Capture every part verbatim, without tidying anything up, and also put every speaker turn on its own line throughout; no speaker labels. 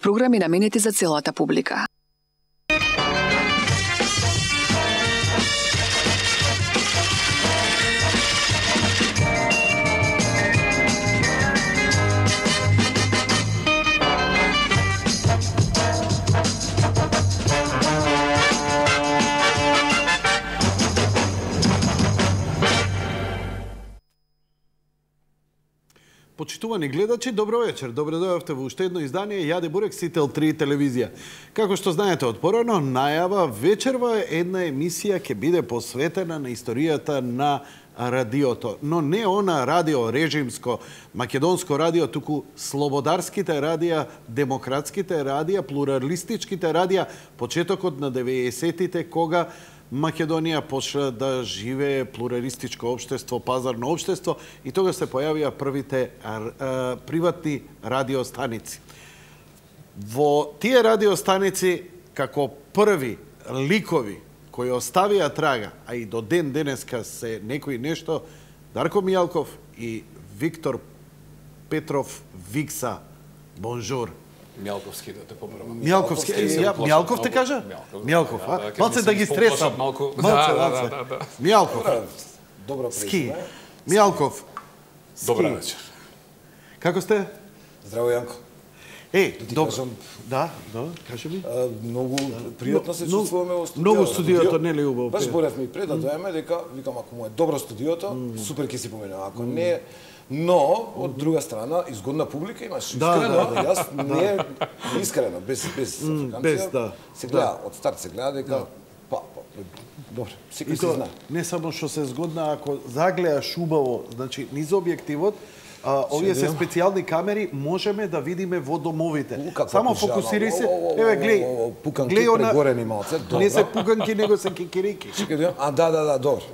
Програми наменети за целата публика.
Почитувани гледачи, добро вечер. Добре дојавте во уште едно издание Јаде Бурек Сител три телевизија. Како што знаете од порано, најава вечерва една емисија ќе биде посветена на историјата на радиото, но не она радио режимско, македонско радио, туку слободарските радија, демократските радија, плуралистичките радија, почетокот на деветдесетите кога Македонија почна да живее плуралистичко општество, пазарно општество и тога се појавија првите а, а, приватни радиостаници. Во тие радиостаници, како први ликови кои оставија трага, а и до ден денеска се некои нешто, Дарко Мијалков и Виктор Петров Викса. Бонжур.
Мјалковски да те поправам.
Мјалковски, Мјалков те кажа? Мјалков, а? Малце да ги стресам.
Малку.
Малце,
Да,
малце.
да, да.
Мјалков.
Добро
Ски. Мјалков.
Добра вечер.
Како сте?
Здраво, Јанко.
Е,
Да ти
добро.
кажам,
Да, да, кажи ми.
а, многу пријатно се
Многу-
чувствуваме во студиото.
многу студиото, нели, убаво?
Баш боревме и пред да дојдеме дека викам ако му е добро студиото, супер ќе си поминеме. Ако не, но од друга страна изгодна публика имаш.
Да,
Искрено,
да, да.
јас не искрено, без без африканција.
без, да.
Се гледа, од старт се гледа дека па, па, добро, секој
И
си
то
знае.
не само што се згодна, ако загледаш убаво, значи низ објективот, а, овие се
Седем.
специјални камери, можеме да видиме во домовите.
У, како
Само
пужама.
фокусирај се.
О, о, о,
Еве
о,
глеј.
о, о, пуканки
глеј она-
прегорени малце, добро.
Не се пуканки, него се кикирики.
Чекај да, а да, да, да, добро.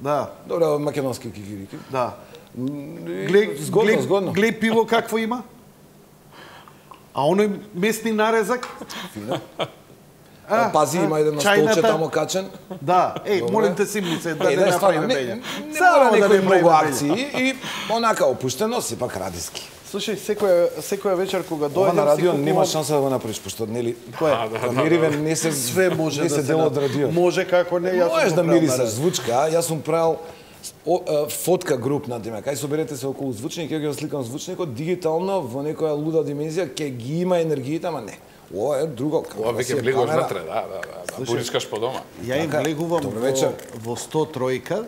Да,
Добро, македонски кикирики.
да.
Глеј,
Глеј,
згодно,
глеј,
згодно.
глеј пиво какво има? А оној местни нарезак?
Фино.
А,
Пази,
а,
има еден на
чајната?
столче тамо качен.
Да, еј,
Добре.
молим те симни се да
Е,
не
да, стварно,
направиме
не,
бења.
не
Само
мора
да
некои
не
многу
правиме бења.
акции и онака опуштено, сепак радиски.
Слушај, секоја секоја вечер кога
Ова
дојдем
на радио
си
нема
купувам-
шанса да го направиш, пошто нели
Кој?
камериве не се
Све може
не
да
се
се
дел од
на-
радио.
Може како не, јас сум
Можеш
го
да
правил
мирисаш
на-
звучка, а? Јас сум правил о, а, фотка груп на тема. Кај соберете се околу звучник, ќе го сликам звучникот дигитално во некоја луда димензија, ќе ги има енергијата, ама не. Ова е друго.
Ова
Си
веќе
е
влегуваш
камера.
натре, да, да, да, да. Буричкаш по дома.
Ја им
Така,
влегувам
добро
во,
вечер.
во сто тројка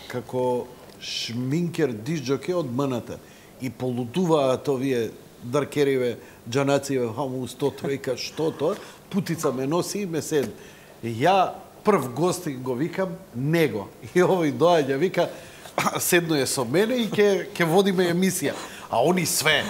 како шминкер дисџоке од МНТ. И полудуваат овие даркериве, џанациве, хаму сто тројка, што тоа? Путица ме носи и ме сед. Ја прв гостин го викам него. И овој доаѓа, вика, седно е со мене и ќе ќе водиме емисија. А они све.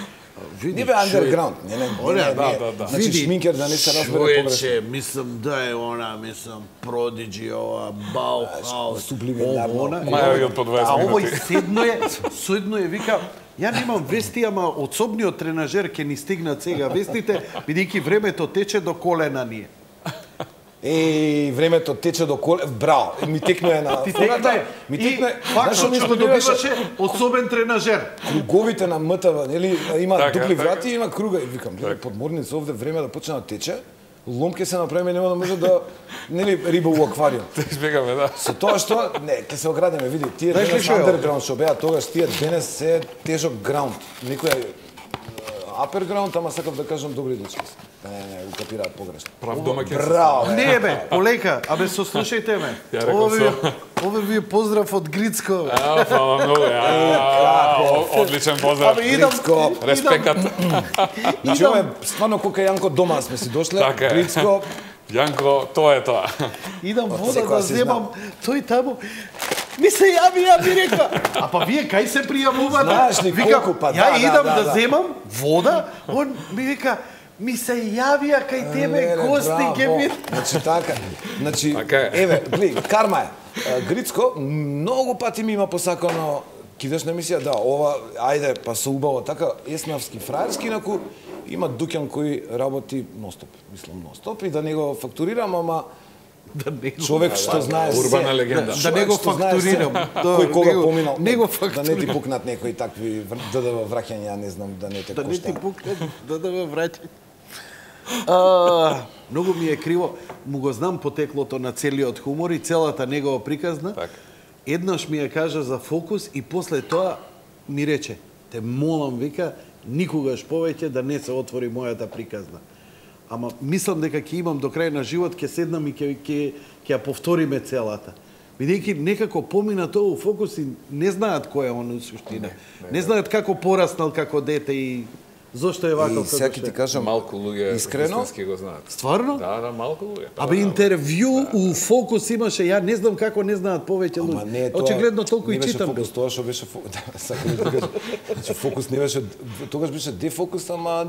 Види,
Не бе андерграунд, не, не,
Оне,
не,
да,
не.
да, да.
Значи шминкер да не се разбере погрешно.
Човече, мислам да е она, мислам Продиджи, ова Баухаус,
сублиминарно.
ово, она.
Маја од по дваесет
А овој
минути.
седно е, седно е, вика, ја немам вести, ама од собниот тренажер ќе ни стигнат сега вестите, бидејќи времето тече до колена ни е.
Еј, времето тече до коле, браво. Ми текнуе на
Ти
фората,
текна
ми
и
текнуе.
фактот
Знаеш, ми
што
сподобиваше
добиваше особен тренажер.
круговите на МТВ, нели, има
Така,
дупли
така.
врати и има круга. И викам, гледај, подморница овде време да почне да тече, лом ќе се направиме, нема да може да, нели, риба у аквариум.
Да избегаме, да.
Со тоа што, не, ќе се оградиме, види, тие
Знаеш ли
денес
што е ова?
андерграунд што беа тогаш, тие денес се тежок граунд. Некој е апер граунд, ама сакав да кажам добри дечки. Не, не, не, укапираат погрешно.
Прав домаќин.
Браво, бе.
Не бе, полека, абе сослушајте ме.
Ја реков
Ова ви,
со.
ова ви е поздрав од Грицко.
А, фала многу. А, о- Одличен поздрав.
Абе, идам,
Грицко.
Респекат.
Значи, ова е стварно кока Јанко дома сме си дошле.
Така е.
Грицко,
Јанко, тоа е тоа.
идам вода
секоја
да
си
земам, тој таму ми се јави, ја ми рекла. А па вие кај се пријавувате?
Знаеш ли
Викам,
колку, па,
ја
да, да,
идам
да,
да,
да.
земам вода, он ми вика, ми се јавија кај тебе
Леле,
гости
браво.
ќе ми.
Значи така. Значи
Така е.
еве, гледај, карма е. А, Грицко многу пати ми има посакано кидаш на емисија, да, ова ајде па со убаво така еснавски фраерски, инаку има дуќан кој работи ностоп, мислам ностоп и да не го фактурирам, ама
Да не го,
човек што знае се.
Урбана легенда.
да
Човек
не го
што знае се,
фактурирам. Да,
кој кога
не го-
поминал.
не го
Да не
фактурирам.
ти пукнат некои такви вр- ДДВ враќања, не знам, да не те
Да не ти
коштаат.
пукне, да да ме враќа. А, многу ми е криво, му го знам потеклото на целиот хумор и целата негова приказна.
Так.
Еднаш ми ја кажа за фокус и после тоа ми рече, те молам, вика, никогаш повеќе да не се отвори мојата приказна. Ама мислам дека ќе имам до крај на живот, ќе седнам и ќе ќе ќе ја повториме целата. Бидејќи некако помина тоа у фокус и не знаат кој е он у суштина. Не, не, не знаат како пораснал како дете и зошто е ваков како што е.
И сега ти кажам,
Малку луѓе
искрено,
вистински го знаат.
Стварно?
Да, да, малку луѓе.
Абе интервју у фокус имаше, ја не знам како не знаат повеќе
Ама
луѓе.
не, тоа
Очигледно толку и
не беше
читам.
фокус, тоа што беше фокус, да, сакам да кажам. Значи фокус не беше, тогаш беше дефокус, ама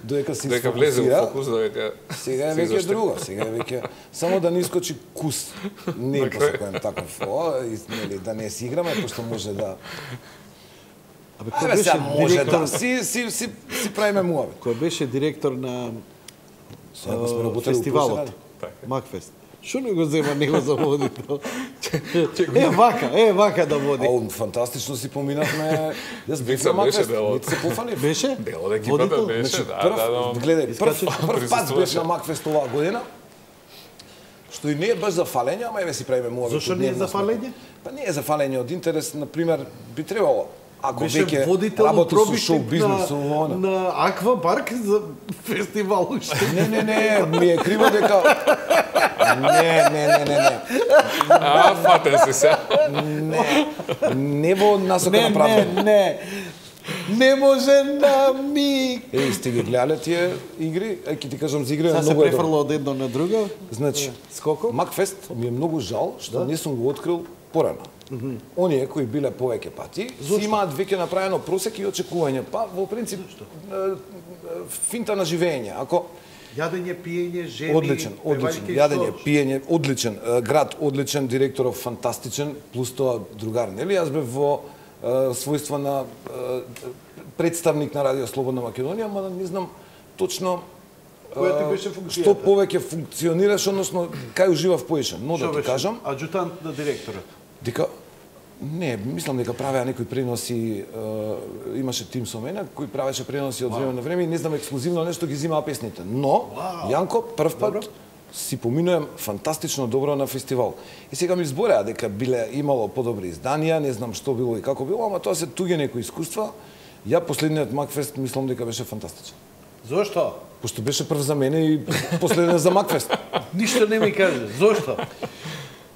додека се
Дека влезе во
сфокусира,
фокус, додека
сега е
се
веќе
изоште.
друго, сега е веќе само да не искочи кус. Не посакувам таков, о, и, нели, да не си играме, пошто може да...
Абе кој
Абе,
беше
сега може
директор?
да си, си, си, си правиме муавет.
Кој беше директор на
Сега сме
а,
работели у
фестивалот
Пушенари.
Макфест. Што не го зема него за водител? Е вака, е вака да води.
Ау, фантастично си поминавме. Јас бев
Вица
на
беше
Макфест,
дел од-
не се пофанив.
Беше?
Дел од екипата
Водител?
беше,
Значи,
да,
прв,
да, да.
гледај, прв,
Искача.
прв пат
Присуствуваше.
бев на Макфест оваа година, што и не е баш за фалење, ама еве си правиме муавет.
Зошто не е за фалење?
Па не е за фалење, од интерес, на пример, би требало, ако
Беше
веќе
водител у
работи со шоу
пробитник
бизнес, со
на,
она.
на Аквапарк за фестивал уште.
Не, не, не, ми е криво дека... Не, не, не, не, не.
А, фатен си се.
Не, не во насока
Не,
на
не,
правда.
не. Не може на миг.
Еј, сте ги гледале тие игри? Е, ќе ти кажам за игри,
Сега се
многу е добро.
префрла од едно на друго.
Значи,
Скоко?
Макфест ми е многу жал што не сум го открил порано. Оние кои биле повеќе пати, си имаат веќе направено просек и очекување. Па, во принцип, е, е, финта на живење. Ако
Јадење, пиење, жени,
Одличен, одличен.
певајќи
Јадење,
што?
пиење, одличен. Е, Град одличен, директоров фантастичен, плюс тоа другар, нели? Јас бев во е, својство на е, представник на Радио Слободна Македонија, ама не знам точно
Која ти
е,
беше функцијата?
што повеќе функционираш, односно кај уживав поише. Но да
Што
ти
беше?
кажам,
Аџутант на директорот.
дека не, мислам дека правеа некои преноси, е, имаше тим со мене кој правеше преноси од време на време и не знам ексклузивно нешто ги взимаа песните. Но Јанко прв пат
Добро.
си поминувам фантастично добро на фестивал. И сега ми збореа дека биле имало подобри изданија, не знам што било и како било, ама тоа се туѓе некои искуства. Ја последниот Макфест мислам дека беше фантастичен.
Зошто?
Пошто беше прв за мене и последниот за Макфест.
Ништо не ми каже. Зошто?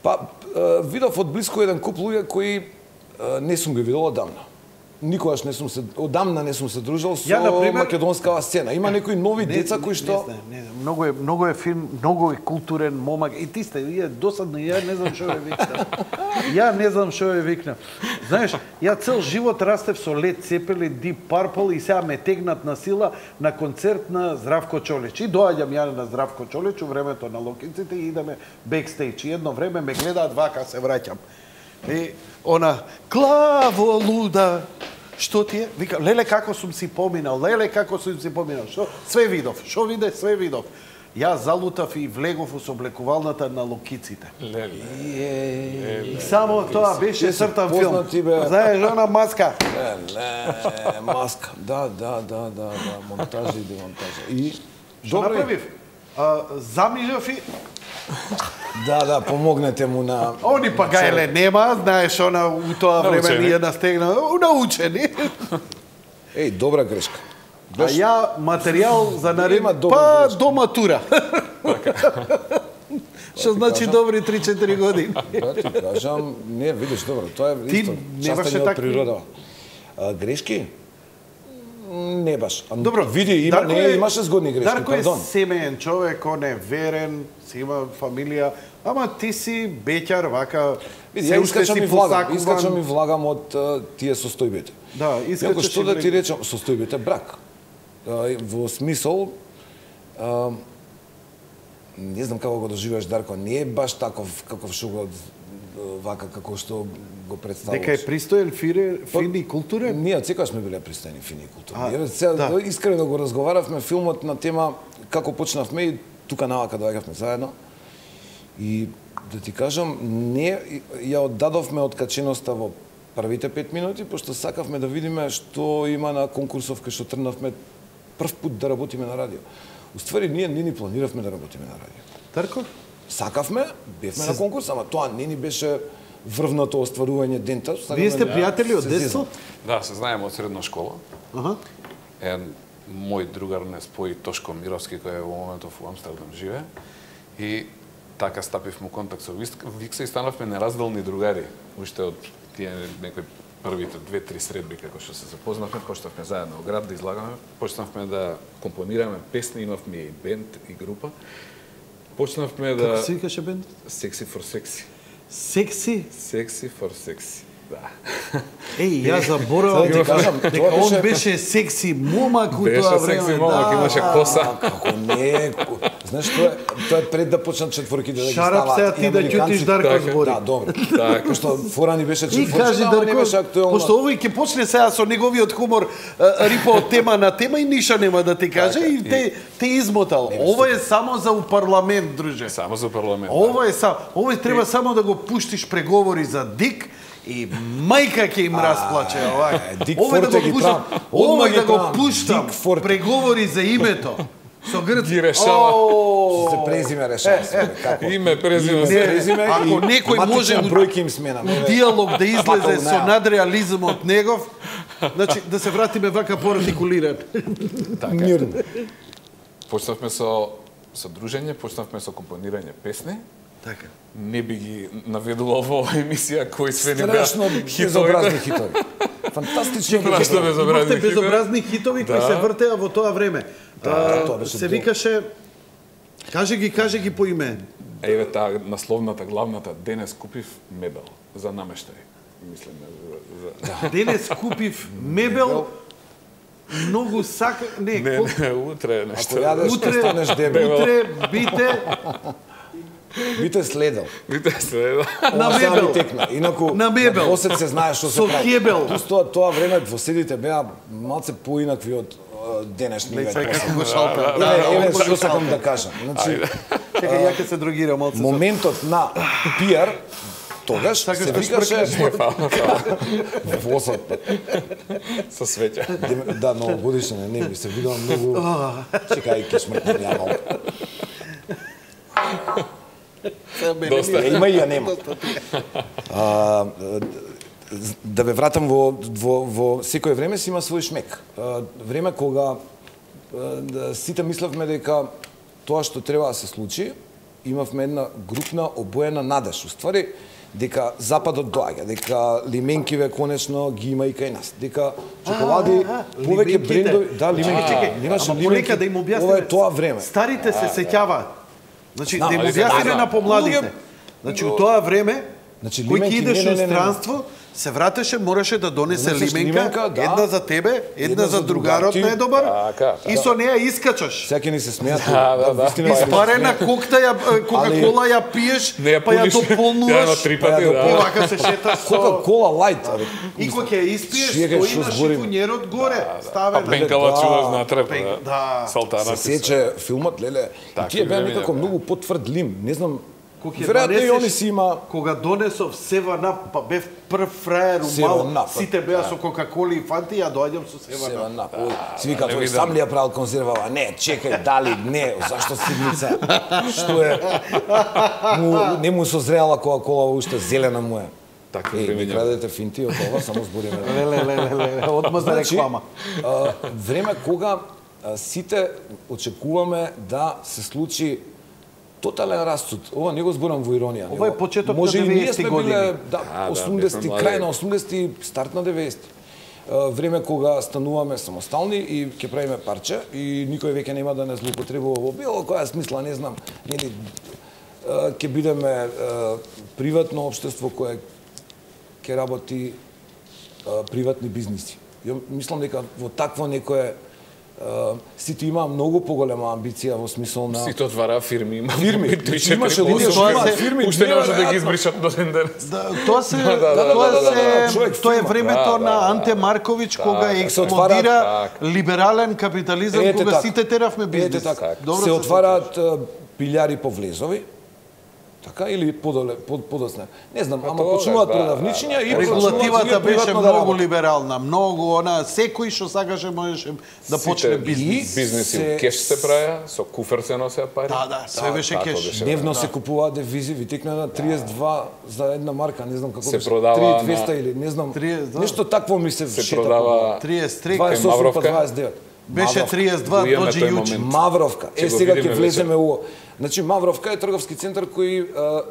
Па, е, видов од блиску еден куп луѓе кои е, не сум ги видел одамна. Никогаш не сум се одамна не сум се дружил со
Ја, например,
македонскава сцена. Има некои нови
Не,
деца кои што
Не, не, не, многу е многу е фин, многу е културен момак. И ти сте, ја досадно, ја не знам што е викнам. Ја не знам што е викнам. Знаеш, ја цел живот растев со Led Zeppelin, Deep Purple и сега ме тегнат на сила на концерт на Здравко Чолич. И доаѓам ја на Здравко Чолич у времето на Локинците и идеме бекстејдж. И едно време ме гледаат вака, се враќам. И она главо луда. Што ти е? Вика, леле како сум си поминал, леле како сум си поминал. Што? Све видов. Што виде? Све видов. Јас залутав и влегов у сооблекувалната на локиците.
Леле.
И само тоа беше
Ти се
цртан филм.
познати, бе.
Знаеш, она маска.
Ле, маска. Да, да, да, да, да, монтажа и демонтажа. И
Што направив? А, замижав и...
Да, да, помогнете му на
Они па гајле нема, знаеш, она у тоа време
Научени.
ние настегна, научени.
Еј, добра грешка.
А ја материјал за наред,
Има добра
па
грешка.
до матура. Што значи добри три-четири години.
Да ти кажам, не, видиш, добро, тоа е
Ти
исто,
не беше
частен од
такви?
природа. А, грешки? М, Не баш. А,
Добро,
види, има,
Дарко
не,
е-
имаше згодни грешки,
Дарко е
пардон.
семеен човек, он е верен, си има фамилија, ама ти си беќар, вака,
Види,
се
ја
уште
искачам
си
и влагам,
посакуван.
искачам и влагам од а, тие состојбите.
Да,
Јако
искачаш
што
и
да ти
влегаш.
речам, состојбите брак. А, во смисол, а, не знам како го доживеаш, Дарко, не е баш таков каков што го вака како што го представуваш.
Дека е пристоен, фире, фин и културен?
Ние од секогаш сме биле пристојни, фини и културни.
А,
Еве сега
да.
искрено го разговаравме филмот на тема како почнавме и тука навака доаѓавме заедно. И да ти кажам, не ја оддадовме откаченоста во првите пет минути, пошто сакавме да видиме што има на конкурсов кај што трнавме прв пат да работиме на радио. Уствари ние не ни планиравме да работиме на радио.
Тарко?
Сакавме, бевме на конкурс, ама тоа не ни беше врвното остварување дента.
Вие сте пријатели од детство?
Да, се знаеме од средна школа.
Аха.
Еден мој другар не спои Тошко Мировски, кој е во моментов во Амстердам живе. И така стапивме во контакт со Викса и станавме неразделни другари. Уште од тие некои првите две-три средби како што се запознавме, почнавме заедно во град да излагаме, почнавме да компонираме песни, имавме и бенд и група. Почнавме да...
Како се викаше бендот?
Sexy for Sexy.
Секси?
Sexy for Sexy. Да.
Еј, ја заборавам
Сега ти кажам,
дека
тоа
он
беше-
беше секси момак у
Беше
тоа
секси
време.
момак,
да.
имаше коса.
Како не, ко- знаеш тоа е, тоа е пред да почнат четворките да ги
Шарап
ставаат.
сега ти
и
да
американците-
ќутиш Дарко
Така,
збори.
Да, добро.
Така.
Пошто фора ни беше
И
четворче,
кажи
ама не беше
Дарко,
актуелно.
пошто овој ќе почне сега со неговиот хумор а, рипа од тема на тема и ниша нема да ти каже и те те измотал. Ова е само за у парламент, друже.
Само за парламент.
Ова е само, овој треба само да го пуштиш преговори за Дик и мајка ќе им расплаче овај.
Дик
Овој да
Форте
го
ги
пуштам,
правам. Одма
овој
ги
да го
правам.
пуштам
Дик Форте.
преговори за името. Со грцки.
Ги решава.
О,
Се презиме решава се. Како?
Име, презиме,
Не,
се.
презиме
ако
и
некој може
матичен
у-
бројки им сменаме.
у диалог да излезе
Пакал
со
неа.
надреализмот негов, значи да се вратиме вака поартикулиран.
Мирно.
Почнавме со со дружење, почнавме со компонирање песни.
Така.
Не би ги наведувал во оваа емисија кои све не беа
Страшно
хитови.
безобразни хитови. Фантастично
Страшно
безобразни.
безобразни
Имавте
хитови.
безобразни хитови кои
Да.
се вртеа во тоа време. А,
тоа беше
се
дел.
викаше Каже ги, каже ги по име.
Еве таа насловната, главната, денес купив мебел за намештај. Мислам за, за...
Денес купив мебел, многу сака... Не,
Не,
колку-
не, утре
Ако
нешто.
јадеш, ќе
утре,
станеш дебел.
утре бите
Бите следел.
Видите се, да.
на
Ова сега
мебел.
ми текна. Инаку,
На мебел.
Во осет се знае што се
Со
прави.
кебел.
Плюс тоа, тоа време двоседите беа малце поинакви од е, денешни
Леј,
веќе.
како го шалпе.
Еве, еве што сакам да кажам. Значи,
Чекај, ја ќе се другирам малце. со-
моментот на пиар тогаш
Сакаш
се
да
викаше восот.
Со свеќа.
Дем- Да, ново годишне, не би се видел многу. Чекај, ќе смртнам ја малку.
Доста.
Ја има и ја нема. А, да ве вратам во, во, во секое време си има свој шмек. А, време кога а, да, сите мислевме дека тоа што треба да се случи, имавме една групна обоена надеж. Уствари, дека Западот доаѓа, дека лименкиве конечно ги има и кај нас, дека чоколади, повеќе
лименките.
брендови, да, лименки.
Чекај,
Немаше
ама полека
лименки.
да им објасниме.
Ова е тоа време.
Старите се сеќаваат. Значи,
Знам,
да им
али се
објасниме
да,
на помладите.
луѓе-
Значи, у тоа време,
Значи,
кој ќе
лименки,
идеш
не, не,
у
не, не.
странство, се вратеше, мораше да донесе
Донесеш
лименка,
лименка, да.
една за тебе, една, за другарот
другарот ти.
најдобар,
Така,
и со неа искачаш.
Сега ќе ни се смеат.
Да, да, да.
вистина се
Испарена кокта ја, е, Кока-кола ја пиеш,
Не ја
па ја
пуниш. Ја
дополнуваш,
три
па ја
пати,
и
да.
вака се шеташ со...
Кока-кола лајт, абе.
И кога ќе ја испиеш,
Чекај,
стои
што
на
зборим?
шифонјерот горе,
А
ставена.
пенкала
Да.
чуваш натреб,
Пен-
да.
да.
Салтана
Се сече филмот, леле. И
Така,
тие беа
време
некако
беа.
многу потврдлим. Не знам,
Кога ќе
веројатно и
донесеш-
они си има...
Кога донесов Seven Up, па бев прв фраер у
Seven
мал,
Up,
сите беа со Кока-коли и Фанти, ја доаѓам со Seven
Сева
Up.
на, ој, си вика,
не
тој
видам.
сам ли ја правил конзервава? Не, чекај, дали, не, зашто сидница? Што е? Му, не му созреала Кока-кола, уште зелена му е.
Такви
Е,
време
ми
няма.
крадете финти од ова, само збориме.
Леле, леле, леле, одма за
Значи,
реклама.
а, време кога а, сите очекуваме да се случи тотален расцут. Ова не го зборам во иронија.
Ова е
него-
почеток
може
на
и ние
деветдесетти
сме
години.
биле, да,
А, да,
осумдесети,
бевме млади.
крај на осумдесети, старт на деветдесети. А, Време кога стануваме самостални и ќе правиме парче и никој веќе нема да не злоупотребува во било која смисла, не знам, нели а, ќе бидеме а, приватно општество кое ќе работи а, приватни бизниси. Ја мислам дека во такво некое а, сите има многу поголема амбиција во смисол на
Сите отвараа фирми, има
Фирми.
три четири
Имаше
пособи.
луѓе што имаат фирми,
Уште не може да ги
неверојатно.
избришат до ден денес.
Да, тоа се,
да, да,
тоа
да, да, да,
се,
човек
тоа е
фирма.
времето
Да,
на
да,
Анте Марковиќ кога
така,
се отварат,
експлодира
така.
либерален капитализам,
Ете
кога
така.
сите теравме бизнес.
Ете така.
Добро
се отвараат а, пилјари по влезови Така или подоле под подосна. Не знам, ама
тоа,
почнуваат
да,
продавничиња
да,
и
да.
Регулативата беше
приватно да
многу
работат.
либерална, многу она секој што сакаше можеше да почне бизнес.
Бизнеси
се-
у кеш се правеа, со куфер се носеа пари.
Да, да, све беше
така
кеш.
беше.
Дневно се купуваат девизи, ви текна на триесет и два за една марка, не знам како
Се
беше.
продава
триесет и двеста
на-
или не знам.
триесет и два.
Нешто такво ми се
Се
шета.
продава
триесет и три,
дваесет и осум па
Мавровка.
дваесет и девет.
беше
Мавровка.
триесет и два
Го имаме
доđe
тој
јуче.
момент.
Мавровка.
Ќе
Е,
го
сега
видиме
ќе
вечер.
влеземе у... Значи, Мавровка е трговски центар кој а, а,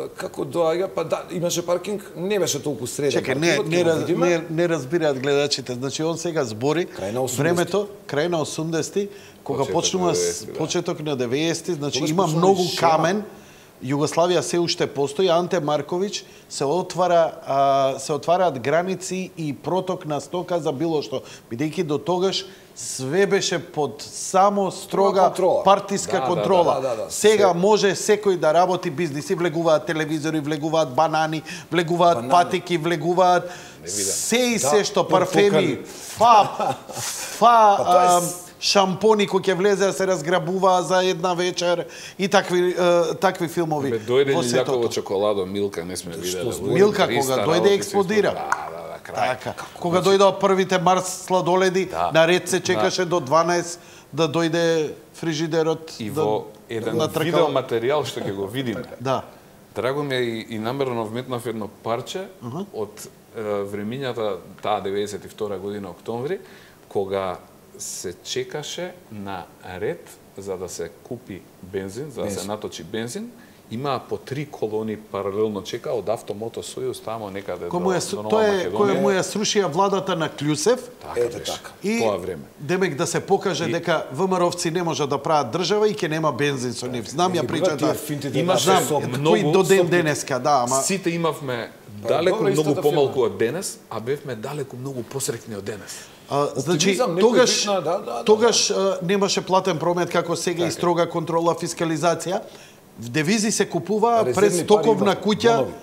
како доаѓа, па да, имаше паркинг, не беше толку среден.
Чекај, не,
паркингот,
не,
ќе го
раз-
видиме.
не, не разбираат гледачите. Значи, он сега збори
Крај на осумдесети.
времето, крај на осумдесети, кога
Почеток
почнува
на
с-
деветдесети, да.
почеток на деветдесети, значи
Тогаш
има
почнува
многу
и шема.
камен. Југославија се уште постои, Анте Марковиќ се отвара а, се отвараат граници и проток на стока за било што, бидејќи до тогаш све беше под само строга
контрола.
партиска
Да, да,
контрола.
да, да, да.
Сега
Се-
може секој да работи бизниси, влегуваат телевизори, влегуваат банани, влегуваат
Банани.
патики, влегуваат се и
Да,
се што парфеми,
портокали.
фа, фа,
Па тоа е
а,
с-
шампони кои ќе влезе да се разграбуваа за една вечер и такви е, такви филмови.
Бе, дојде
во
ли
светото.
Љаково чоколадо, Милка, не сме виделе.
Што,
Милка
триста
кога
работи
дојде
се
експлодира.
исполнија. Да, да, да, крај.
Така, кога дојдоа првите Марс сладоледи,
Да.
на ред се чекаше до дванаесет да дојде фрижидерот
И
да,
во еден
натркал.
видео материјал што ќе го видиме.
Да.
Драго ми е и, и намерно вметнав едно парче uh -huh. од е, времињата таа деветдесет и втора година октомври, кога се чекаше на ред за да се купи бензин, за да се наточи бензин. Имаа по три колони паралелно чека од Автомото Сојуз тамо некаде
Кој му е,
до, до Нова
тоа е
Македонија.
кој му ја срушија владата на Клјусев.
Така
Ете
беше.
така.
И
Тоа време.
демек да се покаже
И-
дека ВМРО-вци не може да прават држава и ќе нема бензин со нив. Знам ја
Ги
причата.
тие финтите
Имаш
да
Знам,
се сопнат.
многу
кој до ден
сопни.
денеска, да, ама
Сите имавме далеку
добра
многу
истата
помалку
фирма.
од денес, а бевме далеку многу посрекни од денес.
А, значи,
Оптимизам, некој
тогаш,
битна, да, да, да.
тогаш а, немаше платен промет како сега и строга контрола, фискализација. В девизи се купуваа
Резервни
пред
пари
стоковна
има,
куќа
бонови.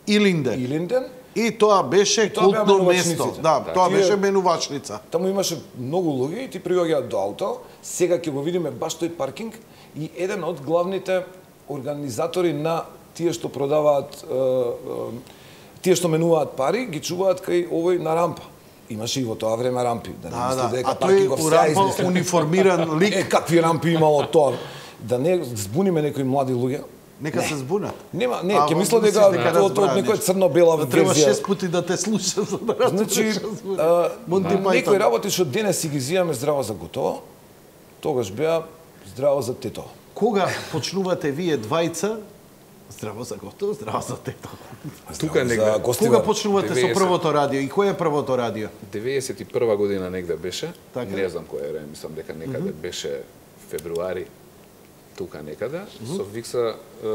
и Линден.
Илинден,
И тоа беше
И тоа беа
култно
менувачниците.
место. Да,
Да.
тоа
Тие-
беше менувачница.
таму имаше многу луѓе и ти приоѓаат до ауто. Сега ќе го видиме баш тој паркинг и еден од главните организатори на тие што продаваат е, е, тие што менуваат пари, ги чуваат кај овој на рампа. Имаше и во тоа време рампи, да не
Да,
мислите
да.
дека
А тој
паркингов
у
се
рампа
измислен.
униформиран лик.
Е, какви рампи имало тоа? Да не збуниме некои млади луѓе.
Нека се збунат.
Нема, не,
А,
ќе
во-
мислам дека
мислиш дека
тоа од
разбраат
некоја
нешто.
црно-бела
Да треба
верзија.
шест пати да те слуша за да разбереш
Значи,
што збори.
а,
Монти
некои
Пајтон.
работи што денес си ги зијаме здраво за готово, тогаш беа здраво за тето.
Кога почнувате вие двајца, здраво за готово, здраво за тето.
Тука
За
негде,
гостивар.
Кога почнувате со
деветдесет.
првото радио и кој е првото радио?
деветдесет и прва година негде беше,
Така.
не знам кој е време, мислам дека некаде беше февруари, тука некаде, со Викса е,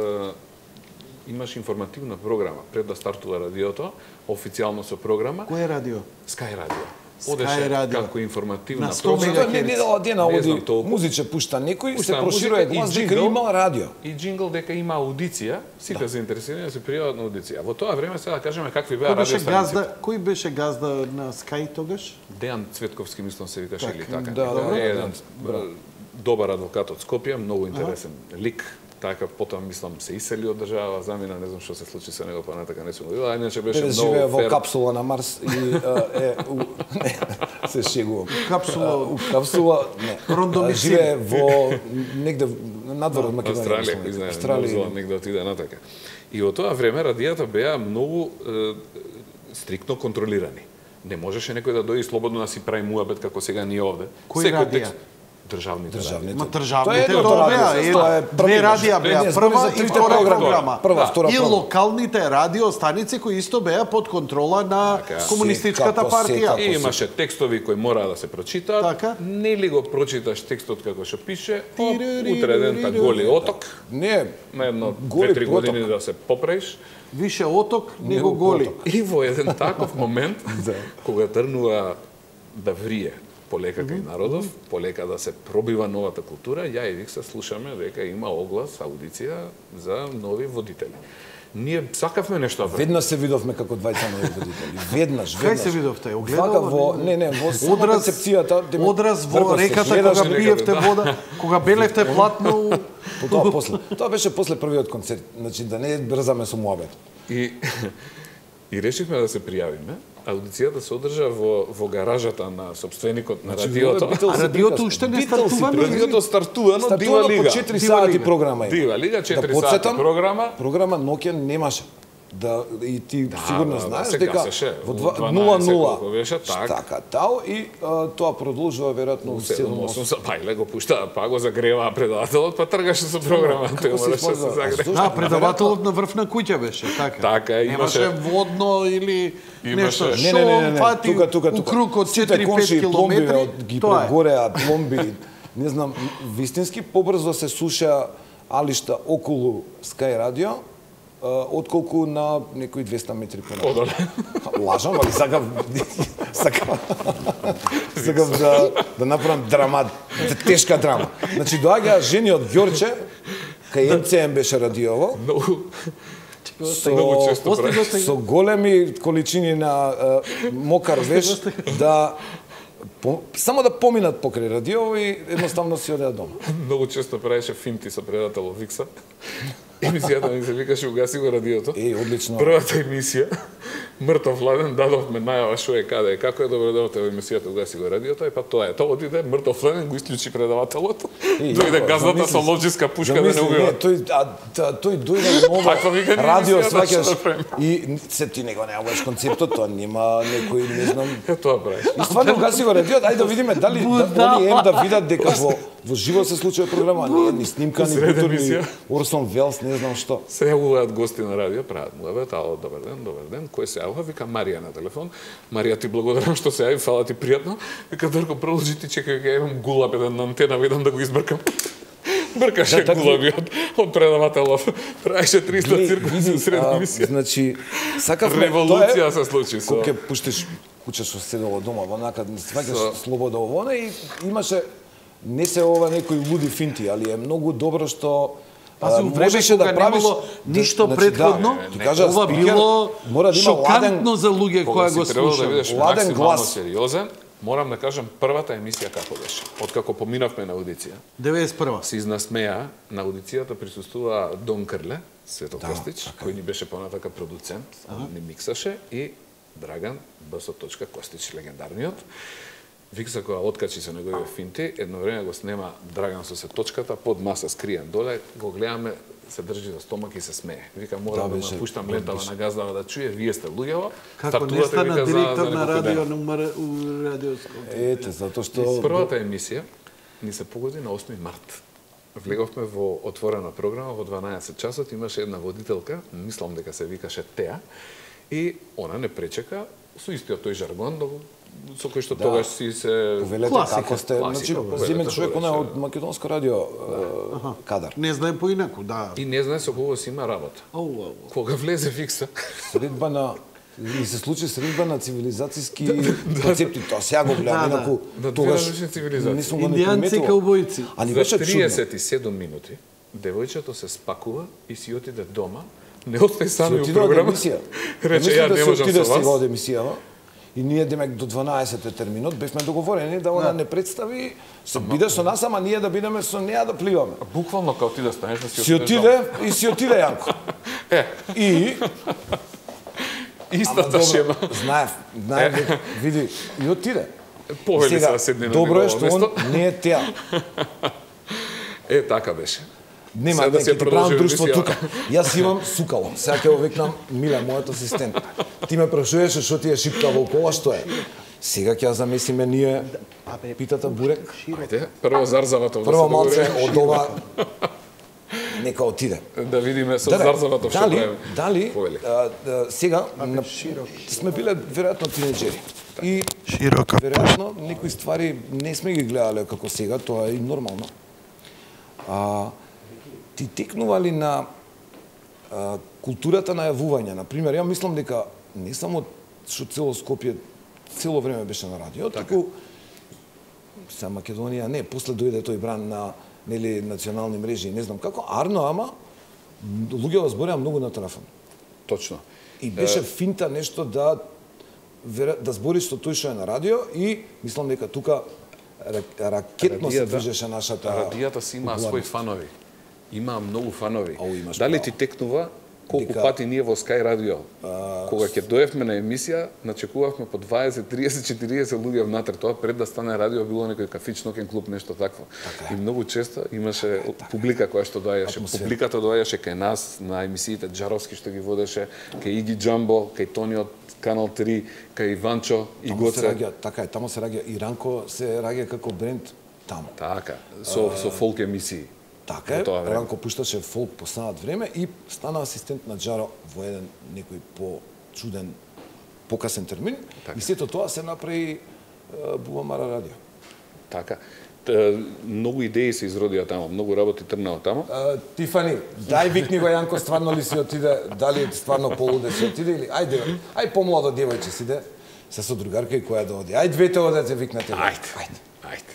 имаш информативна програма пред да стартува радиото, официјално со програма,
Кој е радио?
Sky Radio.
Sky
Одеше
Radio.
како информативна
На сто
програма.
мегахерц.
Тоа не недела дена
Не
оди
знам толку.
музиче пушта некој, се
Пуштаа
проширува
музика и
глас дека
джингл.
има радио.
И джингл дека има аудиција, сите заинтересирани да се пријават на аудиција. Во тоа време сега да кажеме какви беа
Кој беше
радиостаниците.
газда? Кој беше газда на Sky тогаш?
Дејан Цветковски, мислам се викаше
Так,
или така.
да,
некаде.
да,
Е
да,
еден
браво.
добар адвокат од Скопје, многу интересен лик. Така потоа мислам се iseli од држава, замина, не знам што се случи со него, па натака не сум го видел, а иначе беше
Перес
многу
живее во
фер.
капсула на Марс и а, е у, не, се шегувам.
Капсула
А, у капсула, не.
Рондомицин.
А, живее во негде надвор од Македонија.
Австралија,
мислам,
кој знае,
Австралија.
Нов Зеланд негде отиде натака. И во тоа време радијата беа многу е, стриктно контролирани. Не можеше некој да дојде и слободно да си прави муабет како сега ние овде.
Кои
Секој
радија?
текст- Државните.
Државните.
Ма
Тоа е
државните
едното
тоа
радио,
беа,
тоа е
е,
први
две
беше.
радија беа,
Не, збори
прва
за
и
трите
втора
програми.
програма.
Прва,
Да.
втора
И
програма.
локалните радиостаници кои исто беа под контрола на
Така.
комунистичката
Секако,
партија.
секако.
И имаше текстови кои мора да се прочитаат.
Така.
Не ли го прочиташ текстот како што пише, оп,
Тиририририри.
утре дента голи оток,
Не,
на едно
Голи
две-три
проток.
години да се поправиш.
Више оток, него
Него
голи.
поток.
И во еден таков момент, кога тргнува да врие полека кај народов, полека да се пробива новата култура, ја и Викса слушаме дека има оглас, аудиција за нови водители. Ние сакавме нешто.
Веднаш се видовме како двајца нови водители. Веднаш, веднаш.
Кај се видовте?
Вака
Огледало?
во, не, не, во сама
Одраз,
концепцијата.
одраз во
врко се
реката
гледаш
кога
и
пиевте
да.
вода, кога белевте платно.
По тоа после. Тоа беше после првиот концерт. Значи да не брзаме со муабет.
И и решивме да се пријавиме. Аудицијата се одржа во во гаражата на собственикот на
Значи,
радиото.
Beatles
А
се
радиото
приказка.
уште не
Beatles
стартува,
се
не?
Радиото стартува, но Дива
Стартувано
Лига.
по четири
Дива
сати
Лига.
програма има.
Дива Лига, четири
Да
сати
потсетам,
програма.
Програма ноќе немаше. Да, и ти
Да,
сигурно
да, да,
знаеш
се
дека
гасеше.
во
У
два-
дванаесет
нула нула
колку беше, так.
така тау и а, тоа продолжува веројатно у седум
седум-осум
осум.
па иле го пуштаа, па го загреваа предавателот, па тргаше со програма, тој
Како се
мораше да се
използва? А
загрее.
зошто?
Да, предавателот на врв на куќа беше, така.
Така,
Немаше
имаше-
водно или
Имаше-
нешто.
Не,
Не, не, не, не, не.
фати
тука, тука, тука.
у круг од
Сите
четири-пет
комши и пломби
километри.
од ги
Тоа е.
прегореа, пломби, не знам, вистински побрзо се суша алишта околу Sky Radio, а, отколку на некои двеста метри понапред.
Одоле.
Лажам, али сакав сакав сакав да да направам драма, тешка драма. Значи доаѓаа жени од Ѓорче, кај Ем Це Ем беше радиово,
Многу
со,
Многу често
Остига,
прави.
остига.
со големи количини на е, мокар веш да по, само да поминат покрај радиово и едноставно си одеа дома.
Многу често правеше финти со предателот Викса. Емисијата ми се викаше "Угаси го радиото".
Е, одлично.
Првата емисија, мртов ладен, дадовме најава што е каде е, како е, добро дојдовте во емисијата "Угаси го радиото", и па тоа е. Тоа отиде, мртов ладен го исклучи предавателот.
Е,
Дојде
јако,
газдата
замисли-
со ловчиска пушка да не
замисли,
убива.
тој, а, та, тој дојде во
Таква
ново
вика, не
радио,
емисијата,
сваќаш,
што да правим?
и се ти него неаваш концептот, тоа нема некој, не знам.
Е, тоа правиш.
И стварно угаси го радиото, ајде да видиме дали да, они ем да видат дека во во живо се случува програма, не е ни снимка, ни
Сред
културни,
емисија.
Орсон Велс, не знам што.
Се јавуваат гости на радио, прават муабет, ало, добар ден, добар ден, кој се јавува? Вика Марија на телефон. Марија, ти благодарам што се јави, фала ти пријатно. Вика Дарко, продолжи ти, чекај, ќе имам гулаб еден на антена, видам да го избркам. Бркаше
Да, така-
гулаби од, од предавателов. Правеше триста
Глеј,
циркуси
види,
сред
а,
емисија.
Значи, сакавме,
Револуција се случи со...
Кога ќе пуштиш куќа што седело дома, во накад не сваќаш
Со-
слобода овоне и имаше не се ова некои луди финти, али е многу добро што
Пази,
а,
у време
можеше
кога
да правиш
немало ништо
значи,
предходно,
да, ти кажа,
ова
спикер
било
мора да има
шокантно
ладен,
за луѓе
Кога
кои
си
го
требало да
слушаат.
бидеш
Ладен
максимално
глас.
сериозен, морам да кажам првата емисија како беше. Откако поминавме на аудиција,
деветдесет и прва.
се изнасмеа, на аудицијата присуствува Дон Крле, Свето
Да,
Костич,
така
кој ни беше понатака продуцент, ни миксаше, и Драган Б.С. Костич, легендарниот. Викса кога откачи со неговите финти, едно време го снема Драган со се точката, под маса скриен доле, го гледаме, се држи за стомак и се смее. Вика, морам
Да,
да,
беше
да пуштам лентава на газдава да чуе, вие сте луѓево,
Како не
стартувате,
стана
вика, за-
директор
за
на
неколку дена.
радио номер у радиоско.
Ете, затоа што
Првата емисија ни се погоди на осми март. Влеговме во отворена програма во дванаесет часот, имаше една водителка, мислам дека се викаше Теа, и она не пречека со истиот тој жаргон да го- со кој што
Да.
тогаш си се
повелете
Класика,
како сте,
класика,
значи
повелете
земен човек
тогаш,
она
да.
од македонско радио е, кадар.
Не знае поинаку, да.
и не знае со кого си има работа.
Оу, оу.
Кога влезе Викса,
Средба на и се случи средба на цивилизацијски концепти. Тоа сега го гледам,
Да, да.
инаку
На две
тогаш
различни цивилизации.
не сум го не
Индијанци и
приметувал.
каубојци.
А ни
за
беше чудно.
триесет и седум минути, девојчето се спакува и си отиде дома, не остај
Си
сами у
отиде од
програма.
емисија.
Рече,
Мислам
ја
да
не
си
можам
отиде
со
сега од
вас.
емисијава. И ние демек до дванаесет е терминот, бевме договорени да она не представи, се биде со нас, ама ние да бидеме со неа да пливаме.
Буквално као ти да станеш да си
Си
отидеш
отиде и си отиде Јанко.
Е,
И
истата шема.
знаев, знаев, види, и отиде.
Повели
Сега,
се да седне на
добро е
негово
што он
место.
не е теа.
Е, така беше.
Нема,
Сега да
не,
се
ќе ти
продолжи
правам друштво
емисија.
тука. Јас имам сукало. Сега ќе го викнам Миле, мојот асистент. Ти ме прашуваше што ти е шипка во кола, што е? Сега ќе ја замесиме ние питата бурек.
Ајде, прво Зарзаватов да
Прво
се
малце
договори.
од ова нека отиде.
Да видиме со
Да,
Зарзаватов што
дали,
прави.
дали
Повели.
а, а, сега на, сме биле веројатно тинеџери. И
Широка.
веројатно некои ствари не сме ги гледале како сега, тоа е и нормално. А, ти текнували на а, културата на јавување. Например, ја мислам дека не само што цело Скопје цело време беше на радио, така. Таку са Македонија не, после дојде тој бран на нели национални мрежи, не знам како, арно, ама луѓе збореа многу на телефон.
Точно.
И беше финта нешто да да збориш со тој што е на радио и мислам дека тука ракетно се движеше нашата
радијата си има своји фанови. Има многу фанови.
Ау, имаш
Дали
право.
ти текнува колку
Дека-
пати ние во Sky Radio, кога ќе доевме на емисија, начекувавме по дваесет, триесет, четириесет луѓе внатре. Тоа пред да стане радио било некој кафич, нокен клуб, нешто такво.
Така е.
И многу често имаше публика која што доаѓаше.
Атмосфера.
Публиката доаѓаше кај нас на емисиите, Джаровски што ги водеше, кај Иги Джамбо, кај Тони од Канал три, кај Иванчо и
Таму се
Гоце.
раѓа, така е, таму се раѓа и Ранко се раѓа како бренд таму.
Така, со со фолк емисии.
Така
Во
е,
тоа време.
Ранко пушташе фолк поснат време и стана асистент на Джаро во еден некој по-чуден, покасен термин.
Така.
И сето тоа се направи е, Бубамара радио.
Така. Т- Многу идеи се изродија таму, многу работи трнаа таму.
Uh, Тифани, дај викни го Јанко, стварно ли си отиде, дали стварно полуде си отиде или ајде, ај помладо девојче си де, се со другарка и која да оди. Ај двете одете викнете.
Ајде.
Ајде.
Ајде.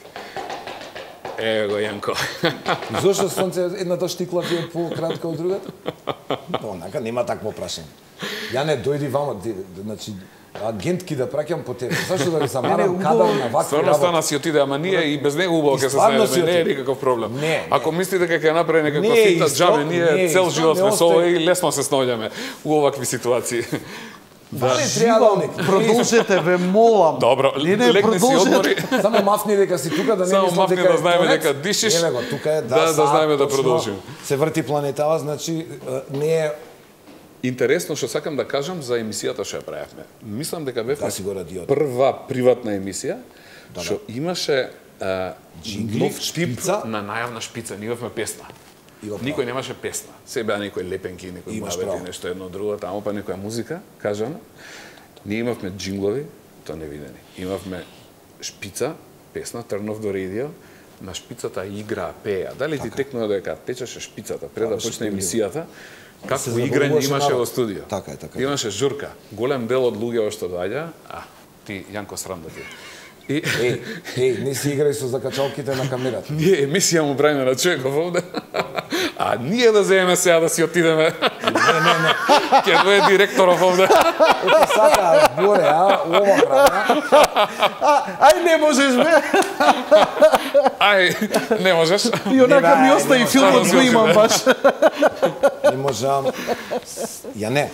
Еве го Јанко.
И зошто сонце едната штикла ти е по-кратка од другата? Онака нема такво прашање. Ја не дојди вамо, ди- значи агентки да праќам по тебе. Зашто да ви замарам
убаво.
кадар на вакви
Стварно
работи?
стана си отиде, ама ние и без него убаво
И
ќе се
стварно си
знаеме, не е
отиде.
никаков проблем.
Не, не.
Ако мислите дека ќе направи некаква
Не,
фита
исто-
џабе, ние
не,
цел
исто
живот
не
сме со
остај-
ова и лесно се снаоѓаме у овакви ситуации.
Да. Не треба да
Продолжете, ве молам.
Добро,
Не, не,
легни си
продолжете.
одмори.
Само мафни дека си тука да не
Само
мислам
мафни
дека
да
е
знаеме
конец.
дека дишиш.
Еве го, тука е да,
Да, да
саат,
знаеме да
точно
продолжиме.
Се врти планетава, значи е, не е
Интересно што сакам да кажам за емисијата што ја правевме. Мислам дека бевме
Да си го радиото.
прва приватна емисија
Да,
што имаше а,
Джингли,
нов тип
шпица.
на најавна шпица. Ние имавме песна.
Има право.
Никој немаше песна. Се беа некои лепенки, некои
Имаш
муабети,
право.
нешто едно друго, таму па некоја музика, кажана. Ние имавме джинглови, тоа невидени. Имавме шпица, песна, Turn off the radio, на шпицата играа, пеа. Дали ти текнува дека течеше шпицата пред да
Така,
почне
што
емисијата? Какво
се
играње
забавуваше
имаше
народ.
во студио?
Така е, така е.
Имаше журка. Голем дел од луѓето што доаѓа, а ти Јанко срам да ти. И
Еј, еј, не си играј со закачалките на камерата.
ние емисија му правиме на човеков овде. А ние да земеме сега да си отидеме.
Не, не, не.
Ќе дое директоров овде.
Ето сака, боре, а, ова прави,
А, ај не можеш бе.
Ај, не можеш.
И онака
Не,
ми
бе,
остави
не,
филмот
не,
го
не,
имам
не.
баш.
не можам. Ја не.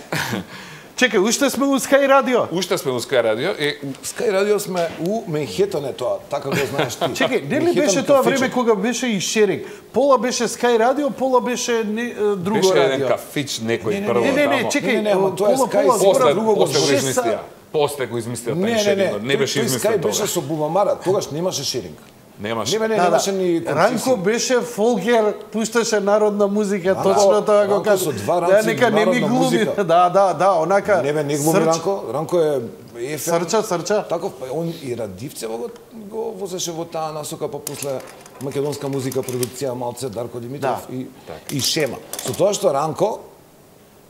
Чекај, уште сме у Sky Radio.
Уште сме у Sky Radio и
Sky Radio сме у Менхетон е тоа, така го знаеш ти.
Чекај, не ли
Менхетон
беше тоа
кафиче.
време кога беше и шеринг? Пола беше Sky Radio, пола беше не, е, друго
беше еден
радио.
кафич некој
Не, не,
прво
Не, не, не,
тамо.
чекај,
Не, не, не, ама тоа е
пола,
Sky
пола,
Sport,
После,
друго го
после го
шест
измислија.
са-
После го измислија
Не,
тај
не, не,
шерингот. Не беше
тој
измислен
Sky беше
тоа.
со Бубамара, тогаш немаше шеринг.
Немаше.
Не, не,
Да, да.
немаше ни
Ранко беше фолкер, пушташе народна музика,
Ранко-
точно тоа го
Ранко
кажа.
со два
Да,
ранци
нека не ми
народна
глуми.
музика.
Да, да, да, онака.
Не бе, не глуми
срч-
Ранко, Ранко е ефем.
Срча, срча.
Таков, па он и Радивцево го, го возеше во таа насока, па после македонска музика, продукција, малце Дарко Димитров
Да.
и, и Шема. Со тоа што Ранко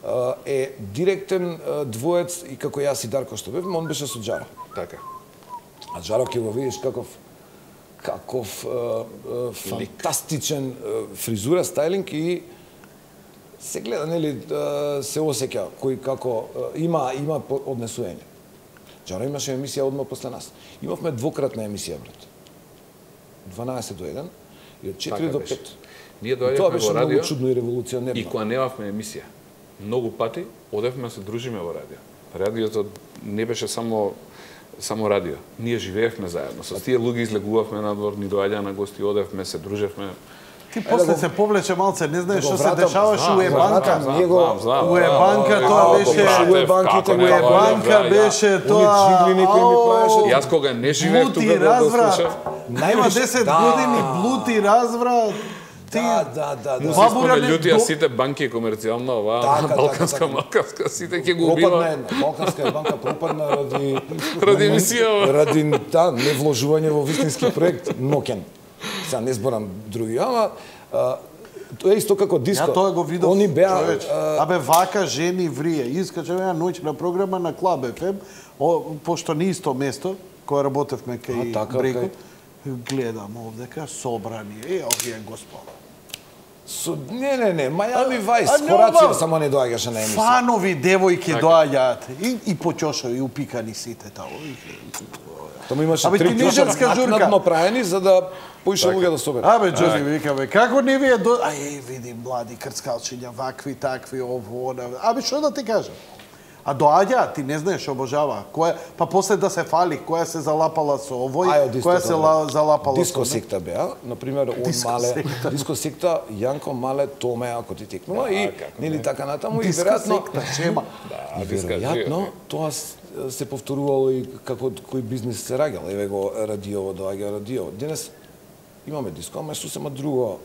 а, е директен а, двоец и како јас и Дарко што бевме, он беше со Джаро.
Така.
А Джаро ќе го видиш каков каков а, а, фантастичен а, фризура, стајлинг и се гледа, нели, а, се осеќа кој како а, има има по- однесување. Джаро имаше емисија одма после нас. Имавме двократна емисија, брат. дванаесет до еден и од четири
Така
до
беше.
пет.
Ние
И тоа
доаѓавме
беше
во
многу
радио
чудно и револуционерно.
и кога немавме емисија. Многу пати одевме да се дружиме во радио. Радиото не беше само само радио. Ние живеевме заедно. Со тие луѓе излегувавме надвор, ни доаѓаа на гости, одевме, се дружевме.
Ти после
го-
се повлече малце, не знаеш
да го
што се
вратам,
дешаваше
знам,
у
знам,
Ебанка.
знам, Ние го-
У Ебанка тоа
Како
беше-
пратев,
У Ебанките
како
го
не
У
го
Ебанка
ја-
беше
Они
тоа.
джингли некои ми
ау,
правеше.
Јас кога не живеев
Блути
тука да го
разврат.
слушав,
Нема
Највише-
десет
да.
години блути разврат. Ти
Да, да, да,
му
да.
се
Бабура
споме
не
лютија
до-
сите банки комерцијална, оваа
Така, така,
балканска,
така.
малканска, сите ќе го
Пропадна
убива.
една. Балканска банка пропадна ради...
Ради емисија.
Ради, да, невложување во вистински проект Нокен. Сега не зборам други, ама... а, тоа е исто како диско.
Ја тоа го видов,
Они беа...
човеч.
а,
Абе, вака жени врие. Искачам ја ноќна програма на Клаб еф ем, о, пошто не исто место, кога работевме кај
А, така,
Бреко.
кај-
Гледам овдека, собрани. Е, овие господа.
Со не не не, Miami Vice,
а,
Хорацио
нема.
само не доаѓаше на емисија.
Фанови девојки доаѓаат и и почошо и упикани сите тао.
Тому имаше
Абе,
три
тинеџерска
клуча
журка.
накнадно праени за да поише луѓе да соберат.
Абе, Джони, викаме, како не ви е до... Ај, види, млади крцкалчиња, вакви, такви, ово, она... Абе, што да ти кажам? А доаѓа, ти не знаеш, обожава. Која, па после да се фали, која се залапала со овој,
Ај, од истото,
која се ла, залапала
Диско
со...
секта беа, например, од
Диско
Мале,
секта.
Диско секта, Јанко Мале, Томе, ако ти текнува и нели така натаму и
Диско
веројатно
секта, шема.
и веројатно тоа с- се повторувало и како кој бизнис се раѓал. Еве го радиово, доаѓа радиово. Денес имаме диско, ама сосема друго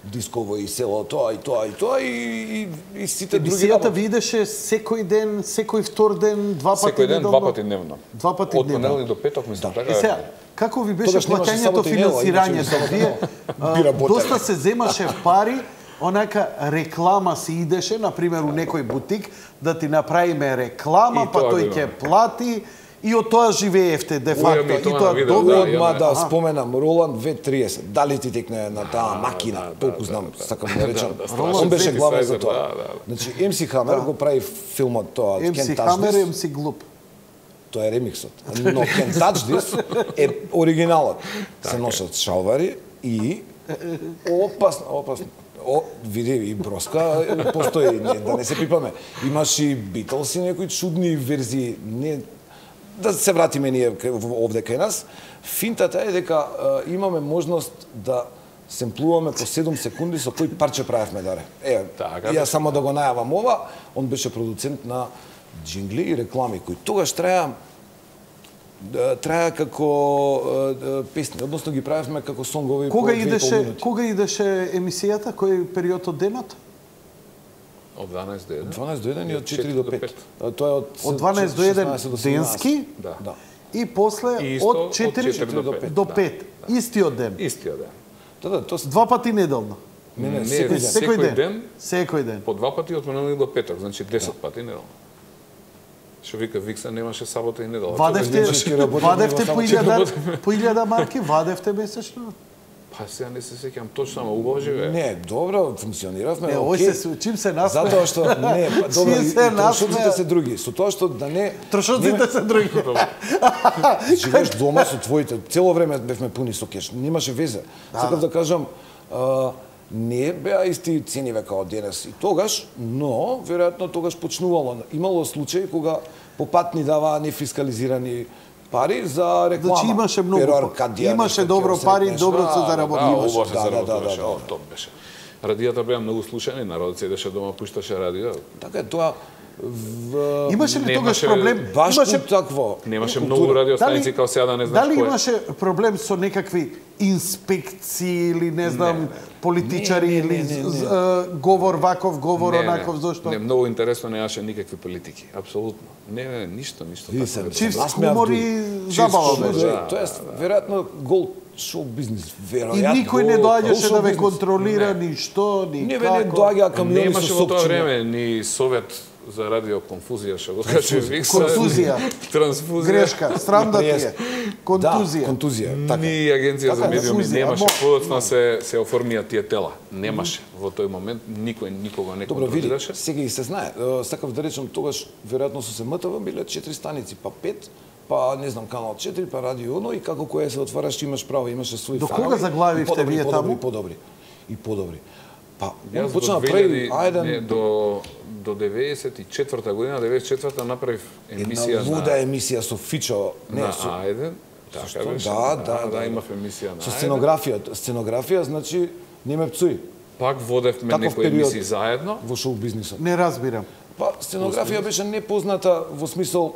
дисково и село тоа и тоа и тоа и, и, и сите други
Емисијата
работи.
видеше секој ден, секој втор ден, два пати
Секој ден,
неделно?
два пати дневно.
Два пати
Од
дневно.
понеделник до петок, мислам, така
И
е.
сега, како ви беше
Тогаш немаше
плаќањето,
сабота и недела,
финансирањето?
имаше сабота и
Вие,
недела.
а,
Би работеле.
доста се земаше пари, онака реклама се идеше, например, у некој бутик, да ти направиме реклама,
И
па
тоа
тој
го
ќе
имаме.
плати, и од тоа живеевте, де факто.
ми
И
тоа
тоа
на видео,
добро.
да,
Одма
имаме.
да
Аха.
споменам, Роланд две триесет. Дали ти текне на таа макина?
да,
Толку
да,
знам,
да,
сакам да речам.
страшен
Он беше главен за
синтесайзер,
тоа.
да, да, да.
Значи, Ем Си Хамер го прави филмот тоа,
Ем Си
Can't Touch
Хамер,
This.
Ем Си глуп.
Тоа е ремиксот. Но Can't Touch This е оригиналот. Се носат шалвари и опасно, опасно. О, види, и броска постои, не, да не се пипаме. Имаш и Битлс и некои чудни верзии. Не, да се вратиме ние кај- овде кај нас. Финтата е дека е, имаме можност да семплуваме по седум секунди со кој парче правевме даре. Е,
Така,
ја
да.
само да го најавам ова, он беше продуцент на джингли и реклами кои тогаш траја да, траја како е, е, песни, односно ги правевме како сонгови по
Кога
две и пол
идеше,
минути.
кога идеше емисијата, кој период од денот?
Од дванаесет до еден.
дванаесет до еден и од четири
четири
до
до
пет.
пет.
А, Тоа е од
Од дванаесет до еден
шеснаесет до седумнаесет.
денски,
Да.
Да.
и после
И исто
од
од
четири
четири до пет.
до пет. Истиот ден.
Истиот ден.
Да, да, тоа се
Два пати неделно.
Не, не,
Не,
секој ден.
секој ден.
Секој ден.
По два пати од понеделник до петок, значи десет пати неделно. Што вика Викса немаше сабота и недела.
Вадевте,
немашки работи,
вадевте
него
по
само
илјада, по илјада марки, вадевте месечно.
Па сега не се сеќам точно, ама убаво живее.
Не, добро, функциониравме,
Не, овој
окей.
се чим се насме.
Затоа што не, па добро,
Чим
и,
се
и трошоците
насмеа.
се други. Со тоа што да не
Трошоците се други.
живееш дома со твоите, цело време бевме пуни со кеш, немаше везе. Сакав да кажам, а, не беа исти цениве као денес и тогаш, но веројатно тогаш почнувало. Имало случаи кога по пат ни даваа нефискализирани пари за реклама.
Значи имаше многу
Перо
па-
Аркадија,
имаше
нешто
добро
ќе го
пари,
сретнеш.
добро се
Да,
заработи.
Да,
Имаше.
убаво се
Да, да,
заработуваше,
да, да,
о,
да.
топ беше. Радијата беа многу слушани, народот седеше дома, пушташе радио.
Така е, тоа в...
Имаше ли тогаш
Немаше-
проблем?
Баш
Имаше
такво.
Немаше
култура.
многу радиостаници
Дали-
као сега да не знаеш
Дали
кој е.
имаше проблем со некакви инспекции или не знам
не.
политичари
Не, не,
или
не, не,
з-
не.
з- говор ваков, говор
Не,
онаков,
не,
зошто?
Не, многу интересно немаше никакви политики, апсолутно. Не, не, ништо, ништо
Види
такво.
се,
Чист
Насмеав
хумор
дури.
и
Чист
забава
хумор,
беше.
да.
Тоа е веројатно гол шоу бизнис,
И
веројатно.
никој не доаѓаше
Гол
да ве
шоу бизнис.
контролира ни што, ни
Не, бе,
како.
не доаѓаа камиони
Немаше
со
во тоа
сопчиња.
време ни совет за радио конфузија, што го каже Викса.
Конфузија.
Трансфузија.
Грешка, срам да ти е.
Контузија.
Контузија.
Да, контузија, така.
Ни агенција за
Така,
медиуми
конфузија,
немаше,
мо-
подоцна се се оформија тие тела. Немаше во тој момент никој никога не
Добро, види,
контролираше.
сега и се знае. Е, Сакав да речем, тогаш, веројатно со Се Ем Те Ве биле четири станици, па пет, па не знам, канал четири, па радио едно и како која се отвараш, имаш право, имаше своји
До
фанови.
кога заглавивте
и подобри,
вие
подобри,
таму?
Подобри, и подобри. Па, он
Јас
почна
до
да прави,
две илјади не,
ајден,
до до деветдесет и четврта година, деветдесет и четврта направив емисија
една луда емисија со Фичо, не,
на
со,
Ајден. Така
што?
беше.
Да, да, да,
имав емисија на
со
Ајден.
сценографија. Сценографија значи не ме пцуи
Пак водевме
Таков
некои
период.
емисии заедно.
во шоу бизнисот.
Не разбирам.
Па сценографија беше непозната во смисол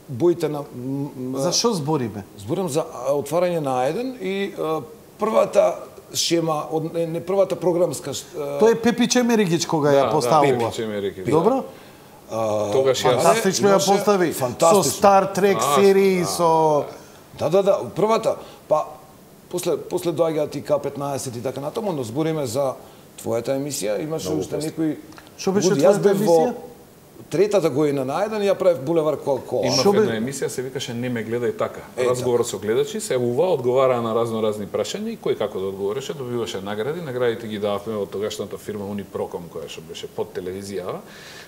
боите на м, м,
За што збориме?
зборам за а, отварање на Ајден и а, првата шема од не, не првата програмска ш- а,
Тоа е Пепи Чемеригич кога ја
Да,
поставува.
Пепи Чемерики.
Добро?
а,
Тогаш јас
Фантастично ја
имаше-
постави. Со
фантастично.
Стар Трек
А,
серии,
да,
со...
Да, да, да, првата. Па после после доаѓаат и К петнаесет и така натаму, но збориме за твојата емисија, имаше уште некои
Што беше
луди. Јас
твојата
бев во-
емисија?
третата година наеден ја правев булевар Кока-Кола.
Има една емисија се викаше Не ме гледај така. Разговорот со гледачи, се ува, одговараа на разно разни прашања и кој како да одговореше, добиваше награди. Наградите ги дававме од тогашната фирма Унипроком, која што беше под телевизија,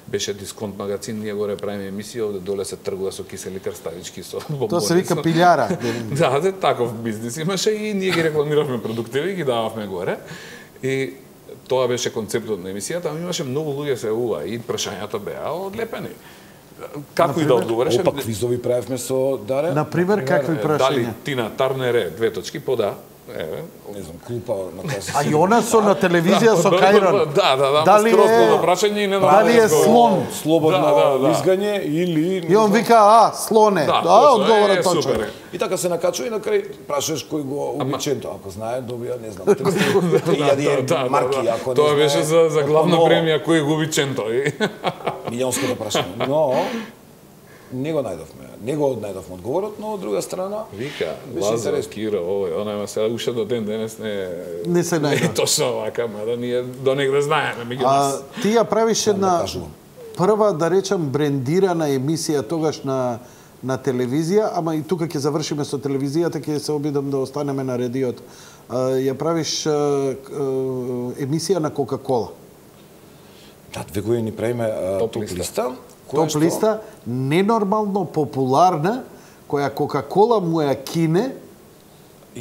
беше дисконт магазин, ние горе правиме емисија, овде доле се тргува со кисели крставички со бомбони.
Тоа се вика пилјара.
Да, да, таков бизнис имаше и ние ги рекламиравме продуктиви и ги дававме горе. И тоа беше концептот на емисијата, ама имаше многу луѓе се уа и прашањата беа одлепени. Како и да одговореше?
Опа, квизови правевме со Даре.
Например, какви прашања?
Дали Тина Тарнере, две точки, пода. Еве,
не знам, клупа на која се.
А и она со на телевизија со Кајрон.
Да, да, да,
дали
скросно
е
прашање и не
дали е слон?
Слободно
да, да, да.
лизгање или
И он вика, а, слоне.
Да,
Да, одговорот точно.
супер.
И така се накачува и на крај прашуваш кој го обиченто, ако знае, добија, не знам, триста илјади марки, ако не
Тоа
знае.
беше за за главна премија кој губи ченто.
Милионското прашање. Но не го најдовме. Не го најдовме одговорот, но од друга страна
Вика,
беше
Лазар,
интересно.
Киро, овој, она има сега уште до ден денес не
Не се најде.
Не точно вака, мада ние до негде знаеме меѓу
А
нас.
ти ја правиш една
кажувам.
прва, да речам, брендирана емисија тогаш на на телевизија, ама и тука ќе завршиме со телевизијата, ќе се обидам да останеме на радиото. А, ја правиш а, а, емисија на Кока-Кола.
Да, две години правиме
Топ
топ
листа.
листа.
Топ листа, ненормално популарна, која Кока-Кола му ја кине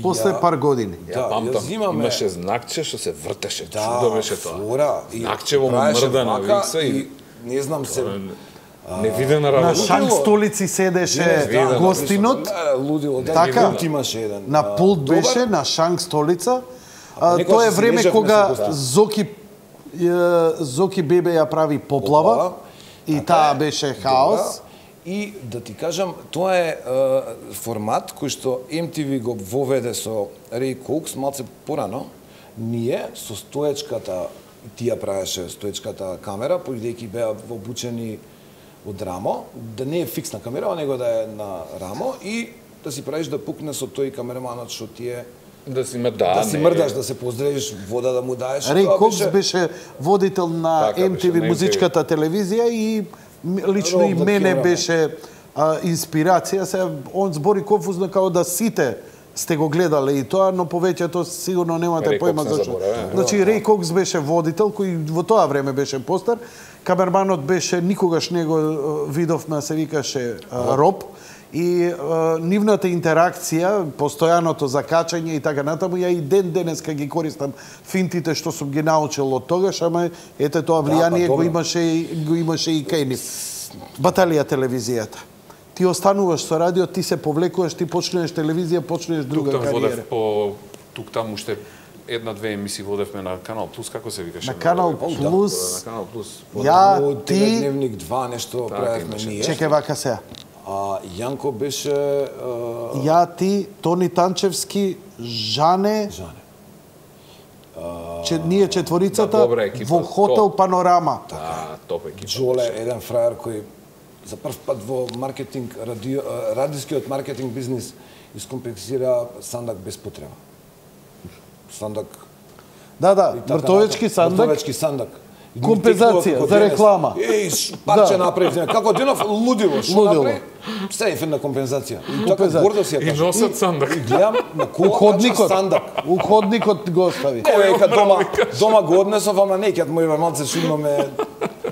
после
Ја-
пар години.
Да,
Ја памтам,
ја взимаме-
имаше знакче што се вртеше,
Да,
чудо беше тоа.
флора. И
Знакчево му
правеше
мрда на
вака
викса и
не знам се.
невидена
На
работа.
шанк столици седеше
видено.
гостинот,
Да, лудило. Да,
Така.
пулт имаше еден.
на
а,
пулт
добар.
беше, на шанк столица. А,
некогаш
тоа е
се
време
лежавме
кога
со гостта.
Зоки е, Зоки Бебе ја прави поплава,
Поплава.
и
Така
таа
е.
беше хаос.
Добра. И да ти кажам, тоа е, е формат кој што Ем Ти Ви го воведе со Рей Коукс малце порано. Ние со стоечката, тија правеше стоечката камера, бидејќи беа обучени од рамо, да не е фиксна камера, него да е на рамо и да си правиш да пукне со тој камераманот што ти е
Да си ме да,
да си
не,
мрдаш, да се поздравиш, вода да му даеш.
Рей
Тоа
Кокс беше водител на
Така
Ем Ти Ви
беше, на
музичката телевизија и м- лично и
Роб да
мене
Кираме.
беше а, инспирација. Се он збори конфузно као да сите сте го гледале и тоа, но повеќето сигурно немате
Рей
појма
Кокс не
зашто.
забораваме.
Значи Рей Кокс беше водител кој во тоа време беше постар. Камерманот беше, никогаш не го е, видовме, се викаше а, Роб. И е, нивната интеракција, постојаното закачање и така натаму, ја и ден денеска ги користам финтите што сум ги научил од тогаш, ама ете тоа влијание
па,
го
добро.
имаше и го имаше и кај нив. Баталија телевизијата. Ти остануваш со радио, ти се повлекуваш, ти почнеш телевизија, почнеш друга
тук там
кариера.
водев по тук там уште една-две емисии водевме на Канал Плюс, како се викаше?
На Канал
Да,
Плюс,
на Канал Плюс.
ја,
Од
ти,
Теледневник два нешто
Така,
правевме
имаше.
ние.
чекај вака сега.
А Јанко беше а,
Ја, ти, Тони Танчевски, Жане,
Жане.
че, ние четворицата
Да, добра екипа.
во Хотел
Топ.
Панорама.
Да, топ екипа.
Джоле, еден фраер кој за прв пат во маркетинг, радио, а, радискиот маркетинг бизнис искомпенсира сандак без потреба. Сандак...
Да, да,
и така
мртовечки
натаму.
сандак.
Мртовечки сандак. И
Компензација
текнува како
за
денес.
реклама.
Еј, ш- парче
Да.
направив. не, Како денов лудило, што
Лудило.
направи? Ставив една компензација. И така
Компензација.
гордо си ја
И
кажа.
носат сандак.
И гледам на кола
Уходникот.
сандак.
Уходникот го остави.
Ека дома, дома го однесов, ама не, ќе мој малце чудно ме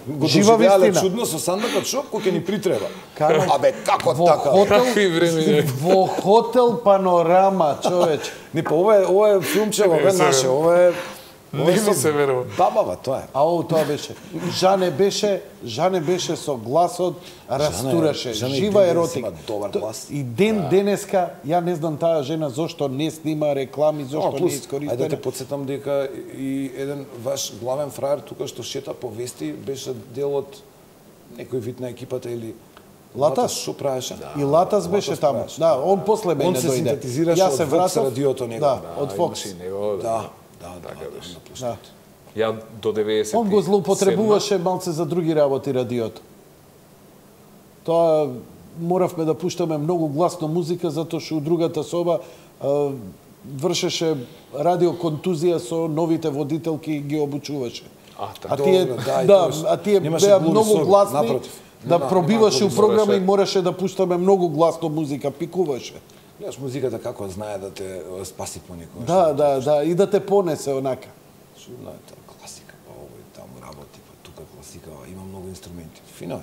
го
Жива
доживеале
вистина.
чудно со сандакот, шо кој ќе ни притреба.
Кара-
Абе, како
Во
така?
хотел,
Какви времиња.
во Хотел Панорама, човече.
Не, па ова е, ова е филмче, ова е
се
наше, ова е... ова
Не
е
ми
со
се верува.
Бабава, тоа е.
Ау, тоа беше. Жане беше, Жане беше со гласот, растураше,
Жане и
жива
ден денес
еротика.
има добар
То-
глас.
И ден денеска, ја не знам таа жена зошто не снима реклами,
Ама
зошто не
плюс,
искористена.
ајде да те подсетам дека и еден ваш главен фраер тука што шета по вести беше дел од некој вид на екипата или
Латас?
Што правеше?
И Латас беше
Латас
таму.
правеше.
Да, он после мене
Он се
дојде.
синтетизираше
Јас
од
се
Fox
вратов.
радиото него.
Да,
Да,
од Fox.
имаше и него,
Да, да,
Така
да,
беше.
да,
Да.
Ја до деветдесет.
Он го злоупотребуваше малце за други работи радиото. Тоа моравме да пуштаме многу гласно музика затоа што у другата соба а, вршеше радиоконтузија со новите водителки и ги обучуваше.
А,
А
така.
тие,
Добро, да, и
да,
тоа
а тие
немаше
беа
глуви
многу
соби,
гласни,
напротив.
да
Нема-
пробиваше
нема
у
глуви
програми и
мораше-
мораше да пуштаме многу гласно музика, пикуваше.
Гледаш музиката како знае да те е, спаси понекогаш.
Да, да, да, и да те понесе онака.
Чудно е тоа класика, па овој таму работи, па тука класика, има многу инструменти. Фино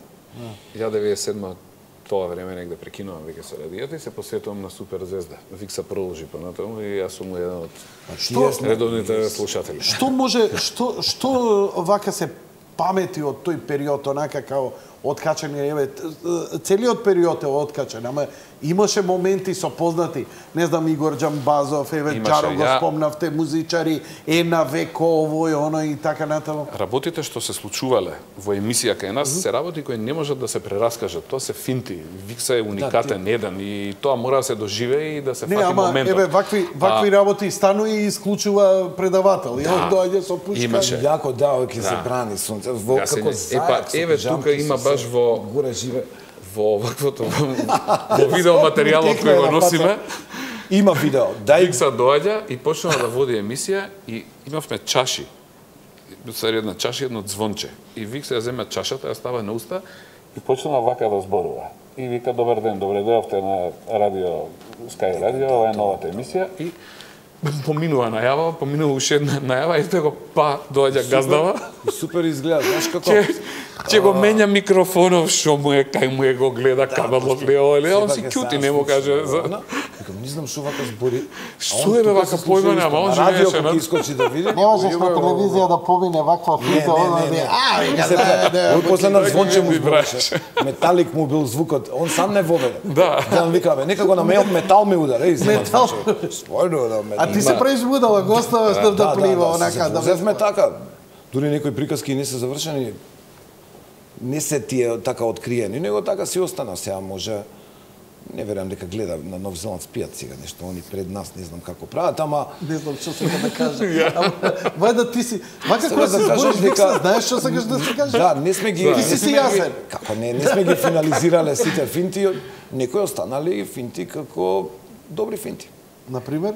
е.
Ја деветдесет и седма тоа време негде прекинувам веќе со радијата и се посветувам на Суперзвезда. Викса продолжи понатаму и јас сум еден од
Што
редовните слушатели.
што може што што вака се памети од тој период онака као откачани, еве целиот период е откачен, ама имаше моменти со познати, не знам, Игор Џамбазов, еве
Имаше,
Джаро го
ја-
спомнавте, музичари, Ена Веко, овој, оној и така натаму.
Работите што се случувале во емисија кај нас се работи кои не можат да се прераскажат. Тоа се финти. Викса е уникатен еден и тоа мора да се доживее и да се
Не,
фати
ама
моментот.
еве вакви вакви
А,
работи станува и исклучува предавател. И он доаѓа со пушка.
имаше.
Јако да, овој ќе се
Да.
брани сунце. Во
Гасење.
како
Епа,
зајак со
еве,
пижамки,
тука има
со
баш
се,
во-
горе живе.
во оваквото во видео материјалот кој го носиме,
Има видео. Дај
Викса доаѓа и почна да води емисија и имавме чаши. Сари една чаша и едно звонче. И Викса ја земе чашата, ја става на уста и почна вака да зборува. И вика, добар ден, добре дојавте на радио, Sky радио, ова е новата емисија и поминува најава, поминува уште една најава и тоа го па доаѓа газдава.
супер изгледа, знаеш како?
Че, че го менја микрофонов, што му е, кај му е го гледа, кабелот ли е, ова, он си кјути, не му каже. За...
Викам, не знам што вака збори.
Што е бе вака појма, ама он живееше
на...
на...
искочи да види.
Не можеш на телевизија да помине ваква
Не,
флика,
не,
она
не,
да
не.
а, вика,
Се
да,
пра-
да,
Овој после на звонче му
Ги
збореше. Металик му бил звукот, он сам не воведе.
Да.
Да он вика, бе, некако на мејот метал ме удара, и
Метал.
Стварно да метал.
А ти се правиш будала, го оставаш да, да плива, онака, да
Взевме така. Дури некои приказки не се завршени, не се тие така откриени, него така си остана. Сега може, не верувам дека гледа на Нов Зеланд спијат сега нешто, они пред нас, не знам како прават, ама
Не знам што сакам да кажа. Ама, Вајда ти си, вака
Сега
кога
да
се
кажеш
збориш,
дека-
дека знаеш што сакаш да се кажеш?
да, не сме ги...
Ти си
не
си
сме ги-
јасен.
Како не, не сме ги финализирале сите финти, некои останали финти како добри финти.
Например?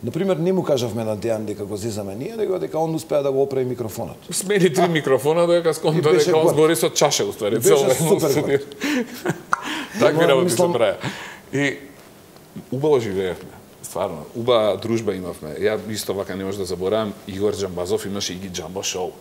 Например, не му кажавме на Дејан дека го зезаме ние, него дека он успеа да го оправи микрофонот.
Смени три микрофона, додека сконта
И беше
дека он
год.
збори со чаша, уствари.
И беше
цело време
супер
студио.
год.
Такви
Ама,
работи се
мислам-
правеа. И убаво живеевме. Стварно, убава дружба имавме. Ја исто вака не можам да заборавам, Игор Џамбазов имаше Иги Џамбо шоу.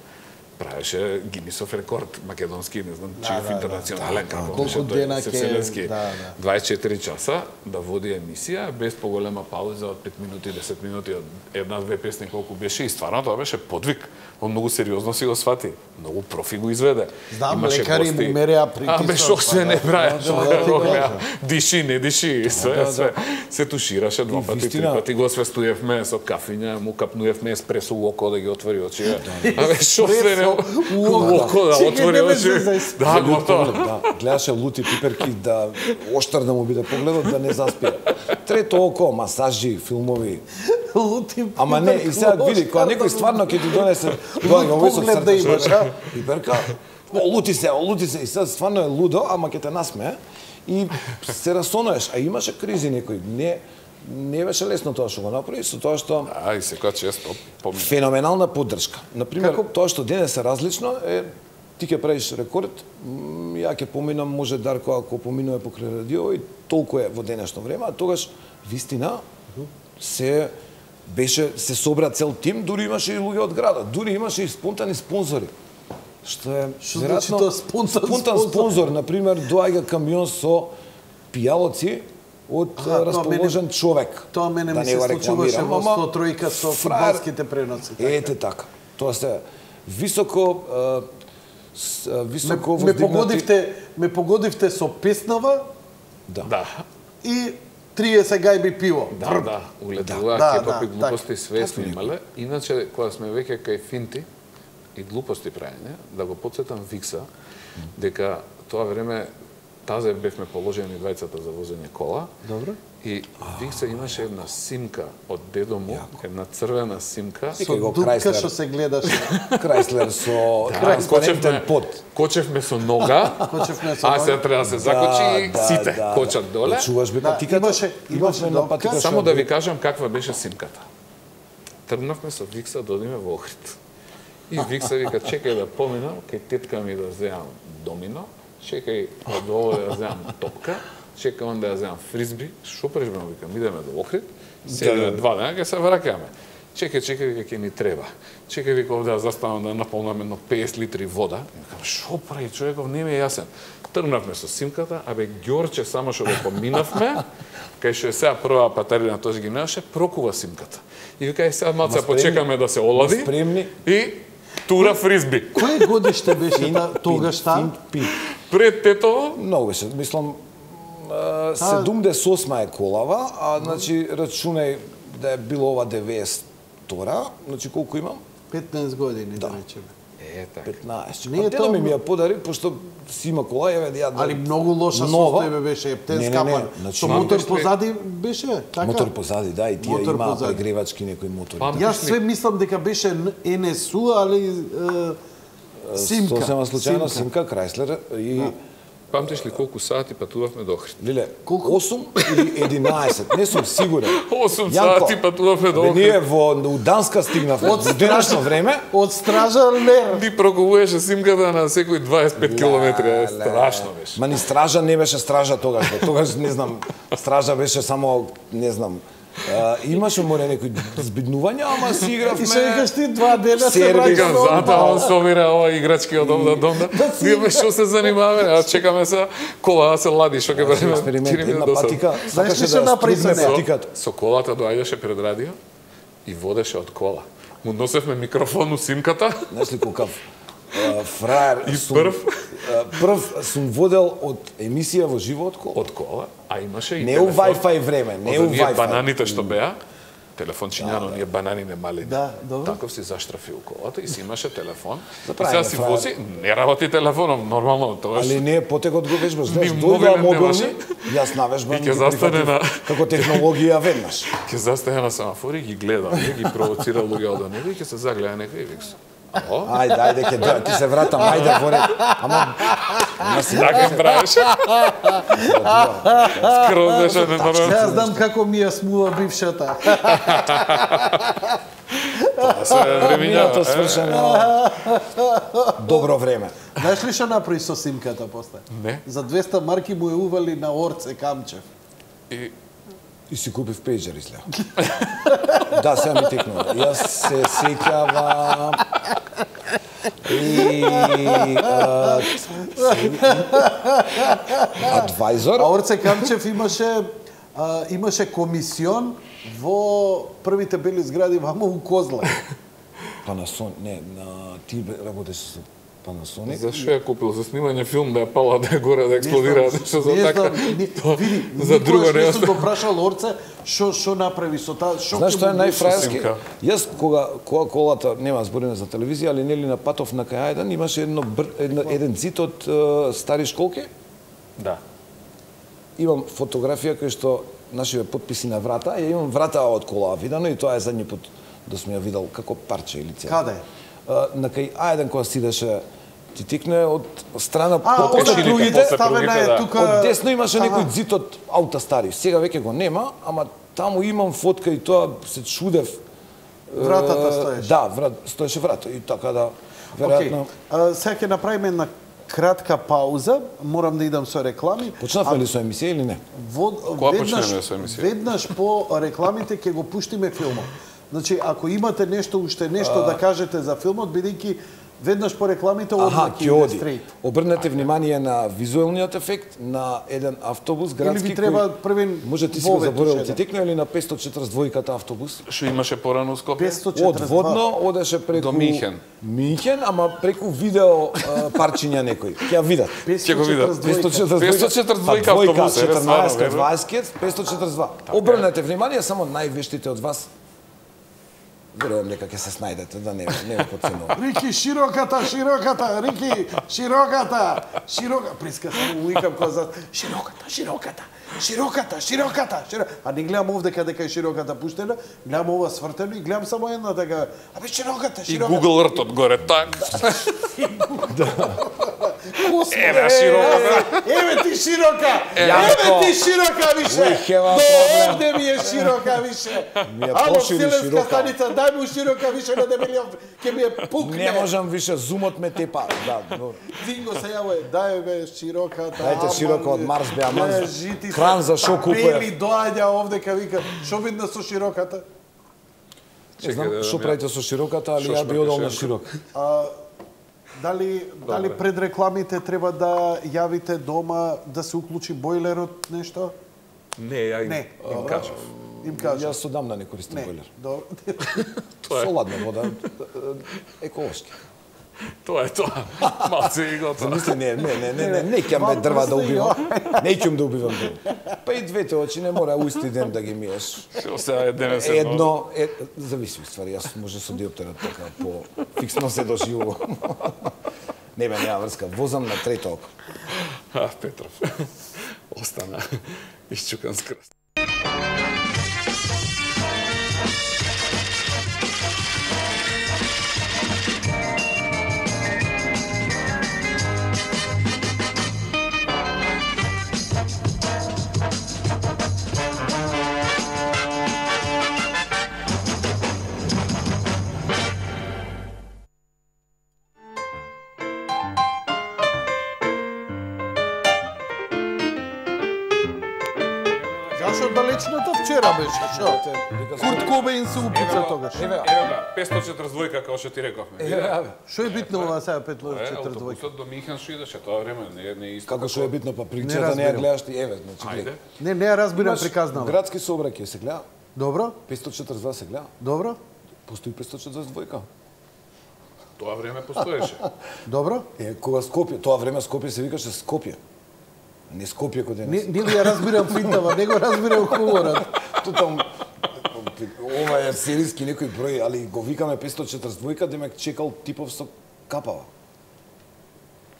Правеше Гинисов рекорд, македонски, не знам, чиј интернационален, како
Колку
беше тој,
дена
се
ќе-
вселенски.
да, да.
дваесет и четири часа да води емисија, без поголема пауза од пет минути, десет минути, од една-две песни колку беше, и стварно тоа беше подвиг. Он многу сериозно си го свати. Многу профи го изведе.
Знам,
Имаше
лекари
гости.
му мереа притисок,
А, бе, што се
па,
не
да.
прави,
Да,
што
да,
го
да, ти
гледа.
кажа.
Диши, не диши, све,
да,
све. Се тушираше два пати, три
вистина-
пати го освестуевме со кафиња, му капнуевме еспресо у око да ги отвори очи. А бе, што се не... У око да
Чекај,
отвори
не ме
очи.
зезај.
Да,
Лут
готово.
поглед, да. Гледаше лути пиперки да оштар да му биде погледот да не заспие. Трето око, масажи, филмови.
Лути.
Ама не, и сега види, кога некој стварно ќе ти донесе доаѓа овој со
поглед да имаш,
срце.
а?
Пиперка. О, лути се, о, лути се, и сега стварно е лудо, ама ќе те насмее и се расонуеш, а имаше кризи некој. Не не беше лесно тоа што го направи, со тоа што
А, и секоја често помина.
феноменална поддршка. Например,
Како?
тоа што денес е различно е ти ќе правиш рекорд, м, ја ќе поминам, може Дарко ако поминува покрај радио и толку е во денешно време, а тогаш вистина се беше се собра цел тим, дури имаше и луѓе од градот, дури имаше и спонтани спонзори. Што е
Што значи тоа спонтан
спонтан
спонзор?
спонзор, на пример, доаѓа камион со пијалоци од
Аха,
а,
тоа
расположен
мене-
човек.
Тоа мене
Да
ми
не
се
го
случуваше
рекламирам,
во
ама
сто тројка со
фраер-
фудбалските преноси. така.
Ете така. Тоа се високо а, с, а,
Ме,
високо
ме
воздигнати.
погодивте, ме погодивте со песнава
Да.
Да.
и триесет гајби пиво.
Да, да, улетува
Да,
кепапи
да,
глупости све
Такви
снимале. Иначе, кога сме веќе кај финти и глупости правење, да го подсетам Викса, дека тоа време тазе бевме положени двајцата за возење кола.
Добро.
И Викса имаше една симка од дедо му, една црвена симка.
Со
Викај го
дупка
Chrysler.
што се гледаше.
Крајслер со
Да,
транспарентен
кочевме-
под.
Кочевме со нога,
Кочевме со
а
нога.
сега треба да се закочи и
Да,
сите
да,
кочат доле.
Да, чуваш бе
Да,
патиката?
имаше- имаше
една
допка.
патика
Само
што
да
е-
ви кажам каква беше симката. Тргнавме со Викса да одиме во Охрид. И Викса вика, чекај да поминам, кај тетка ми да земам домино, чекај од ово да земам топка, чекај он да земам фризби, шо прежбено, викам, идеме до Охрид, седиме два дена, ке се вракаме. Чекај, чекај, вика, ке ни треба. Чекај, вика, овде да застанам да наполнам едно песет литри вода. И викам, шо прави човеков, не ми е јасен. Тргнавме со симката, абе Ѓорче само што го поминавме, кај што е сега прва патарина, тој ги немаше, прокува симката. И вика, е сега малце почекаме да се олади.
Спремни.
И тура фризби.
Кој годиште беше тогаш таа?
Пред Тетово?
Многу беше, мислам, седумдесет и осма е колава, а значи рачунај да е било ова деветдесет и втора, значи колку имам?
петнаесет години, да речеме.
Е, така.
петнаесет.
Не е
Тено ми
тоа-
ми ја подари, пошто си има кола, еве да ја
Али многу лоша
нова.
состојба беше, ептен
Не, не, не,
скапан.
значи,
Со
мам,
мотор
беше-
позади беше, така?
Мотор позади, да, и тие
Мотор
има
позади.
прегревачки некои мотори.
Пам-
Јас све мислам дека беше Ен Ес У, али е, Симка.
Сосема случајно
Симка.
Симка Крајслер и
Памтиш ли колку сати патувавме до Охрид?
Лиле,
Колку?
осум или единаесет, не сум сигурен.
осум
Јанко,
сати патувавме до
бе,
Охрид.
ние во у Данска стигнавме.
Од
Во денешно време,
Од стража Лер.
Ти прокувуваше симката на секој дваесет и пет километри, е страшно беше.
Ма ни стража не беше стража тогаш, бе. Тогаш не знам, стража беше само, не знам, а, имаше море некои збиднувања, ама си игравме.
И се викаш ти два дена се
Сервис.
враќаш
Викам,
до
затоа
одмор.
он собира ова играчки од овда донда. Ние ме што се занимаваме, а чекаме се кола да се лади, што ќе правиме.
Експеримент,
четири
една
минути до
патика,
Знаеш
сакаше
ли што
да
направи
стригне
со неа?
патиката.
Со колата доаѓаше пред радио и водеше од кола. Му носевме микрофон у симката.
Знаеш ли колкав а, фраер
И
сум,
прв?
а, прв сум водел од емисија во живо од кола.
Од кола, а имаше и
Не у
телефон.
Wi-Fi време, не
Од
у
оние
Wi-Fi.
бананите што беа, телефончињано, ние банани не мали.
Да, добро.
Таков си заштрафил колата и си имаше телефон. И
Заправи
сега
ме,
си
фраер.
вози, не работи телефонов, нормално, тоа
Али не, потекот го вежбаш, знаеш,
Ни
дојдоа
мобилен
мобилни,
немаше.
јас навежбам
И ќе
ги
застане
прифатив
на-
како технологија веднаш.
ќе застане на семафори, ги гледа, ги провоцира луѓе од него и ќе се загледа некој и викс. Ало?
Ајде, ајде, ќе дојдам, ти се вратам, ајде во ред. Ама, ама си
Така правеше. Скроз беше
Јас
ненормално.
знам како ми ја смува бившата.
Тоа се времињава.
минато свршено. Добро време.
Знаеш ли што направи со симката после?
Не.
За двеста марки му ја ували на Орце Камчев.
И
И си купив пејџер излеа. Да, сега ми текнува. Јас се сеќавам и а, адвајзор.
А Орце Камчев имаше а, имаше комисион во првите бели згради вамо у Козла.
Панасон, не, на ти работеше со Панасоник.
зашо ја купил за снимање филм да ја пала да ја горе да експлодира нешто за
Не
така.
знам, ни-
Тоа
види,
за друго
никогаш
не
не сум
оста.
го прашал Орце што што направи со таа, што
Знаеш
ќе
што е
му
најфраерски?
Симка.
Јас кога кога колата нема збориме за телевизија, али нели на патов на кај Ајдан имаше едно бър, едно, еден цит од е, стари школки.
Да.
Имам фотографија која што нашиве потписи на врата, ја имам врата од кола видено и тоа е задни пат да сум ја видел како парче или цела.
Каде?
Е, На кај Ајдан кога сидеше ти тикне од страна
А,
по-
од
Пешилите,
другите
после
ставена
другите,
е
да.
тука.
Од десно имаше
Ага.
некој зид од аута стари. Сега веќе го нема, ама таму имам фотка и тоа се чудев.
Вратата
Е,
стоеше.
Да, врат, стоеше врата и така да веројатно.
Океј, сега ќе направиме една кратка пауза, морам да идам со реклами.
Почнавме ли со емисија или не?
Во,
Кога
веднаш,
почнеме со емисија?
веднаш по рекламите ќе го пуштиме филмот. Значи, ако имате нешто, уште нешто да кажете за филмот, бидејќи веднаш по рекламите
Аха,
одма
ќе
ќе
оди.
иде стрейт.
Обрнете внимание на визуелниот ефект на еден автобус градски
ви треба
кој-
првен
Може ти си го
вове
заборел
туше,
ти
да.
текно или на петстотини и четрдесет и двојката автобус?
Што имаше порано у Скопје?
петстотини и
Од
четирдесет и два.
Водно одеше преку
До Минхен.
Минхен, ама преку видео а, парчиња некој. Ќе ја видат.
Ќе го видат.
петстотини и четирдесет и двојка.
петстотини и четрдесет и двојка
петстотини и четрдесет и двојка автобус, еве,
четрнаесет,
стварно, еве.
дваесет, петстотини и четрдесет и два. Обрнете внимание, само највештите од вас. Верувам дека ќе се снајдете, да не не го подценувам.
Рики, широката, широката, Рики, широката, широка. Приска само уикам која за широката, широката, широката, широката, широката. А не гледам овде каде кај широката пуштена, гледам ова свртено и гледам само една така, абе широката,
И
широката.
Google Earth одгоре, так. Еве широка.
Еве ти широка.
Јанко.
Еве ти широка више.
We have a
До
problem.
овде ми е широка више.
Ми е
Ало,
пошири
вселенска
широка.
станица, дај му широка више на дебелиот, ќе ми е пукне.
Не можам више, зумот ме тепа. Да, добро.
Динго се јаве, дај бе широката.
Дајте широка од Марс, бе, аман.
Не, жити се.
Кран за шо купуе.
Бели доаѓа овде ка вика, шо видно со широката?
Не знам
Чекај,
што
да,
правите со широката, али
Шо
ја би
шмркаш,
одел на
Јанко?
широк.
А, дали дали пред рекламите треба да јавите дома да се уклучи бойлерот нешто?
Не, ја им,
Не,
им
добро.
кажав.
Им кажа.
Јас одамна не користам
Не,
бойлер.
добро.
Соладна вода, еколошки.
Тоа е тоа. Малце и готово.
Замисли, не, не, не, не, не, не ќам бе дрва да убивам. Не ќам да убивам дрва. Па и двете очи не мора уисти ден да ги миеш.
Што сега е денес едно.
Едно, е, зависи ствари, јас може со диоптерот така по фиксно се доживувам. Не бе, нема врска, возам на трето око.
А, Петров. Остана исчукан с крст.
Зашо далечната вчера беше, шо? Курт Кобейн се упица тогаш.
Еве,
Еве га, петстотини и четридесет и двајка, како што ти рековме.
еве, еве.
Шо е битно ова сега пет
Е,
четири двајка?
автобусот до Михен што идеше тоа време, не не е исто.
Како што е битно, па
Не
причата не ја
разбирам.
гледаш ти, еве, значи
Ајде.
гледај.
Не, не ја разбирам
Имаш
приказнала.
Градски сообраќај се гледа,
Добро?
петстотини и четридесет и два се гледа,
Добро?
постои петстотини и четридесет и двајка.
Тоа време постоеше.
Добро?
Е, кога Скопје, тоа време Скопје се викаше Скопје. Не Скопје кој
Не,
денес.
не ли ја разбирам финтава, не го разбирам хуморот.
Тутам ова е серијски некој број, али го викаме петстотини и четридесет и двајка, демек чекал типов со капава.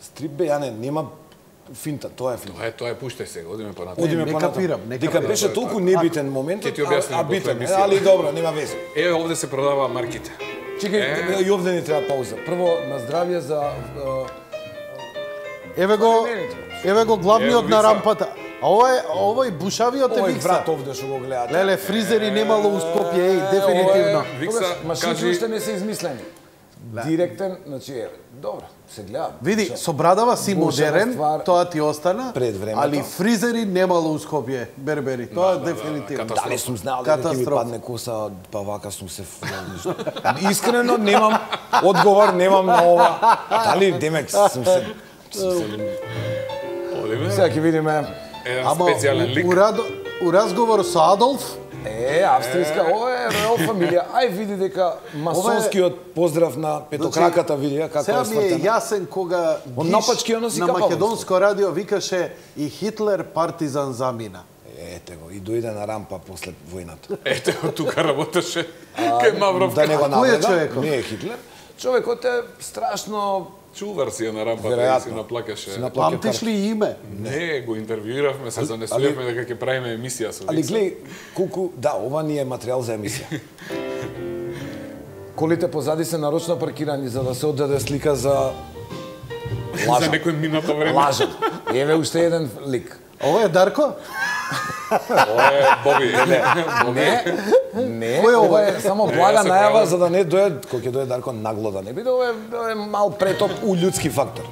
Стрип бе, ја не, нема финта, тоа е финта.
Тоа е, тоа е, пуштај сега, одиме понатаму.
Одиме
Одиме
не
понатаму.
капирам, не
Дека
капирам.
беше толку небитен моментот,
Ќе ти објаснам
а, а
после
битен, е,
емисија.
али добро, нема везе.
Еве овде се продава марките.
Чекај,
Е.
и овде ни треба пауза. Прво, на здравје за... е,
Еве го, еве го главниот
Еве
на
Викса.
рампата. А ова е, ова е бушавиот е
Овој
Викса.
брат овде што го гледате.
Леле, фризери немало у Скопје, еј, дефинитивно.
Викса,
Тогаш машините
кажи-
уште не се измислени. Директен, значи, е, добро, се гледа.
Види, со брадава си
Бушава
модерен,
ствар
тоа ти остана,
пред времето.
али фризери немало у Скопје, бербери. Тоа е дефинитивно.
катастрофа.
Дали сум знал дека ќе ми
Катастрофа.
падне коса, па вака сум се фнал. Искрено немам одговор, немам на ова. Дали демек сум се... сум се-
Одиме.
Сега ќе видиме.
Еден
Ама
специјален лик.
у, у, радо, у разговор со Адолф,
Е, австријска, ова е ројал фамилија. Ај види дека масонскиот поздрав на петокраката види ја како
сега
е
ми е
свртена.
јасен кога
Он
Гиш
напачки ја носи
на
капава.
македонско радио викаше и Хитлер партизан замина.
Ете го, и дојде на рампа после војната.
Ете, тука работеше кај Мавровка.
Да не го
Кој е
навреда,
човекот?
не е Хитлер. Човекот е страшно...
Чувар си ја на рампата и си
Веројатно.
наплакаше.
Си наплака-
Памтиш ли име?
Не, го интервјуиравме, се занесувавме дека ќе правиме емисија со
Али
Викса.
глеј, колку... Да, ова ни е материјал за емисија. Колите позади се нарочно паркирани за да се оддаде слика за...
За
Лажам.
некој минато време.
Лажам. Еве уште еден лик.
Ова е Дарко?
Ова е Боби.
Не, не, не,
Кој е ова?
ова е само
Не,
блага
се
најава
правам.
за да не дојде, кој ќе дојде Дарко нагло да не биде, ова е, ова е мал претоп у људски фактор.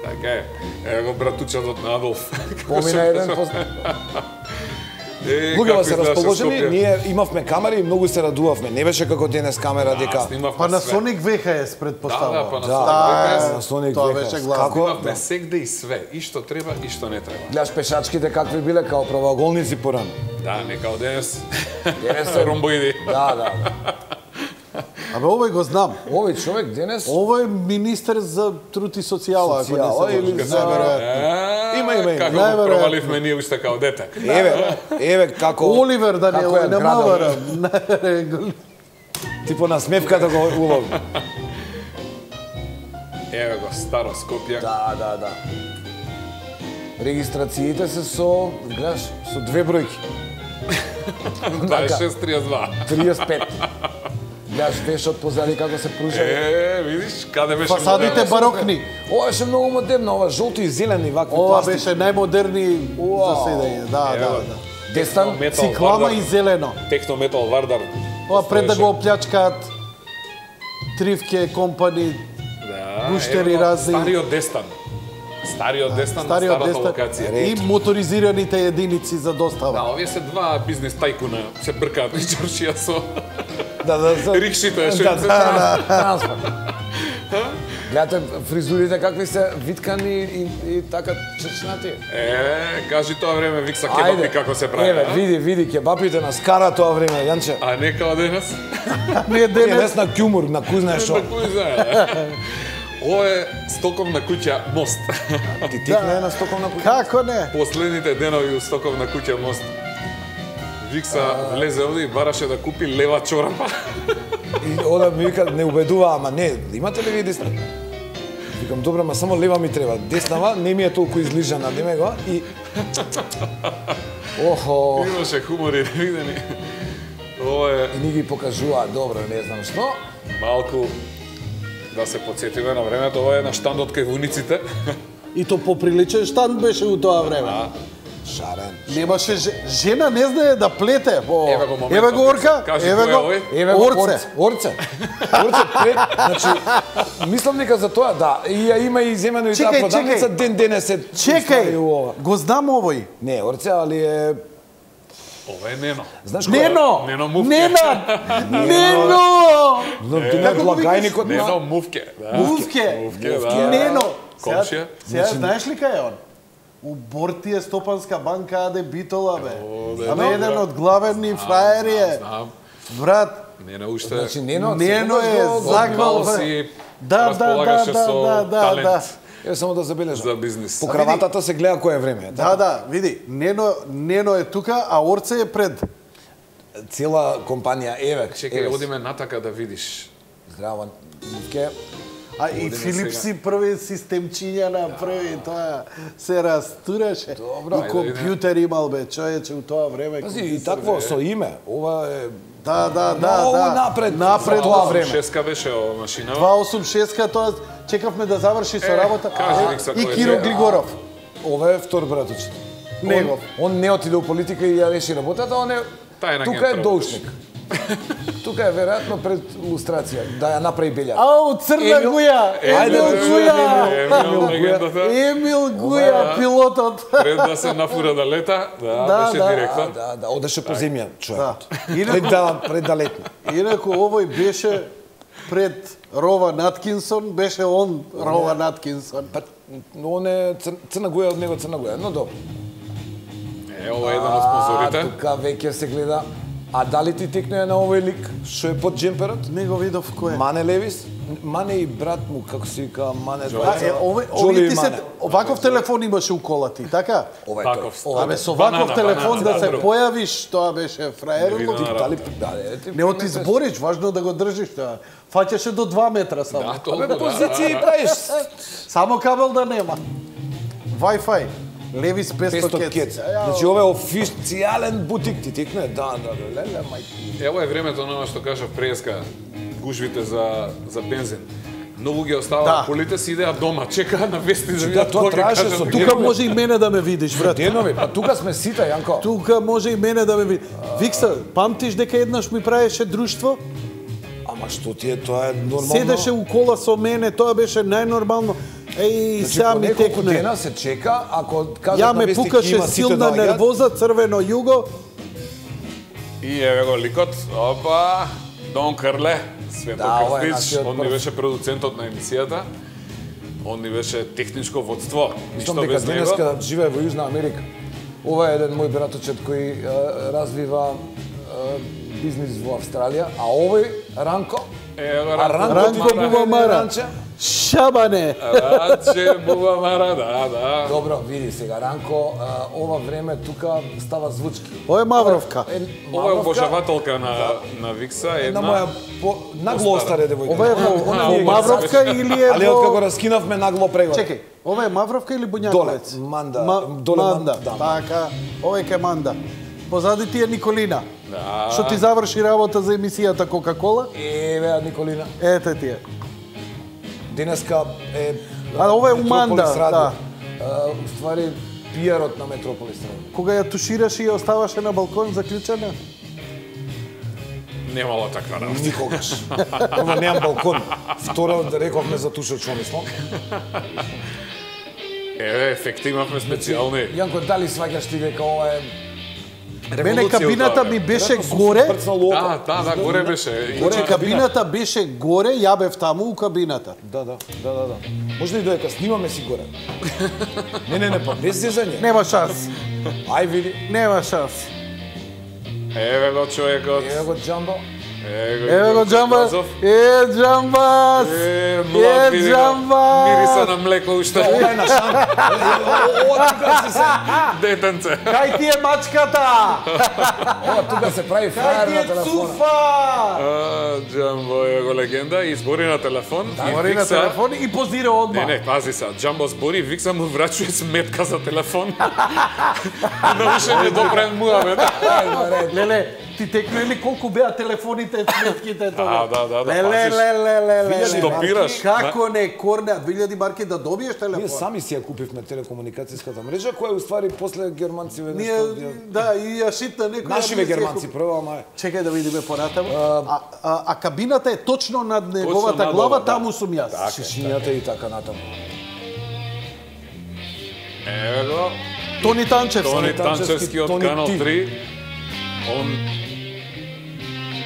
Така е. Ево го братучадот на Адолф.
Помина еден пост...
Е,
Луѓето
како
се
изгледаше
расположени,
Скопје?
ние имавме камери и многу се радувавме. Не беше како денес камера
Да,
дека...
снимавме
Па на
све.
Соник ви ес предпоставувам.
Да, да, па на
Да,
Соник
да,
ВХС.
на Соник
Тоа
века.
беше главно.
Како?
Снимавме сегде и све, и што треба, и што не треба.
Гледаш пешачките какви биле, као правоаголници порано.
Да, не као денес.
Денес е-
Ромбоиди.
Да, да.
Абе, овој го знам.
Овој човек денес...
Ова е министер за труд и социјала, ако не
Социјала
се
или
лажам.
за-
Најверојатно.
Има, има, има.
Како го
Најверојатно.
проваливме ние уште као дете.
Еве, еве како...
Оливер
како
Даниелов,
е
не
градот.
маварам.
Типо на смевката го улови.
Еве го, старо Скопје.
Да, да, да. Регистрациите се со, гледаш, со две бројки.
дваесет и шест триесет и два.
триесет и пет. Гледаш вешот позади како се пружа.
Е, видиш, каде беше
Фасадите
модерно?
барокни.
Ова беше многу модерно, ова жолто и зелени вакви
Ова
пластик.
беше најмодерни за седење. Да,
Ево,
да, да.
Дестан,
Метал
Циклама
Вардар.
и зелено.
Технометал Вардар.
Ова пред да
Постоеше.
го оплячкаат Тривке компани,
Да,
гуштери
ево го,
разни.
Стариот Дестан. Стариот Дестан,
стариот
старата
Дестан
локација.
и моторизираните единици за
Да,
достава.
овие се два бизнес тајкуна, се бркаат и чоршија со
да, да, за...
рикшите, што
да,
им се
да, да, транспорт. Гледате фризурите какви се виткани и, и така чечнати.
Е, кажи тоа време Викса кебапи како се прави.
Еве,
а?
види, види, кебапите на скара тоа време, Јанче.
А не као денес?
Не
Не,
денес.
дес на кјумур, на кој знае што.
На кој знае? Ова е стоковна куќа Мост.
Ти тикна на стоковна куќа.
Како не?
Последните денови у стоковна куќа Мост. Викса влезе овде и бараше да купи лева чорапа.
И ода ми вика, не убедува, ама не, имате ли ви десна? Викам, добро, ма само лева ми треба. Деснава не ми е толку излижана, неме го. И... Охо,
Имаше хумори невидени. Ова е
и ни ги покажува, добро, не знам што.
малку да се подсетиме на времето. Ова е на штандот кај вуниците.
И то поприличен штанд беше у тоа време.
Шарен.
Немаше ж... жена не знае да плете. О,
Еве го моментот,
еве го Орка,
кажи
еве
кој е
го.
овој?
Еве го
Орце.
орце. Орце. Орце пред, значи, мислам дека за тоа, да. И ја има и земено и таа
Чекај,
продавница,
чекај.
ден денес се
Чекај,
стави у ова.
го знам овој.
Не, орце, али е...
Ова е Нено.
Знаеш кој е?
Нено!
Нено Мувке.
Нена! Нено!
Но ти на
Како го
благајникот
Нено
на...
Мувке. Да.
Мувке.
Мувке,
Мувке.
да.
Нено!
Комшија?
Сега, сега знаеш ли кај е он? У Борти е Стопанска банка, аде Битола, бе.
да,
Абе,
да,
еден
да.
од главни фраери е.
Знам.
Брат,
Нено уште
Значи, Нено,
Нено
секогаш
е
го-
заквал,
мало
бе.
си
Да, да, да,
располагаше
да,
со
да, да,
талент
да.
Еве само да забележам.
за бизнис.
По краватата се гледа кој е време.
Да, да, види, Нено, Нено е тука, а Орце е пред.
Цела компанија, еве,
Чекај,
еве.
одиме натака да видиш.
Здраво, Мивке.
А и
Одиме
Филип
сега.
си први системчиња направи, тоа се растураше.
Добро.
И
Ајде,
компјутер имал, бе, човече, у тоа време.
Пази, и
компјутер,
такво
бе.
со име. Ова е
Да, да, да,
Многу
да.
напред
Напред
за тоа
во
време.
Шеска беше ова машинава.
два осум шест, тоа чекавме да заврши со
Е,
работа.
кажи,
А,
Викса,
и
кој е
Киро
тоа?
Глигоров.
ова е втор браточет.
Негов.
Он, он не отиде у политика и ја реши работата, он е
Тајна
тука
агент
е доушник. Тука е веројатно пред лустрација да ја направи белја.
Ау, Црна
Емил-
Гуја!
Ајде,
Емил
да
Гуја!
Емил, легендата.
Емил Гуја, пилотот.
Пред да се нафура да лета, да,
Да,
беше
да.
директно.
Да, да, да, одеше по земја, човекот.
Да.
Пред да, пред да летне.
Инаку овој беше пред Рова Наткинсон, беше он Рова Наткинсон.
Па, он е цр, Црна Гуја од него Црна Гуја, но добро.
Е, ова е еден од спонзорите.
А, тука веќе се гледа. А дали ти текнува на овој лик, што е под джемперот?
Не го видов кој е.
Мане Левис? Мане и брат му, како се вика, Мане
А,
двајца.
е, овој,
Джоли
овој
и
ти се,
Мане.
ваков телефон имаше у колати, така?
Ова е
Таков.
тој. Ова е
Абе,
тој.
со
Банана,
ваков телефон
банана,
да се
добро.
појавиш, тоа беше фраерло.
Не видно.
Дали, да, е, ти
Не оти збориш, важно да го држиш тоа. Фаќаше до два метра само.
Да,
Абе,
толку, да.
позиции правиш.
Само кабел да нема. Wi-Fi. Левис песто
песто
кец.
кец. Значи, ова е официјален бутик, ти текне? Да, да, да, леле, мајки.
Ево е времето на ова што кажав преска, гужвите за за бензин. Многу ги оставаа
Да.
колите си идеа дома, чекаа на вести да
Да,
видат
тоа
кога ќе
траеше
кажат.
со
Тука може и мене да ме видиш, брат.
Денови, па тука сме сите, Јанко.
Тука може и мене да ме видиш. Викса, памтиш дека еднаш ми правеше друштво?
Ама што ти е, тоа е нормално.
Седеше у кола со мене, тоа беше најнормално. Еј,
Значи,
сега
по
ми
неколку
текне.
дена се чека, ако кажат
Ја
на
ме
вести
пукаше
има, сите
силна
доаѓаат.
нервоза, црвено југо.
И еве го ликот, опа, Дон Крле, Свето
Да, ова е
Крстич,
нашиот
он ни
прв.
беше продуцентот на емисијата. Он ни беше техничко водство,
Мислам
ништо
дека
без него.
денеска живее во Јужна Америка. Ова е еден мој браточет кој е, развива е, бизнис во Австралија, а овој Ранко,
Ево,
а
Ранко
Ранко
Бубамара.
Бубамара.
Ранче.
Шабане.
Раче Бубамара, да, да.
Добро, види сега, Ранко, е, ова време тука става звучки.
Ова е Мавровка.
Е,
Ова е
Мавровка,
обожавателка на на Викса,
една
една
моја по, нагло остаре девојка.
Ова е во,
Она
во
ми е
Мавровка или е
Але од како
во...
раскинавме нагло преглед.
Чекај, ова е Мавровка или Буњаковец?
Доле, Манда, доле
Манда,
Манда, да.
така. Ова е кај Манда. Позади ти е Николина.
Да.
Што ти заврши работа за емисијата Кока-кола?
Еве, Николина.
Ете ти е.
Денеска е...
А, ова е Уманда,
Метрополис радио.
да.
А, уствари, пиарот на Метрополис радио.
Кога ја тушираш и ја оставаше на балкон заклучена?
Немало таква работа.
Никогаш. Ама немам балкон. Второ да рековме за тушот што мислам.
Еве, ефекти имавме специјални.
Јанко, дали сваќаш ти дека ова е...
Мене
Револуција
кабината
од
ми
тоа,
беше
Веројатно сум
горе.
прцнал око.
Да, да, да, горе беше.
Значи
Горе
кабината беше горе, ја бев таму у кабината.
Да, да, да, да, да. Може ли додека снимаме си горе? Не, не, не, па без зезање.
Нема шанс.
Ај види.
Нема шанс.
Еве го човекот.
Еве го Джамбо.
Ево го Джамбас. Е, Джамбас.
Е, млад, види го. Мириса на млеко уште.
Ова е на шан. Ова тука си се...
Детенце.
Кај ти е мачката?
Ова тука се прави
Кај
фраер
ти
на
е
телефона.
цуфа?
А, Джамбо е го легенда и збори на телефон. и
Говори на
викса-
телефон и позира одма.
Не, не, пази са. Джамбо збори, викса му врачува сметка за телефон. Да уште не допрен муавет.
Леле, ти текно ли колку беа телефоните, сметките тоа?
Да, да, да,
Леле,
пазиш.
леле, леле.
Стопираш.
Како не корне, две илјади марки да добиеш
Ние
телефон?
сами си ја купивме телекомуникацијската мрежа, која уствари после германциве
Ние,
нешто... ја-
да, и ја шитна некој.
Нашиве германци прво, ама е.
Чекај да видиме понатаму. А, а, а кабината е точно над неговата
над
глава,
ова, да.
таму сум јас.
Шишињата и така натаму.
Еве го.
Тони Танчевски.
Тони
Танчевски,
Танчевски од
Тони
Канал
Ти.
три. Он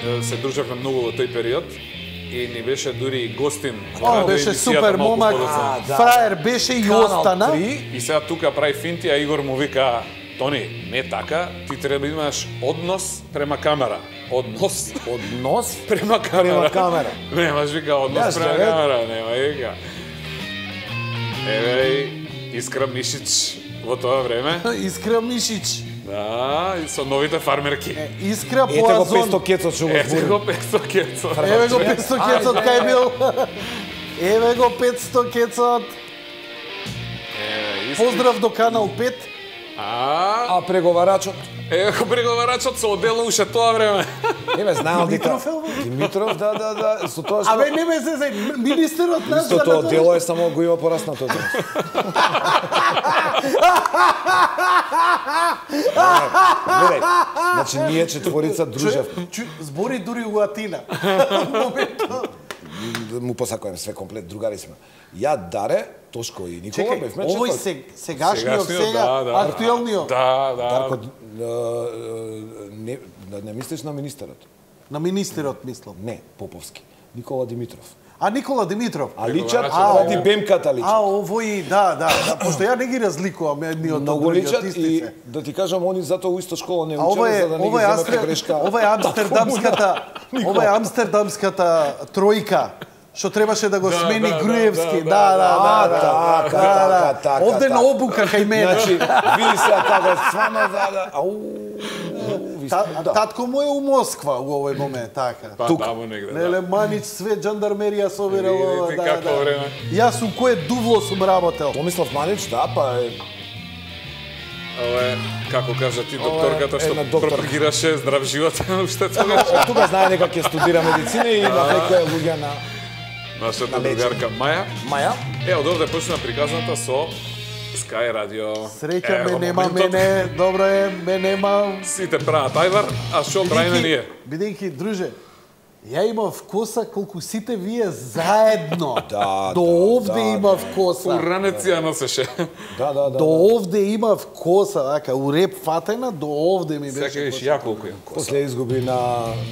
е, се дружевме многу во тој период и ни беше дури и гостин. во
Он
радио
беше
емисијата
супер
малку
момак,
подоцна.
да.
фраер беше и
Канал
остана.
три.
И сега тука прави финти, а Игор му вика: Тони, не така, ти треба да имаш однос према камера. Однос
Однос
према камера.
према камера.
Немаш, вика, однос
Јас
према
гледам.
камера, нема, вика. Еве и Искра Мишич во тоа време.
Искра Мишич.
Да, и со новите фармерки.
Искра
Ете го
Поазон.
песто кецот што го
Ете
збори.
го песто кецо.
Еве го петсто кецот кај бил. Еве го петсто кецот.
Еве, Искри.
Поздрав до Канал пет.
А,
А преговарачот?
еве го преговарачот со одело уште тоа време.
Еве, знаел дека...
Димитров е ово?
Димитров, да, да, да. Со тоа што...
Абе не ме се се министерот нас
Истото дело е само го има пораснато. Гледај, значи ние четворица дружев.
Збори дури у Атина.
Му посакувам све комплет, другари сме. Ја, Даре, Тошко и Никола
Чекај,
бевме
овој
четвор.
се, сегашниот,
Сегашниот,
сега,
да, да.
актуелниот.
Да, да.
Дарко, а, не, да не мислиш на министерот?
На министерот, мислам.
Не, Поповски. Никола Димитров.
А Никола Димитров.
А личат,
А,
ради бемката личат.
А, овој, да, да, да, пошто ја не ги разликувам едни од
Многу
другиот,
личат
исти
и
се.
да ти кажам, они затоа у иста школа не
А ова
учеле
е,
за да не ги
ова е,
земат
Амстер,
грешка.
ова е амстердамската, ова е амстердамската тројка. Што требаше да го
Да,
смени
да, да,
Груевски.
да,
Да, да,
А,
да, да.
така,
да, да.
така, така,
Овде
така.
на обука кај мене.
Значи, види се како стварно да да. Ау. ви
Та,
сте- да.
татко му е у Москва у овој момент, така.
Па,
тука.
таму негде,
Леле
да.
Манич све жандармерија собирала,
Видите
да,
какво
да.
време.
Јас у кое дувло сум работел.
Томислав Манич, да, па е
Ова е, како кажа ти,
Ова е
докторката што
една доктор.
пропагираше здрав живот уште тогаш.
Од тука знае дека ќе студира медицина и има некоја луѓе на
Нашата
На лечење.
другарка Маја.
Маја.
Е, од овде почна приказната со Sky Radio.
Среќа ме
Ево,
нема
моментот.
мене, добро е, ме нема.
Сите прават ајвар, а што правиме ние?
Бидејќи, друже, ја имав коса колку сите вие заедно.
Да,
До
да,
овде
да,
имав коса.
Уранеци ја носеше.
Да, да, да.
До овде имав коса, така, у реп фатена, до овде ми беше.
Сега виж
коса.
ја колку имам коса.
После изгуби на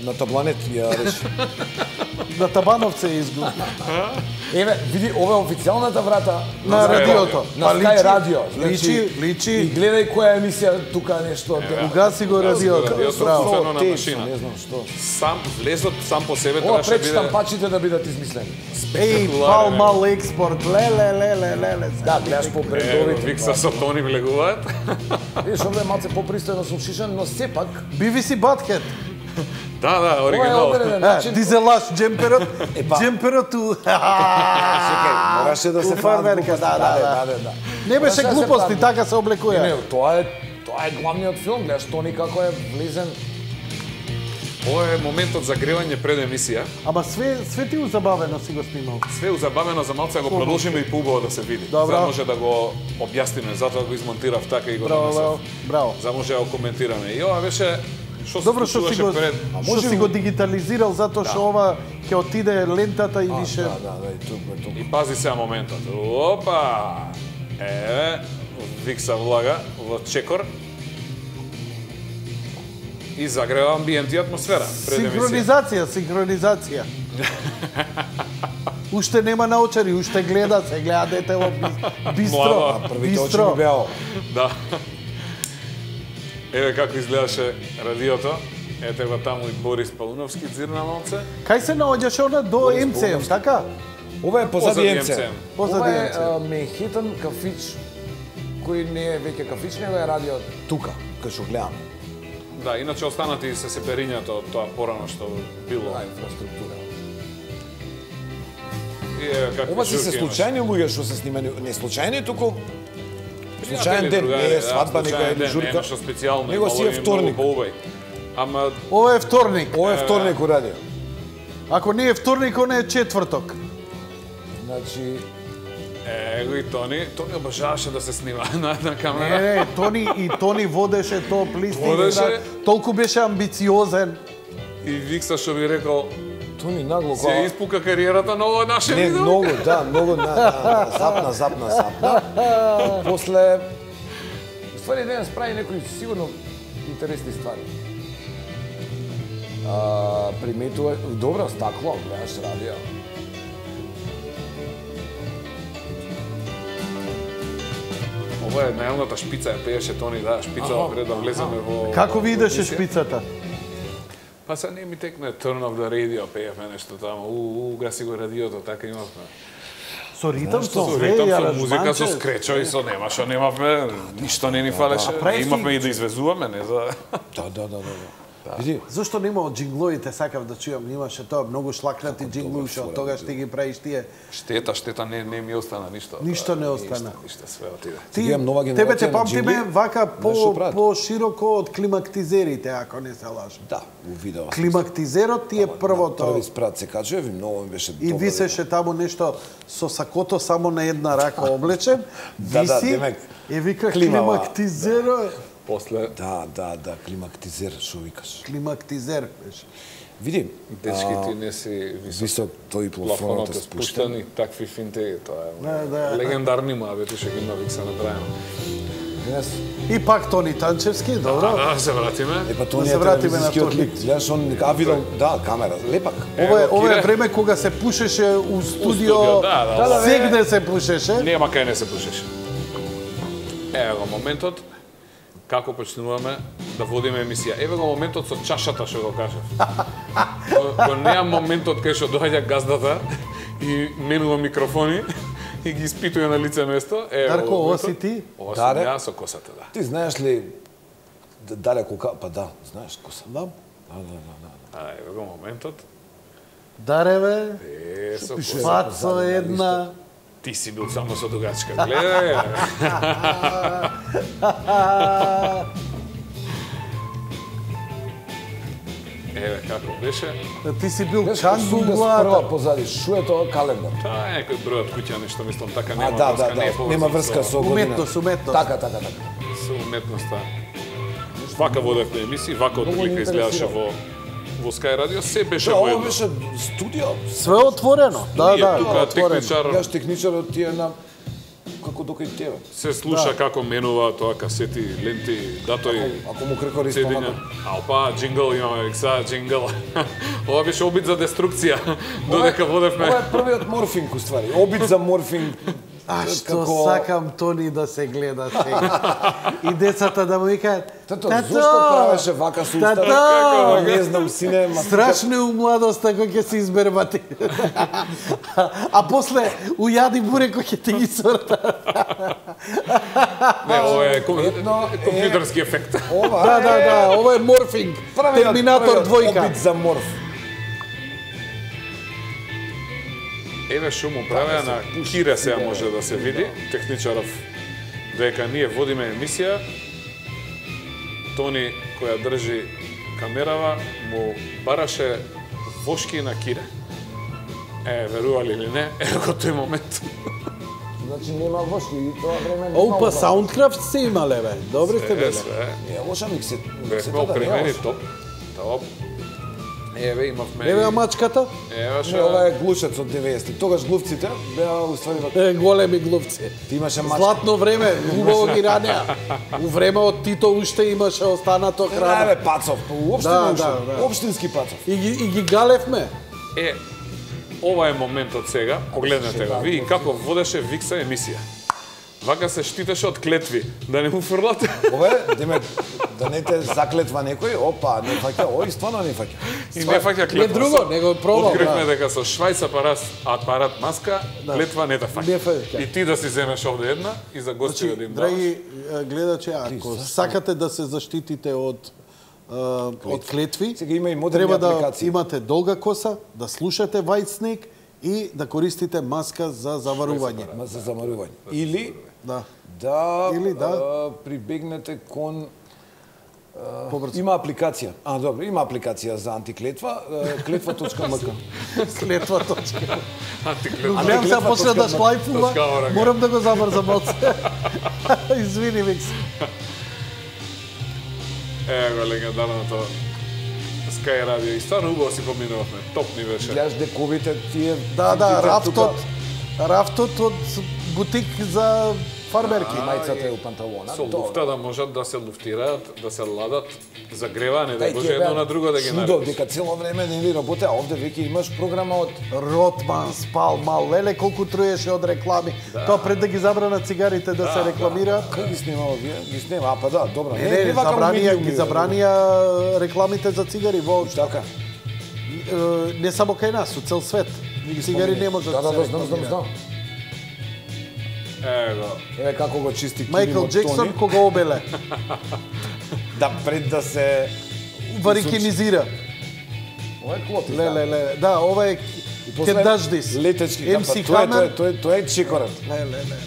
на табланет ја реши.
На Табановце изгуби.
Еве, види, ова е официјалната врата
На
Sky
радиото.
на
Па
Sky
личи,
радио.
Личи,
И
личи.
гледај која емисија тука нешто.
Угаси го радиото.
радиото.
Браво.
Вкупено на
Тешно,
машина.
не знам што.
Сам влезот сам по себе
Ова
требаше
пред
биде
штампачите да бидат измислени.
Еј, пал мал експорт. Леле, леле, леле.
Да, гледаш по
Е,
брендовите.
Викса со Тони влегуваат.
Видиш, овде е малце попристојно сум шишен, но сепак
Би ви си батхет.
Да, да,
ова е
оригинал.
одреден
Е,
начин.
дизелаш джемперот.
па.
Джемперот у...
Чекај, мораше да се
фармерка,
прават
да,
глупости.
да,
да, да.
Не беше
Мораше да се
глупости,
прават.
така се
Не,
облекува.
не, тоа е тоа е главниот филм, гледаш Тони како е влезен
Ова е моментот за гревање пред емисија.
Ама све све ти узабавено си го снимал.
Све узабавено, за малце го продолжиме и поубаво да се види.
Добро.
За може да го објасниме, затоа го измонтирав така и го
Браво, браво,
донесов.
браво.
За може да го коментираме. И ова беше што се
Добро што си
случуваше
го
пред.
што си го дигитализирал затоа што ова ќе отиде лентата и више.
Да, да, да, и тук, и тук.
И пази сега моментот. Опа! Еве, Викса влага во чекор. И загрева амбиент и атмосфера пред емисија.
Синхронизација, синхронизација. Уште нема научари, уште гледа, се гледа дете во бистро.
Млада.
Првите очи ми беа.
Да. Еве како изгледаше радиото. Ете го таму и Борис Пауновски дзирна малце.
Кај се наоѓаше она до Ем Це Ем, така?
Ова е позади Ем Це.
Позади
Ова е
Ем Це.
а, Манхетан кафич, кој не е веќе кафич, него е радио тука, кај што гледам.
Да, иначе останати се сеперињата од тоа порано што било.
Да, инфраструктура.
И еве како
Ова се се
журки
случајни луѓе што се снимани, не случајни, туку
имаше.
случајен ден, не е свадба,
да,
нека е
случаен ден,
журка.
Не е нешто специјално,
Него си е
мало и
вторник.
многу поубај. Ама
Ова е вторник.
Ова е вторник у радио.
Ако не е вторник, он е четврток.
Значи,
Его и Тони, Тони обожаваше да се снима на, на
Не,
камера.
не, Тони и Тони водеше топ листи.
Водеше.
Толку беше амбициозен.
И Викса што би рекол,
Тони нагло
се
кога...
испука кариерата на ова наше
Не,
видео.
многу, да, многу на, на, запна, запна, запна. После... Ствари денес прави некои сигурно интересни ствари. А, приметува... Добро, стакло, гледаш радио.
Ова е најавната шпица, ја пееше Тони, да, шпица пред да влеземе во...
Како ви идеше
емисија.
шпицата?
Па се не ми текне Turn of the Radio, пеевме нешто таму, у, у, гаси го радиото, така имавме.
Со ритам, со
Со
све,
ритам,
и
со музика,
аранжманче.
со скречо и со нема што немавме, ништо не ни фалеше.
прави
Имавме
си-
и да извезуваме, не за...
Да, да, да, да. Види,
Зошто нема од джингловите, сакав да чујам, имаше тоа многу шлакнати джинглови, што од тогаш ти ги правиш тие.
Штета, штета, не, не ми остана ништо.
Ништо
Да,
не остана.
Ништо, ништо, све отиде.
Ти,
Сега нова
тебе
генерација
те
на
памтиме
джингли,
вака по,
нешто прават.
по широко од климактизерите, ако не се лажам.
да, у видео.
Климактизерот ти е првото.
Први спрат се качува и многу ми беше
И
добро.
висеше таму нешто со сакото само на една рака облечен.
Да, да,
Виси,
демек,
и вика
климава.
климактизеро.
После,
Да, да, да, климактизер, што викаш.
Климактизер беше.
Види,
дечки, ти не си висок.
висок тој
Плафонот
плафонот
е
е
спуштен
спуштен.
и такви финти, тоа е
Да, да.
легендарни муабети што ги има Викса направено.
Денес,
И пак Тони Танчевски, добро.
Да, да, се вратиме.
е па
Да
тоа
се
не е
вратиме на
телевизискиот
тој.
лик. Гледаш, он, а видел, да, камера, лепак.
Ова е,
Ево,
ова е
Кире.
време кога се пушеше у студио.
студио, да, да,
да, бе.
Сегде се пушеше.
Нема кај не се пушеше. Ево го моментот како почнуваме да водиме емисија. Еве го моментот со чашата што го кажав. Го, го неам моментот кај што доаѓа газдата и менува микрофони и ги испитува на лице место. Ево
Дарко,
го
ова
моментот.
си ти?
Ова сум
Даре?
ја со косата, да.
Ти знаеш ли д- Даре кока, па да, знаеш коса.
Да.
Да, да, да, да.
А еве го моментот.
Дареве,
Е, со
пише?
коса.
Пацо една.
Ти си бил само со дугачка. Гледај. Еве како беше.
Ти си бил
Знаеш,
кангу
Сулдес
глата.
прва позади, шо е тоа календар?
Тоа е некој број од куќа, нешто мислам така
А,
нема
да,
врска,
да,
не е
да,
поврзано
нема врска со година.
Уметност, уметност.
Така, така, така.
со уметноста. Вака водевме емисии, вака
Многу
одлика
ни
изгледаше
интересира.
во во Sky Radio, се беше
Да,
во
ова
едно.
беше студио.
Све отворено. Да,
Ние
да,
тука
отворено.
техничар
Јас техничарот ти е на како дока и тебе.
се слуша како менува тоа касети, ленти, датои,
Ако му крекори
седиња.
стомакот.
А опа, джингл имаме, Викса, джингл. Ова беше обид за деструкција, додека водевме.
Ова е првиот морфинг, уствари. Обид за морфинг.
А што сакам Тони да се гледа сега. И децата да му викаат:
Тато, зошто правеше вака со устава?
Тато!
Не знам, сине, ма...
Страшно е у младоста кој ќе се избербати. А после ујади буреко ќе ти ги сорта.
Не, ова е ком-
Едно е-
компјутерски ефект.
Ова
Да, да, да, ова е морфинг.
Првиот-
Терминатор
првиот
двојка.
Обид за морф.
Еве што му правеа на Кире сега може да се види, техничаров, дека ние водиме емисија, Тони која држи камерава му бараше вошки на кире. Е, верували или не, ево го тој момент.
Значи нема вошки, и тоа време нема.
Опа, Soundcraft се имале, бе. Добри сте бе.
Не, лоша миксе.
Бевме опремени топ. Топ. Еве имавме.
Еве мачката.
Еве
Не, ова е глушец од деветдесетти. Тогаш глувците беа уствари вака.
Е, големи глувци.
Ти имаше мачка.
Златно време, убаво ги ранеа. У време од Тито уште имаше останато
Не,
храна.
бе, пацов, уопште
Да,
не
да,
уште.
да.
Општински пацов.
И ги, и ги галевме.
Е, ова е моментот сега, погледнете го, ви како водеше Викса емисија. Вака се штитеше од клетви, да не му фрлате.
Ове, деме, да не те заклетва некој, опа, не фаќа, ој, стварно не фаќа.
И не фаќа
Не
клетва.
друго, него пробал.
Откривме
Да.
дека со швајц апарат, апарат маска, клетва не те
Не
фаќа.
фаќа.
И ти да си земеш овде една и за гостите
Значи,
да им даваш.
драги е, гледачи, ако сакате да се заштитите од е, од клетви,
Сега има и модерни
треба да
апликации.
имате долга коса, да слушате White Snake и да користите маска за заварување.
Ма за замарување. Или
Да.
да,
Или да.
а, прибегнете кон
Побрзо.
има апликација. А, добро, има апликација за антиклетва, клетва точка ем ка.
Клетва точка.
Антиклетва.
Гледам се почне да шлајфува,
Точка орага.
морам да го забрзам малце. Извини, Викс.
Е, го легендарното Sky Radio. И стварно убаво си поминувавме. Топ ни беше.
Гледаш дековите тие...
Да, да,
финките
рафтот,
тука,
рафтот од бутик за фармерки.
Мајцата е у панталона.
Со
Тоа.
луфта да можат да се луфтираат, да се ладат, загреване, да
Дај,
може
тие
едно
беа
на друго да ги
чудо,
наредиш.
дека цело време не ли работе, а овде веќе имаш програма од...
Ротман, Спалмал, леле колку труеше од реклами. Тоа пред да ги забранат цигарите да, се рекламираат.
Кај ги снимава вие? Ги снима, а па да, добро.
Не, не,
вака
забранија,
медиуми,
ги
бе.
забранија рекламите за цигари воопшто.
Така.
Е, Не само кај нас, у цел свет. Цигари не можат
Да,
да
да,
се
да, знам, знам,
рекламираат.
знам.
Ево,
Еве како го чисти Кирим
Майкл
од
Джексон
Тони.
кога обеле,
Да, пред да се...
варикинизира.
Ова е клопи.
Леле, леле, да, ова е
после
Ке даждис.
Летечки,
Ем
да,
Си
па, тоа е, тоа е,
Хамер.
тоа е, тоа е чекорат.
Леле, леле.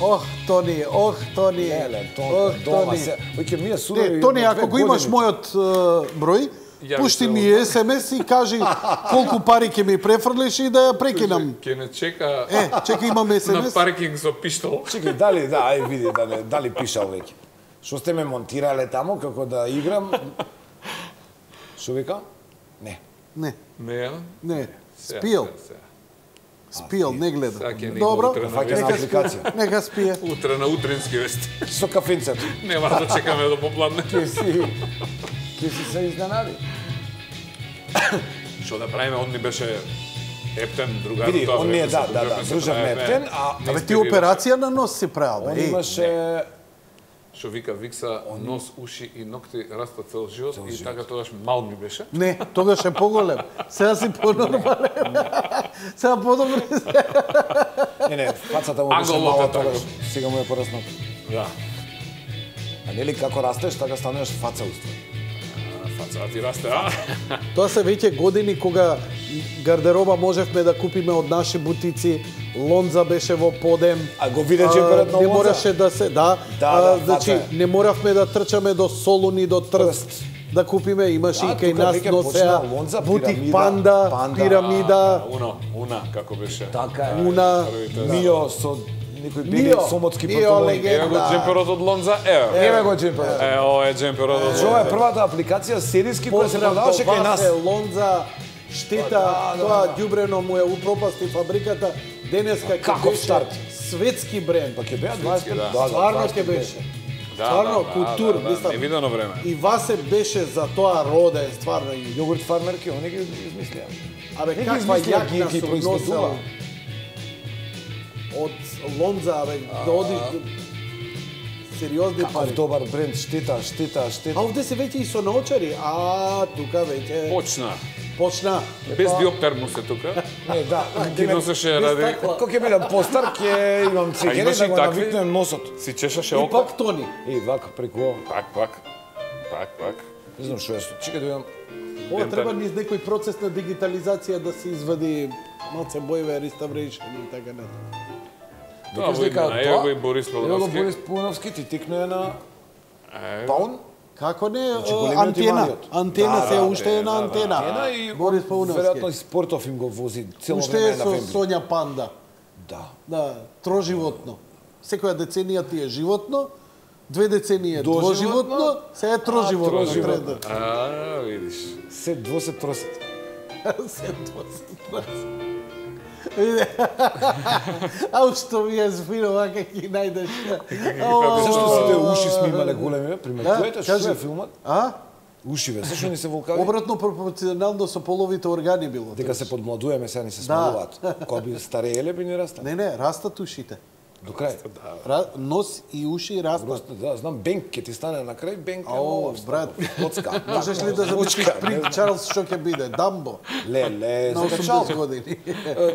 Ох, Тони, ох, Тони.
Леле,
Ох,
тоа, дома
Тони.
се... Оќе ми е судови...
Не, Тони,
на
ако
две
го имаш
години.
мојот е, број,
Јави
пушти
се
ми
од-
ес ем ес и кажи колку пари ќе ми префрлиш и да ја прекинам.
ќе не чека
Е, чекај, имам ес ем
на
ес.
паркинг со пиштол.
Чекај, дали, да, ај види, дали, дали пишал веќе. Што сте ме монтирале таму, како да играм... Шо вика? Не.
Не,
Не, ја?
не,
Сега,
спиел,
сега, сега.
спиел, не гледа.
Сега ќе ни
Добро,
го утре на
Фаќа на
нека
апликација.
спие, нека спие.
Утре на утрински вести.
Со кафенцето.
Нема да чекаме до попладне.
Ке си... Ке си се изненади.
Што да правиме, он ни беше Ептен, другар.
Види,
тоа
он ни е,
време
да,
се
да, да,
дружевме, се
дружевме
правевме.
Ептен, а
Не
Абе ти
инспирираше.
операција на нос си правил,
он
бе. Еј,
имаше...
Што вика Викса, нос, уши и ногти раста цел живот и така тогаш мал ми беше.
Не, тогаш е поголем. Сега си понормален. Сега подобро.
Не, не, фацата му беше
Анголот
мала
е така.
тогаш, сега му е пораснат.
Да.
А нели како растеш, така станеш фаца уствари.
Фацата ти расте, а?
Тоа се веќе години кога гардероба можевме да купиме од наши бутици. Лонза беше во подем.
А го виде джемперот на
Не
Лонза?
мораше да се, да.
Да,
а,
да,
значи
фаца е.
не моравме да трчаме до Солуни, до Трст.
Трст.
Да купиме, имаше
Да,
и кај
тука
нас
веќе
носеа
почна Лонза,
бутик
пирамида,
Панда,
Панда.
пирамида,
Уно, уна, како беше.
Така е.
Уна,
Мио со некои бели
Мио,
сомотски
Мио
панталони.
легенда.
Ево го джемперот од Лонза, ево.
Еве го джемперот.
Е, ова е джемперот од
Ова е
Лонза.
првата апликација сериски која се
Поздрав до
продаваше кај нас.
Васе, Лонза, штета,
Да, да,
тоа
да.
ѓубрено му е упропасти фабриката. Денеска ќе
Каков
беше
старт?
светски бренд.
Па ќе беа
Светски,
дваесет
да.
да,
Стварно
дваесет
ќе беше.
Да,
Стварно,
да,
култур,
да, да,
мислам.
невидено време.
И Васе беше за тоа роден, стварно. И
Јогурт фармерки, они ги измислија.
Абе,
Не ги
каква
измислија, ги-
јакна
ги
сум
произведува.
носел од Лонза, абе, да одиш до сериозни
Каков
пари.
добар бренд, штета, штета,
А
штета.
овде се веќе и со наочари. А, тука веќе
Почна.
почна.
Без диоптермус е тука.
Не, да,
Ги носеше ради...
стакла.
Кога ќе бидам постар, ќе имам
А
цигери
имаш
да
и
го
такви?
навикнем носот.
Си чешаше
И
око.
пак Тони.
Е, вака преку ова.
Пак, пак. Пак, пак.
Не знам што е. Чекај да видам.
Ова
Дентар.
треба низ некој процес на дигитализација да се извади малце боеве, реставрейшн и така не.
Тоа го има, ево го и Борис
Ево го
Пеловски.
Борис Пулновски, ти тикнува на
Е,
Паун.
Како не,
Значи, големиот и
антена.
малиот.
Антена
Да,
се
да,
уште е на
да,
антена.
Антена и
Борис Пауновски.
веројатно и Спортов им го вози цело
Уште е
време на
со
Вембли.
Сонја Панда.
Да.
Да, троживотно. Секоја деценија ти е животно, две децении е
Доживотно,
двоживотно, се е троживотно.
Троживотно.
трета.
А, видиш.
Се двосет тросет.
Се двосет. Ау, што ми е звино, вака ќе најдеш.
Зашто сите уши сме имале големи, приметувате што
кажи.
е филмот?
А?
Ушиве, зашто ни се волкави?
Обратно пропорционално со половите органи било.
Дека се подмладуваме, сега ни се
Да.
смалуваат. Кога би старееле би ни растат.
Не, не, растат ушите.
До крај.
Ра... Нос и уши растат.
Просто, да, знам, Бенк ќе ти стане на крај, Бенк е
Ау,
нова
брат.
Коцка.
Можеш ли да замислиш при Чарлс што ќе биде? Дамбо.
Леле,
На
за
осумдесет
Чарлз.
години.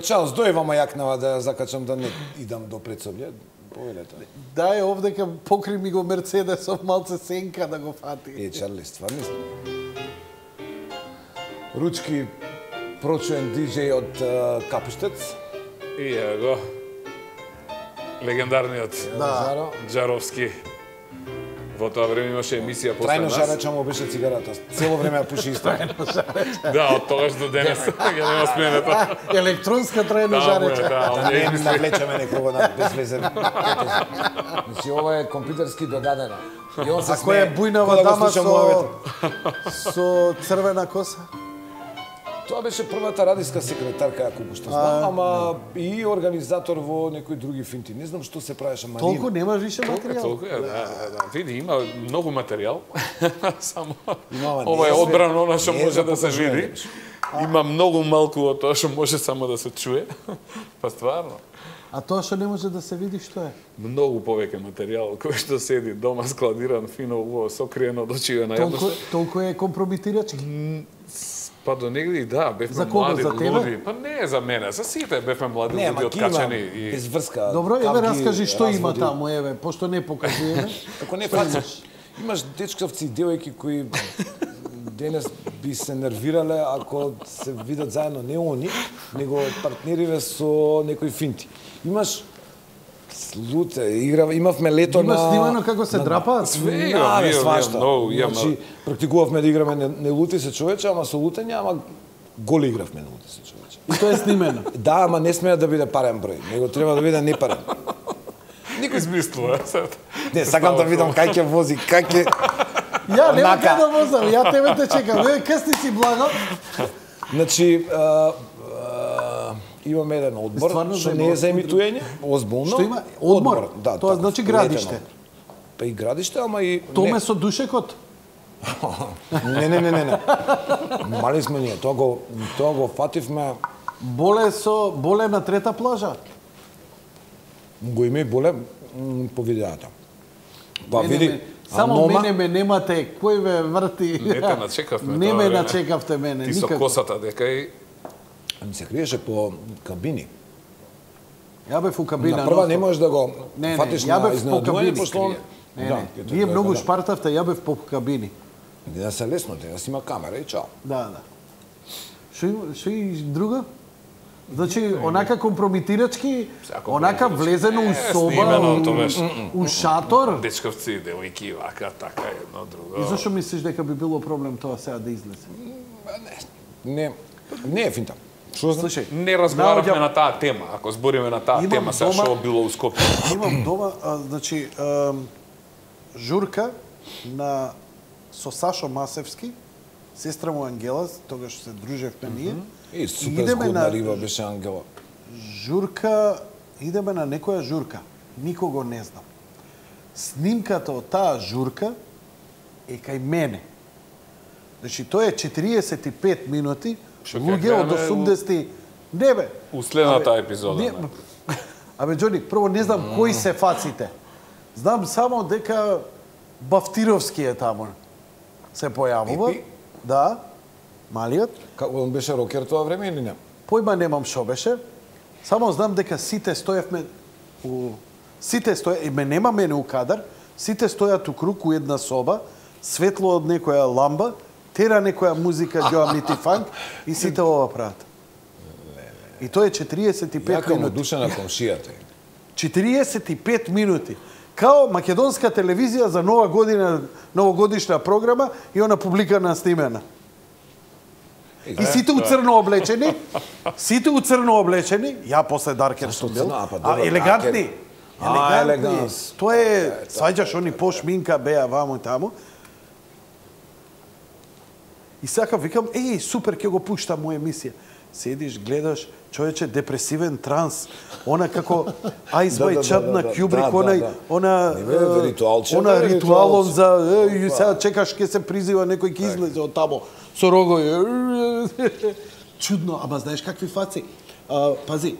Чарлз, дојвама јакнава да ја закачам да не идам до предсобје. Повелете.
Дај овдека покри ми го Мерцедесов малце сенка да го фати.
Е, Чарли, стварно. Ручки прочуен диџеј од uh, Капуштец.
И е го. Легендарниот
Да.
Джаровски. Во тоа време имаше емисија после
Трајно
нас.
жареча му беше цигарата. Цело време ја пуши исто.
Да, од тогаш до денес ќе нема смената.
Електронска трајно
Да, му е,
жареча.
да,
Да
он
не
е
им
измисли.
навлечеме некого на безвезен. Значи, ова е компјутерски додадено. И он се
А која е
смее,
бујнава
кога да го
дама
слуша
со
муавето.
со црвена коса?
Тоа беше првата радиска секретарка, колку што знам, ама и организатор во некои други финти. Не знам што се правеше Марина.
Толку нема више
Толку е,
материјал.
толку е, да, да, да. Види, има многу материјал. Само
Имама, не
ова е
е све-
одбрано она што
не е
може
за
да се
покажување,
види.
беше.
Има многу малку од тоа што може само да се чуе. Па стварно.
А тоа што не може да се види што е?
Многу повеќе материјал кој што седи дома складиран фино убаво сокриено од очиме на
Толку,
јавноста.
толку е компрометирачки.
Па до негде и да, бевме
За кого?
млади,
За тебе?
луди. Па не за мене, за сите бевме млади
Не,
луди
ама ки има
откачени и
без врска.
Добро, еве
капки,
раскажи што има
разводи.
таму, еве, пошто не покажуваме.
Како не фациш. Имаш дечковци и девојки кои денес би се нервирале ако се видат заедно не они, него партнериве со некои финти. Имаш луте, игра, имавме лето
Има
на...
снимано како се
на-
драпаат?
Све
Да,
имам,
бе,
имам,
свашта.
имам многу, имам.
Значи, практикувавме да играме не, не лути се човече, ама со лутење, ама голи игравме не лути се човече.
И тоа е снимено.
Да, ама не смеа да биде парен број, него треба да биде непарен.
Никој измислува сад.
Не, сакам да видам кај ќе вози, кај ќе...
Ја нема
Онака.
кај да возам, ја тебе те чекам. Еве касни си благо.
Значи, а, а, имаме еден одбор,
Стварно
што
за
не е за
одбор.
емитување, озбилно.
Што има? Одбор?
Да,
Тоа
така,
значи
летен
градиште.
одбор. Па и градиште, ама и...
Томе
не.
со душекот.
Не, не, не, не, не. Мали сме ние, тоа го, тоа го фативме,
Боле со боле на трета плажа.
го има и боле м, по видеата. Па
Мене
види,
ме- Само
Анома-
мене ме немате, кој ме врти.
Не те начекавме
Не
тоа
ме
време.
начекавте мене,
Ти со
никако.
косата дека и
Ми се криеше по кабини.
Ја бев у кабина.
На прва
нон-стоп.
не можеш да го
Не, не,
фатиш
ја
на
бев по
изненадување,
кабини.
пошто он...
Не,
Да,
не,
ќе те
вие
гледа,
многу
да.
шпартавте, ја бев по кабини.
Да се лесно, да си има камера и чао.
Да, да. Што има, што и друго? Значи, онака компрометирачки,
Сега
онака
компрометирачки.
влезено у
Е,
соба,
снимено,
у,
тоа беше.
у шатор.
дечковци, девојки, вака, така, едно, друго.
И зашо мислиш дека би било проблем тоа сега да излезе?
Не, не е финта. Што знам?
Слушај,
Не разговаравме
наоѓам-
на таа тема. Ако збориме на таа
Имам
тема, сега
дома-
што било у Скопје.
Имам дома, а, значи, ам, журка на со Сашо Масевски, сестра му Ангела, тогаш се дружевме ние.
И супер
идеме
згодна
на-
риба беше Ангела.
Журка, идеме на некоја журка. Никого не знам. Снимката од таа журка е кај мене. Значи, тоа е четириесет и пет минути,
Што ќе
луѓе од
гледаме
осумдесети... Не бе.
У следната
Абе,
епизода.
не-
не.
Абе, Џони, прво не знам кои се фаците. Знам само дека Бафтировски е таму. Се појавува.
Пипи?
Да. Малиот.
Како он беше рокер тоа време или не?
Појма немам што беше. Само знам дека сите стоевме у сите стоја и ме нема мене у кадар, сите стојат у круг у една соба, светло од некоја ламба, тера некоја музика Џоамити фанк и сите ова прават. И тоа е четириесет и пет
Јака му
минути.
душа на комшијата.
четириесет и пет минути. као македонска телевизија за нова година, новогодишна програма и она публикана снимена. И сите у црно облечени, сите у црно облечени, ја после Даркер сум бил, а елегантни. Елегантни. Тоа е, сваѓаш они пошминка беа ваму и таму. И сака викам, еј, супер, ќе го пуштам моја емисија. Седиш, гледаш, човече, депресивен транс, она како Ice White Shut на Кјубрик, онај, она, она ритуалон за, сега чекаш ќе се призива, некој ќе излезе од тамо, со рогови. Чудно, ама знаеш какви фаци? Пази,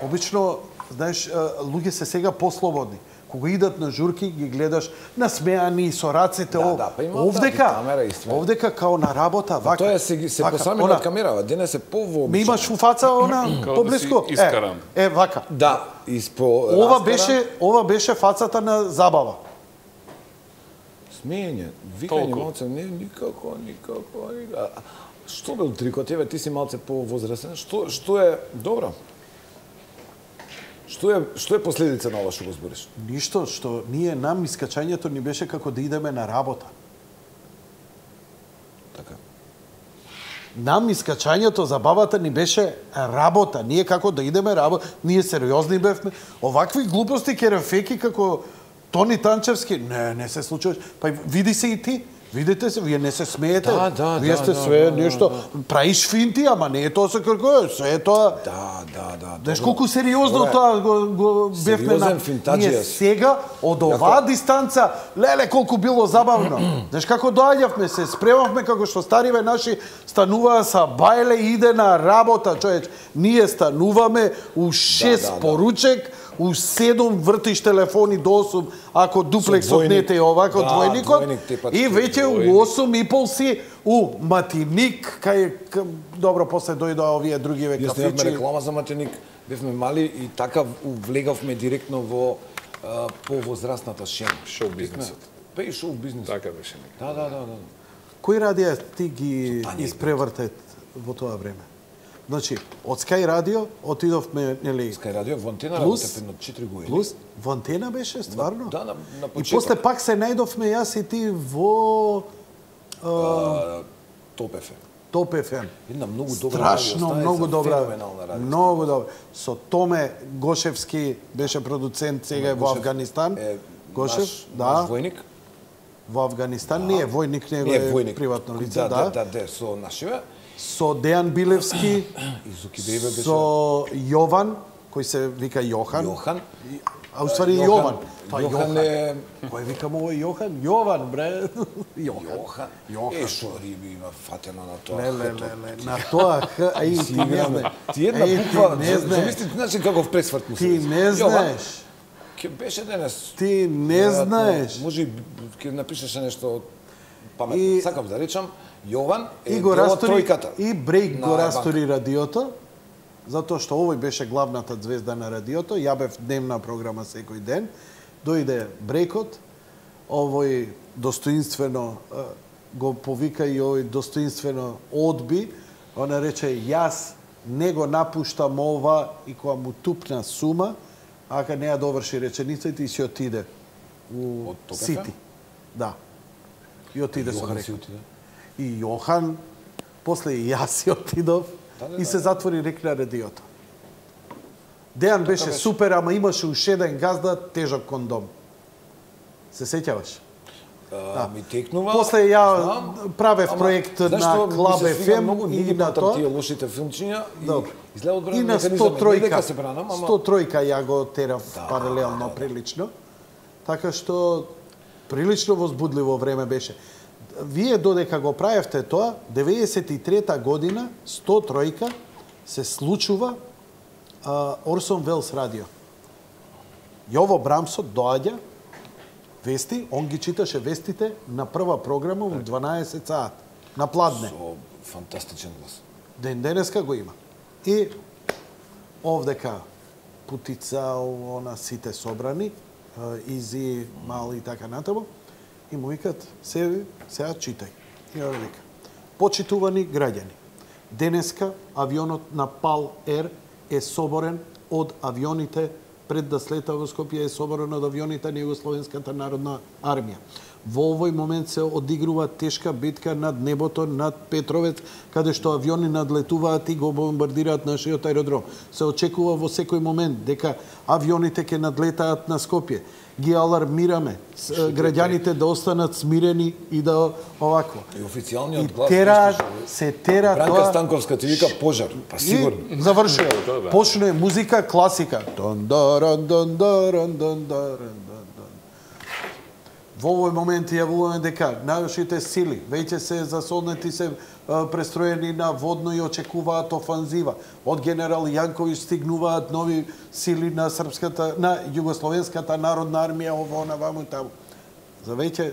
обично, знаеш, луѓе се сега послободни. Кога идат на журки, ги гледаш насмеани со рацете.
Да, да, па има
овдека,
камера и све.
Овдека као на работа, вака.
Тоа се се посами на камерава, денес се повообично.
Ме имаш у фаца она поблиско.
Искаран.
Е, е, вака.
Да, испо
Ова беше, ова беше фацата на забава.
Смење, викање малце, не, никако, никако, никако. Што бил трикот, еве, ти си малце повозрасен, што, што е, добро. Што е, што е последица на ова што го збориш?
Ништо, што ние нам искачањето ни беше како да идеме на работа.
Така.
Нам искачањето, забавата ни беше работа. Ние како да идеме работа, ние сериозни бевме. Овакви глупости керефеки како Тони Танчевски, не, не се случува. Па види се и ти. Видите се, вие не се смеете.
Да, да,
вие сте
да,
све
да,
нешто,
да.
Праиш финти, ама не е тоа се како е, све е тоа.
Да, да, да.
Знаеш колку сериозно тоа го, го бевме на... Ние сега, од оваа дистанца, леле колку било забавно. Знаеш како доаѓавме се, спремавме како што стариве наши стануваа са бајле и иде на работа, човеч. Ние стануваме у шест да, да, поручек, у седум вртиш телефони до осум, ако дуплексот не те е овако, да, двојникот, двојник, и веќе у осум и пол си у Матиник, кај, добро, после дојдоа овие другиве кафичи.
Ние снимавме реклама за Матиник, бевме мали и така влегавме директно во а, повозрастната шема.
Шоу бизнесот.
Па и шоу бизнесот.
Така беше.
Да, да, да, да.
Кои радија ти ги испревртет во тоа време? Значи, од Sky Radio отидовме, нели...
Sky Radio во Антена работевме на четири години.
Плюс, во Антена беше, стварно?
Да, на, на почеток.
И после пак се најдовме јас и ти во...
А, Топ еф ем.
Топ еф ем.
Една многу добра
Страшно,
радио,
многу добра.
феноменална радио.
Многу добра. Со Томе Гошевски беше продуцент, сега е во Афганистан.
Е,
Гошев,
наш,
да.
Наш војник.
Во Афганистан, не е војник, него
е војник.
Приватно лице,
да.
да.
Да, да, да, со нашиве.
Со Дејан Билевски, со Јован, кој се вика Јохан.
Јохан.
А уствари Јован.
Па Јохан е...
Кој викам ово Јохан? Јован, бре.
Јохан. Е, шо риби има фатено на тоа.
Ле, ле, ле, ле. На тоа Х, ај, ти не знаеш.
Ти една буква, замисли, значи каков пресврт му се.
Ти не знаеш.
Ке беше денес.
Ти не знаеш.
Може ќе напишеше нешто паметно. Сакам да речам, Јован е
и го
дел од
растори,
тројката.
И Брейк го растори радиото, затоа што овој беше главната звезда на радиото, ја бев дневна програма секој ден, дојде Брейкот, овој достоинствено го повика и овој достоинствено одби, она рече, јас не го напуштам ова и кога му тупна сума, ака не ја доврши реченицата и си отиде у Сити. Да. И отиде со Брейкот. И Јохан, после и јас си отидов да, да, и се затвори рек на радиото. Дејан беше, беше супер, ама имаше уште еден газда тежок кондом. Се сеќаваш?
Да. Ми текнува.
После ја знам, правев проект ама, на Клаб еф ем и на тоа.
Тие лошите филмчиња и изгледа од
и на сто тројка.
Се бранам, ама...
сто тројка ја го терав да, паралелно,
да, да.
прилично. Така што прилично возбудливо време беше. Вие додека го правевте тоа, деветдесет и трета година, сто тројка, се случува а, Орсон Велс радио. Јово Брамсот доаѓа, вести, он ги читаше вестите на прва програма во дванаесет саат, на пладне.
Со фантастичен глас.
Ден денеска го има. И овдека Путица, она сите собрани, Изи, Мали и така натаму, и му викат, се, сега читај. И ја вика, почитувани граѓани, денеска авионот на Пал Ер е соборен од авионите пред да слета во Скопје е соборен од авионите на Југословенската народна армија. Во овој момент се одигрува тешка битка над небото, над Петровец, каде што авиони надлетуваат и го бомбардираат нашиот аеродром. Се очекува во секој момент дека авионите ќе надлетаат на Скопје. Ги алармираме граѓаните да останат смирени и да овакво.
И официјалниот глас
тера, се тера
Бранка
тоа...
Станковска ти вика пожар, па сигурно.
Завршува. Почне музика класика. Дон даран дон даран дон даран. Во овој момент јавуваме дека нашите сили веќе се засолнети, се престроени на водно и очекуваат офанзива. Од генерал Јанковиќ стигнуваат нови сили на српската, на Југословенската народна армија, ово на ваму и таму. За веќе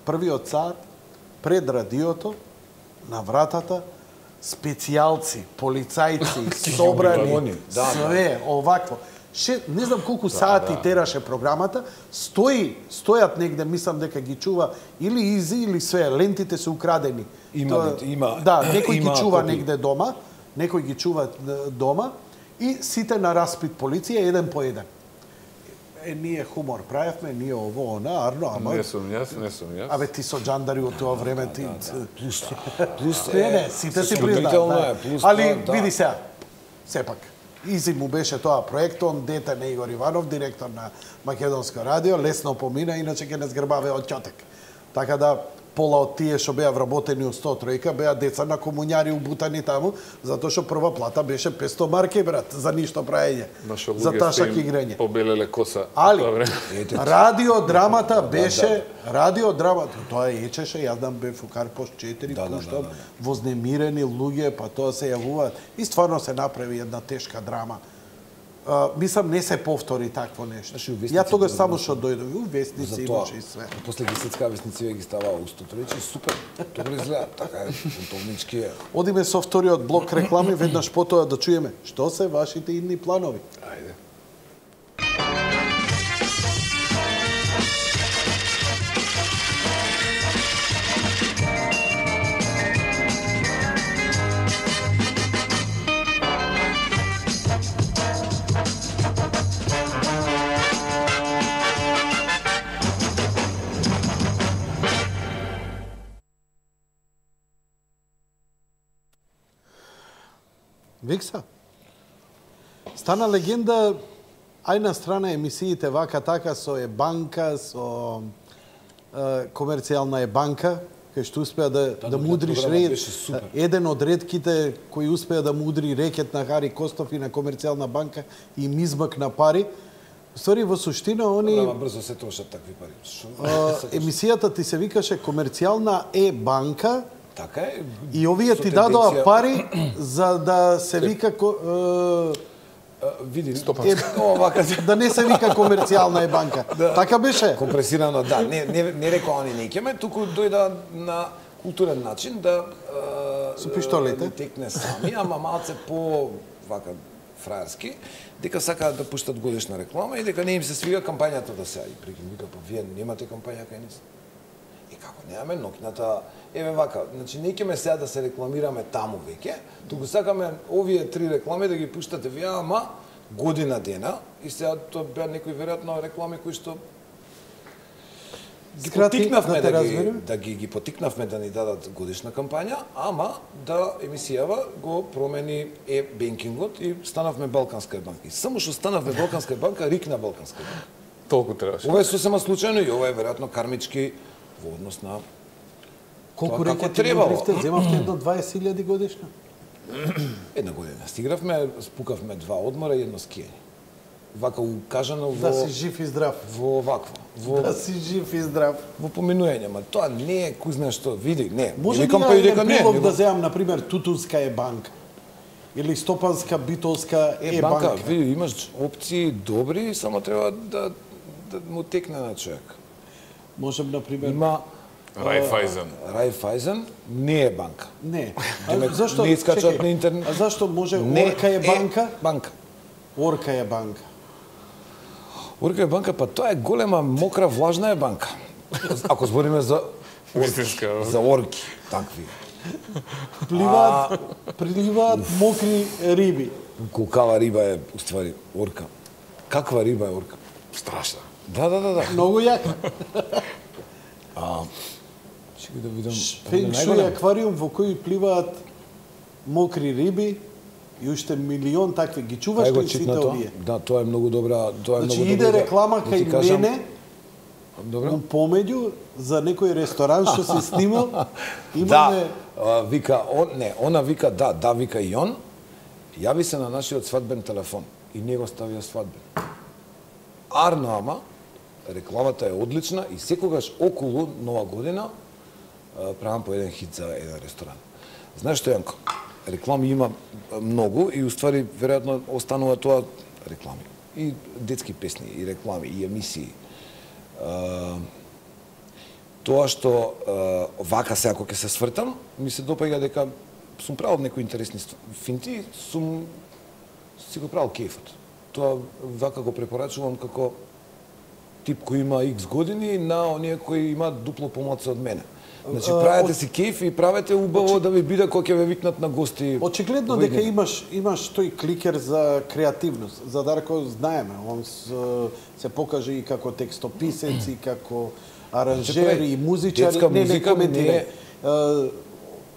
првиот саат пред радиото на вратата специјалци, полицајци, собрани, све овакво. Ше, не знам колку да, сати да. тераше програмата, стои, стојат негде, мислам дека ги чува или изи или све, лентите се украдени.
Има, Тоа, има.
Да, некој
има
ги чува
копи.
негде дома, некој ги чува дома и сите на распит полиција еден по еден. Е, ние хумор правевме, ние ово, она, Арно, ама...
Не сум јас, не сум јас.
Абе, ти со джандари од тоа време, ти...
Плюс, плюс
Не, не, сите си признаат. Али,
да.
види сега, сепак, изи му беше тоа проект, он дете на Игор Иванов, директор на Македонско радио, лесно помина, иначе ќе не згрбаве од ќотек. Така да, пола од тие што беа вработени од сто тројка, беа деца на комуњари убутани таму, затоа што прва плата беше петсто марки, брат, за ништо праење. За ташак играње.
Побелеле коса.
Али, радиодрамата беше, радиодрамата, тоа ечеше, јас дам бе фукар пост четири,
да,
пуштам,
да, да, да.
вознемирени луѓе, па тоа се јавуваат. И стварно се направи една тешка драма. Uh, мислам, не се повтори такво нешто. Ја тогаш само што дојдов, у вестници имаше и све.
После ги сецка вестници ги става устото. Рече, супер, добро изгледа, така е, фунтовнички е.
Одиме со вториот блок реклами, веднаш потоа да чуеме што се вашите идни планови.
Ајде.
Викса, стана легенда, ај на страна емисиите вака така со е банка, со е, комерцијална е банка, кај што успеа да, да, да мудриш ред, еден од редките кои успеа да мудри рекет на Хари Костов и на комерцијална банка и им измакна пари. Ствари, во суштина, они...
Добра, брзо се трошат такви пари.
А, емисијата ти се викаше комерцијална е банка,
така е.
И овие ти дадоа пари за да се вика ко,
е, види
стопанска.
Е, овака, да не се вика комерцијална е банка. Да. Така беше.
Компресирано, да. Не не не рекоа они неќеме, туку дојда на културен начин да е,
со пиштолите
текне сами, ама малце по вака фраерски, дека сакаат да пуштат годишна реклама и дека не им се свига кампањата да се и прикинка, па вие немате кампања кај нас. И како немаме ноќната, еве вака, значи не ќеме сега да се рекламираме таму веќе, туку сакаме овие три реклами да ги пуштате вие, ама година дена и сега тоа беа некои веројатно реклами кои што ги потикнавме да, да, ги, да ги, ги потикнавме да ни дадат годишна кампања, ама да емисијава го промени е бенкингот и станавме Балканска банка. И само што станавме Балканска банка, рикна Балканска банка.
Толку требаше.
Ова е сосема случајно и ова е веројатно кармички во однос на
колку рекети требавте, земавте едно дваесет илјади годишно?
Една година стигравме, спукавме два одмора и едно скијање. Вака укажано во...
Да си жив и здрав.
Во вакво. Во...
Да си жив и здрав.
Во поминување, ма тоа не е кој знае што, види, не.
Може би на еден прилог да земам, например, Тутунска е банка. Или Стопанска, Битолска е, е банка.
банка. Види, имаш опции добри, само треба да, да му текне на човек.
Можем, например...
Има...
Райфайзен.
Райфайзен не е банка.
Не.
Демек,
зашто,
не искачат на интернет.
А зашто може
не
Орка е банка?
Е банка.
Орка е банка.
Орка е банка, па тоа е голема, мокра, влажна е банка. Ако збориме за
Вистинска.
За орки, такви.
Пливаат, а... приливаат мокри риби.
Кулкава риба е, уствари, орка. Каква риба е орка?
Страшна.
Да, да, да, да.
Многу јака.
А, чекај да видам.
Фенг шуј аквариум во кој пливаат мокри риби и уште милион такви. Ги чуваш ли сите овие?
Да, тоа е многу добра, тоа е
Значи
многу
иде
добра.
реклама
Да
кај
ти кажам-
мене,
Добро.
помеѓу за некој ресторан што си снимал. Имаме
Да, а, вика, он, не, она вика, да, да, вика и он, јави се на нашиот свадбен телефон и него ставија свадбен. Арно, ама, рекламата е одлична и секогаш околу Нова година а, правам по еден хит за еден ресторан. Знаеш што, Јанко, реклами има многу и уствари, веројатно, останува тоа реклами. И детски песни, и реклами, и емисии. А, тоа што а, вака се ако ќе се свртам, ми се допаѓа дека сум правил некои интересни финти, сум си го правил кефот. Тоа вака го препорачувам како тип кој има икс години на оние кои имаат дупло помладце од мене. Значи правете си кеф и правете убаво да ви биде кога ќе ве викнат на гости.
Очигледно дека имаш имаш тој кликер за креативност. За Дарко знаеме, он с, се покаже и како текстописец и како аранжер и музичар,
детска
не не
музика
коментира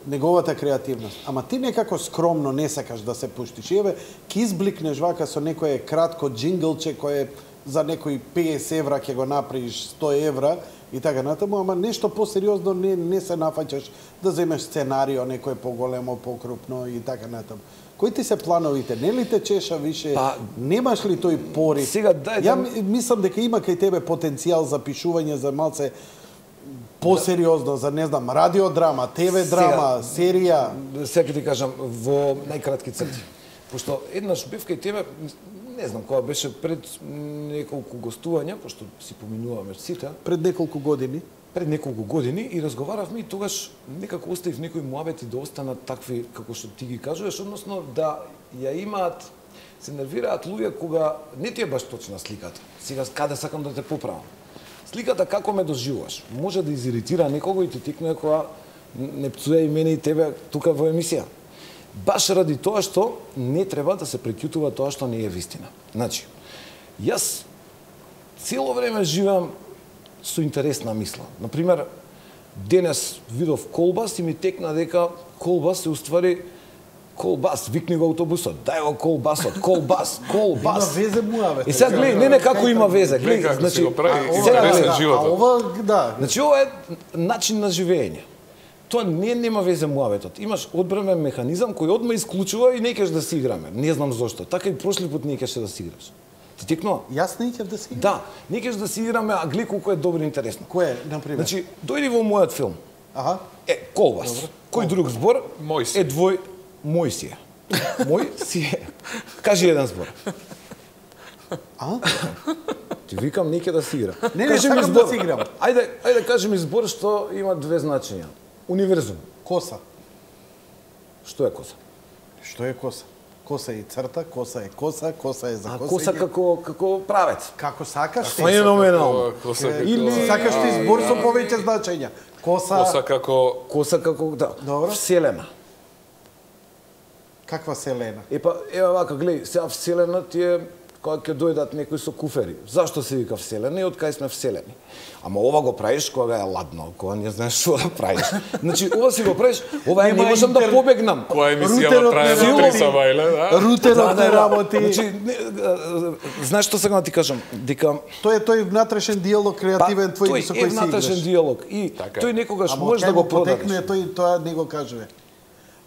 неговата креативност. Ама ти некако скромно не сакаш да се пуштиш. Еве, ки избликнеш вака со некое кратко джинглче кое за некои песет евра ќе го направиш сто евра и така натаму, ама нешто посериозно не не се нафаќаш да земеш сценарио некое поголемо, покрупно и така натаму. Кои ти се плановите? Не ли те чеша више?
Па,
немаш ли тој порив?
Сега дај
Ја
да...
мислам дека има кај тебе потенцијал за пишување за малце посериозно, за не знам, радиодрама, ТВ драма, серија.
Сега ќе ти кажам во најкратки црти. Пошто еднаш бев кај тебе, не знам кога беше пред неколку гостувања, пошто си поминуваме сите,
Пред неколку години.
пред неколку години и разговаравме и тогаш некако оставив некои муабети да останат такви како што ти ги кажуваш, односно да ја имаат, се нервираат луѓе кога не ти е баш точна сликата. Сега каде сакам да те поправам. Сликата како ме доживуваш може да изиритира некого и ти тикне кога не пцуе и мене и тебе тука во емисија. Баш ради тоа што не треба да се преќутува тоа што не е вистина. Значи, јас цело време живеам со интересна мисла. Например, денес видов колбас и ми текна дека колбас се уствари колбас, викни го автобусот, дај го колбасот, колбас, колбас.
Има везе муаве.
И сега гледај, не не како има везе,
Гледај
гледај,
како
значи
си го прави
ова-
сега
интересен
гледај,
А
животот.
ова, да.
Значи ова е начин на живење. Тоа не нема везе муаветот. Имаш одбранен механизам кој одма исклучува и не кеш да си играме. Не знам зошто. Така и прошли пат не кеше да си играш. Ти текнува?
Јас не ќе да си.
Да, не кеш да си играме, а гледа колку е добро и интересно.
Кој е, на пример?
Значи, дојди во мојот филм.
Аха.
Е, колбас. Кој друг збор?
Мој си.
Е двој мој си е. Мој си е. Кажи еден збор.
А?
Ти викам не ќе да си игра.
Не, не,
Кажи ми
сакам да
збор.
си играм.
Ајде, ајде кажи ми збор што има две значења. Универзум.
Коса.
Што е коса?
Што е коса? Коса е црта, коса е коса, коса е за
А
косење.
коса како како правец.
Како сакаш ти.
Феноменално.
Коса како...
Или-
Сакаш ти збор со повеќе значења. Коса,
Коса како...
Коса како да.
Добро.
Вселена.
каква селена?
Епа, ева вака, гледај, сега вселена ти е кога ќе дојдат некои со куфери. Зашто се вика вселена и од кај сме вселени? Ама ова го правиш кога е ладно, кога не знаеш што да правиш. Значи, ова си го правиш, ова е не
Нема
можам да
интер-
побегнам.
Која емисија
Рутерот
трае
не
на три
работи.
сабајле, да?
Рутерот не работи.
Значи, не, а, знаеш што сакам да ти кажам? Дека
Тој е тој внатрешен диалог креативен твој
тој
со
е
кој си
внатрешен
играш.
диалог и
Така е.
тој некогаш
Ама
може
кај
да го
му потекне
продадеш.
тој тоа не го кажува.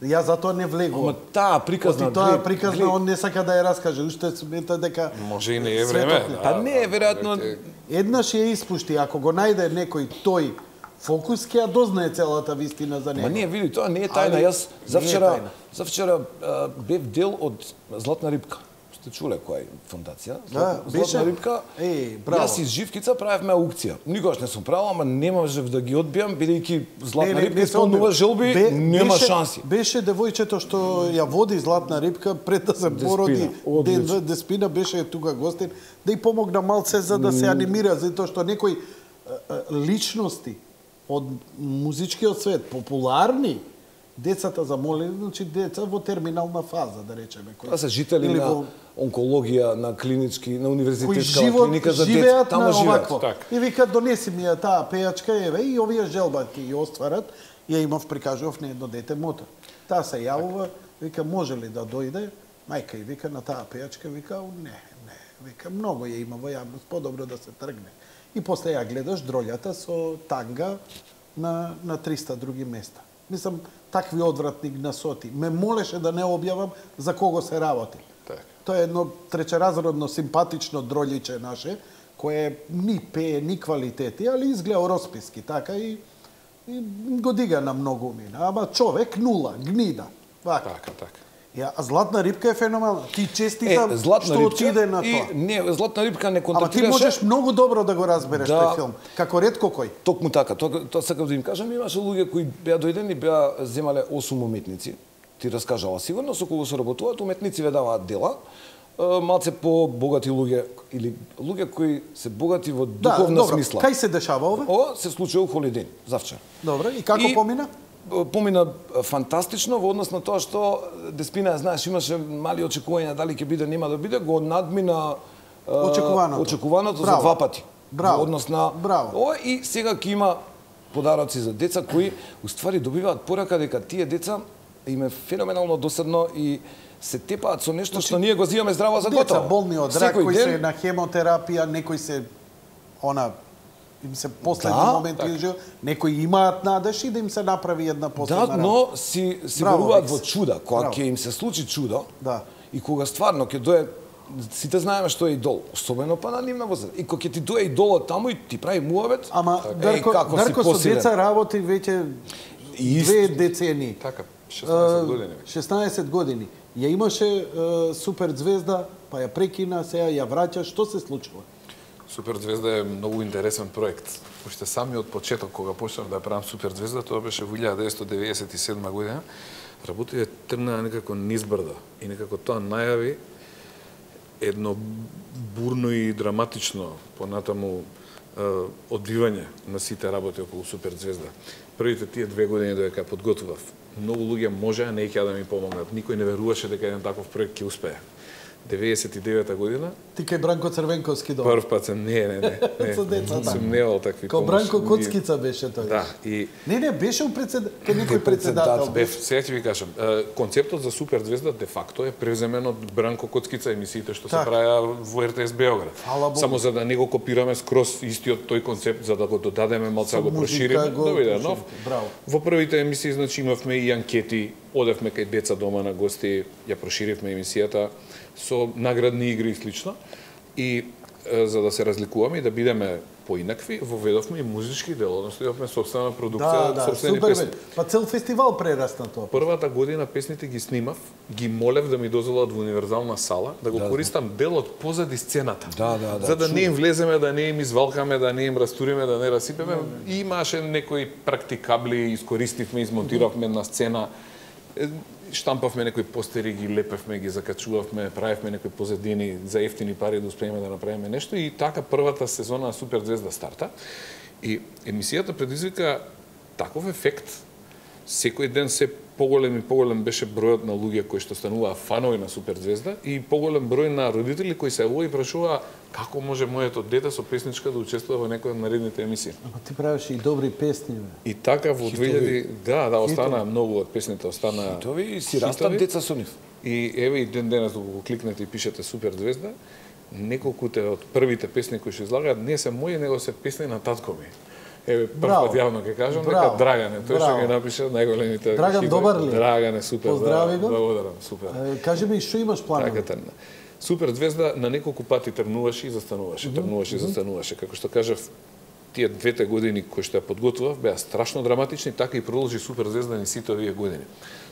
Јас затоа не влегувам.
Ама таа приказна,
Оти тоа
гледај,
приказна
гледај.
он не сака да ја раскаже, уште смета дека
Може и не е
светот
време.
не-
Па не, веројатно
еднаш ја испушти, ако го најде некој тој фокус ќе ја дознае целата вистина за него.
Ма не, види, тоа не е тајна.
Али,
Јас
не е
завчера,
тајна.
завчера а, бев дел од Златна рибка. Сте чуле која е фондација?
Да,
Златна,
беше.
Златна рибка.
Еј, браво.
Јас из Живкица правевме аукција. Никогаш не сум правил, ама не можев да ги одбијам бидејќи Златна рибка исполнува желби,
Бе-
нема
беше-
шанси.
Беше девојчето што ја води Златна рибка пред да се породи ден
одлично.
Деспина, беше тука гостин, да и помогна малце за да се анимира, затоа што некои а, а, личности од музичкиот свет, популарни, децата замолени, значи деца во терминална фаза, да речеме.
Тоа се жители
или
на
во...
онкологија, на клинички, на
кои
универзитетска
живот,
клиника за
живеат
деца, таму
на
живеат.
овакво. И вика, донеси ми ја таа пејачка, еве, и овие желба ќе ја остварат. Ја имав, прикажував на едно дете мотор. Таа се јавува, вика, може ли да дојде? Мајка и вика на таа пејачка, вика, не, не, вика, многу ја има во јавност, подобро да се тргне. И после ја гледаш дролјата со танга на, на триста други места. Мислам, такви одвратни гнасоти. Ме молеше да не објавам за кого се работи.
Так.
Тоа е едно тречеразредно симпатично дролјиче наше, кое ни пее, ни квалитети, али изгледа росписки, така и, и го дига на многу мина. Ама човек нула, гнида. Вака.
Така, така.
Ја, а златна рибка е феноменална. Ти честитам
Е, златна
што
рибка
отиде на
и
тоа.
не, златна рибка не
Ама ти
контактираше.
можеш многу добро да го разбереш
Да.
тој филм, како ретко кој.
Токму така, тоа тоа сакав да им кажам, имаше луѓе кои беа дојдени, беа земале осум уметници. Ти раскажала сигурно со кого се работуваат, уметници ве даваат дела. Е, малце по богати луѓе или луѓе кои се богати во духовна
добро.
смисла.
Кај се дешава ова?
Ова се случи у Холиден, завчера.
Добро, и како
И-
помина?
Помина фантастично во однос на тоа што Деспина, знаеш, имаше мали очекувања дали ќе биде, нема да биде, го надмина е,
Очекуваното.
очекуваното за
Браво.
два пати.
Браво.
Во однос на
Браво.
ова и сега ќе има подароци за деца кои уствари добиваат порака дека тие деца им е феноменално досадно и се тепаат со нешто што ние го зимаме здраво за
Деца
готово.
болни од рак,
Секој
кои
ден-
се на хемотерапија, некои се она им се последни
Да,
моменти
така.
во живот, некои имаат надеж и да им се направи една последна
Да, но си си
Браво,
веруваат
Викс.
во чуда, кога
Браво.
ќе им се случи чудо.
Да.
И кога стварно ќе дое, сите знаеме што е идол, особено па на нивна возраст. И кога ќе ти дое идолот таму и ти прави муавет,
Ама
така,
Дарко,
еј, како си
Дарко со
посилен.
деца работи веќе
И
две
исто.
децени.
Така, шеснаесет години веќе.
шеснаесет години. Ја имаше е, супер звезда, па ја прекина, сега ја враќа, што се случува?
Суперзвезда е многу интересен проект. Уште самиот почеток кога почнав да ја правам Суперзвезда, тоа беше во илјада деветстотини деведесет и седма година. Работите тргнаа некако низбрда и некако тоа најави едно бурно и драматично понатаму е, одбивање на сите работи околу Суперзвезда. Првите тие две години додека ја подготвував, многу луѓе можеа не ќе да ми помогнат. Никој не веруваше дека еден таков проект ќе успее. деветдесет и девета година,
Ти кај Бранко Црвенковски долу.
прв пат сум не, не, не, не.
Со деца, да.
Сум неал такви
Као
помошни.
Бранко Коцкица беше тој.
Да, и
Не, не, беше у председ... кај некој
Кај
председател.
председател.
бев, сега ќе ви кажам, е, концептот за Суперзвезда де факто е превземен од Бранко Коцкица емисиите што се
Така.
правеа во Р Т С Београд.
Фала Богу.
Само за да не го копираме скроз истиот тој концепт, за да го додадеме малку
Со
го
музика
прошириме,
го
да биде
проширите.
нов.
Браво.
Во првите емисии значи имавме и анкети, одевме кај деца дома на гости, ја проширивме емисијата со наградни игри и слично. И е, за да се разликуваме и да бидеме поинакви, воведовме и музички дел, односно имавме собствена продукција,
Да, да,
собствени
супер
песни.
бе. Па цел фестивал прерасна тоа.
Првата година песните ги снимав, ги молев да ми дозволат во универзална сала, да го
Да,
користам дел од позади сцената.
Да, да, да,
За да не
чудо.
им влеземе, да не им извалкаме, да не им растуриме, да не расипеме. И имаше некои практикабли, искористивме, измонтиравме на сцена, е, штампавме некои постери, ги лепевме, ги закачувавме, правевме некои позадини за ефтини пари да успееме да направиме нешто и така првата сезона на Суперзвезда старта. И емисијата предизвика таков ефект. Секој ден се поголем и поголем беше бројот на луѓе кои што стануваа фанови на Суперзвезда и поголем број на родители кои се јавува и прашуваа како може моето дете со песничка да учествува во некоја од наредните емисии.
Ама ти правеше и добри песни, бе.
И така во две илјади да, да, остана многу од песните, остана
Хитови и си растат
хитови.
деца со нив.
И еве и ден денес докато го кликнете и пишете Суперзвезда, неколкуте од првите песни кои што излагаат не се мои, него се песни на татко ми. Еве прв
Браво.
пат јавно ќе кажам дека
Браво.
Драгане, тој што
Браво.
ги напише најголемите
Драган
хитови.
добар ли е?
Драгане супер.
Поздрави
да,
го.
Благодарам, супер.
Е, кажи ми, што имаш планови?
Така тргна. Суперзвезда на неколку пати тргнуваше и застануваше, тргнуваше и застануваше. Како што кажав, тие двете години кои што ја подготвував беа страшно драматични, така и продолжи Суперзвезда ни сите овие години.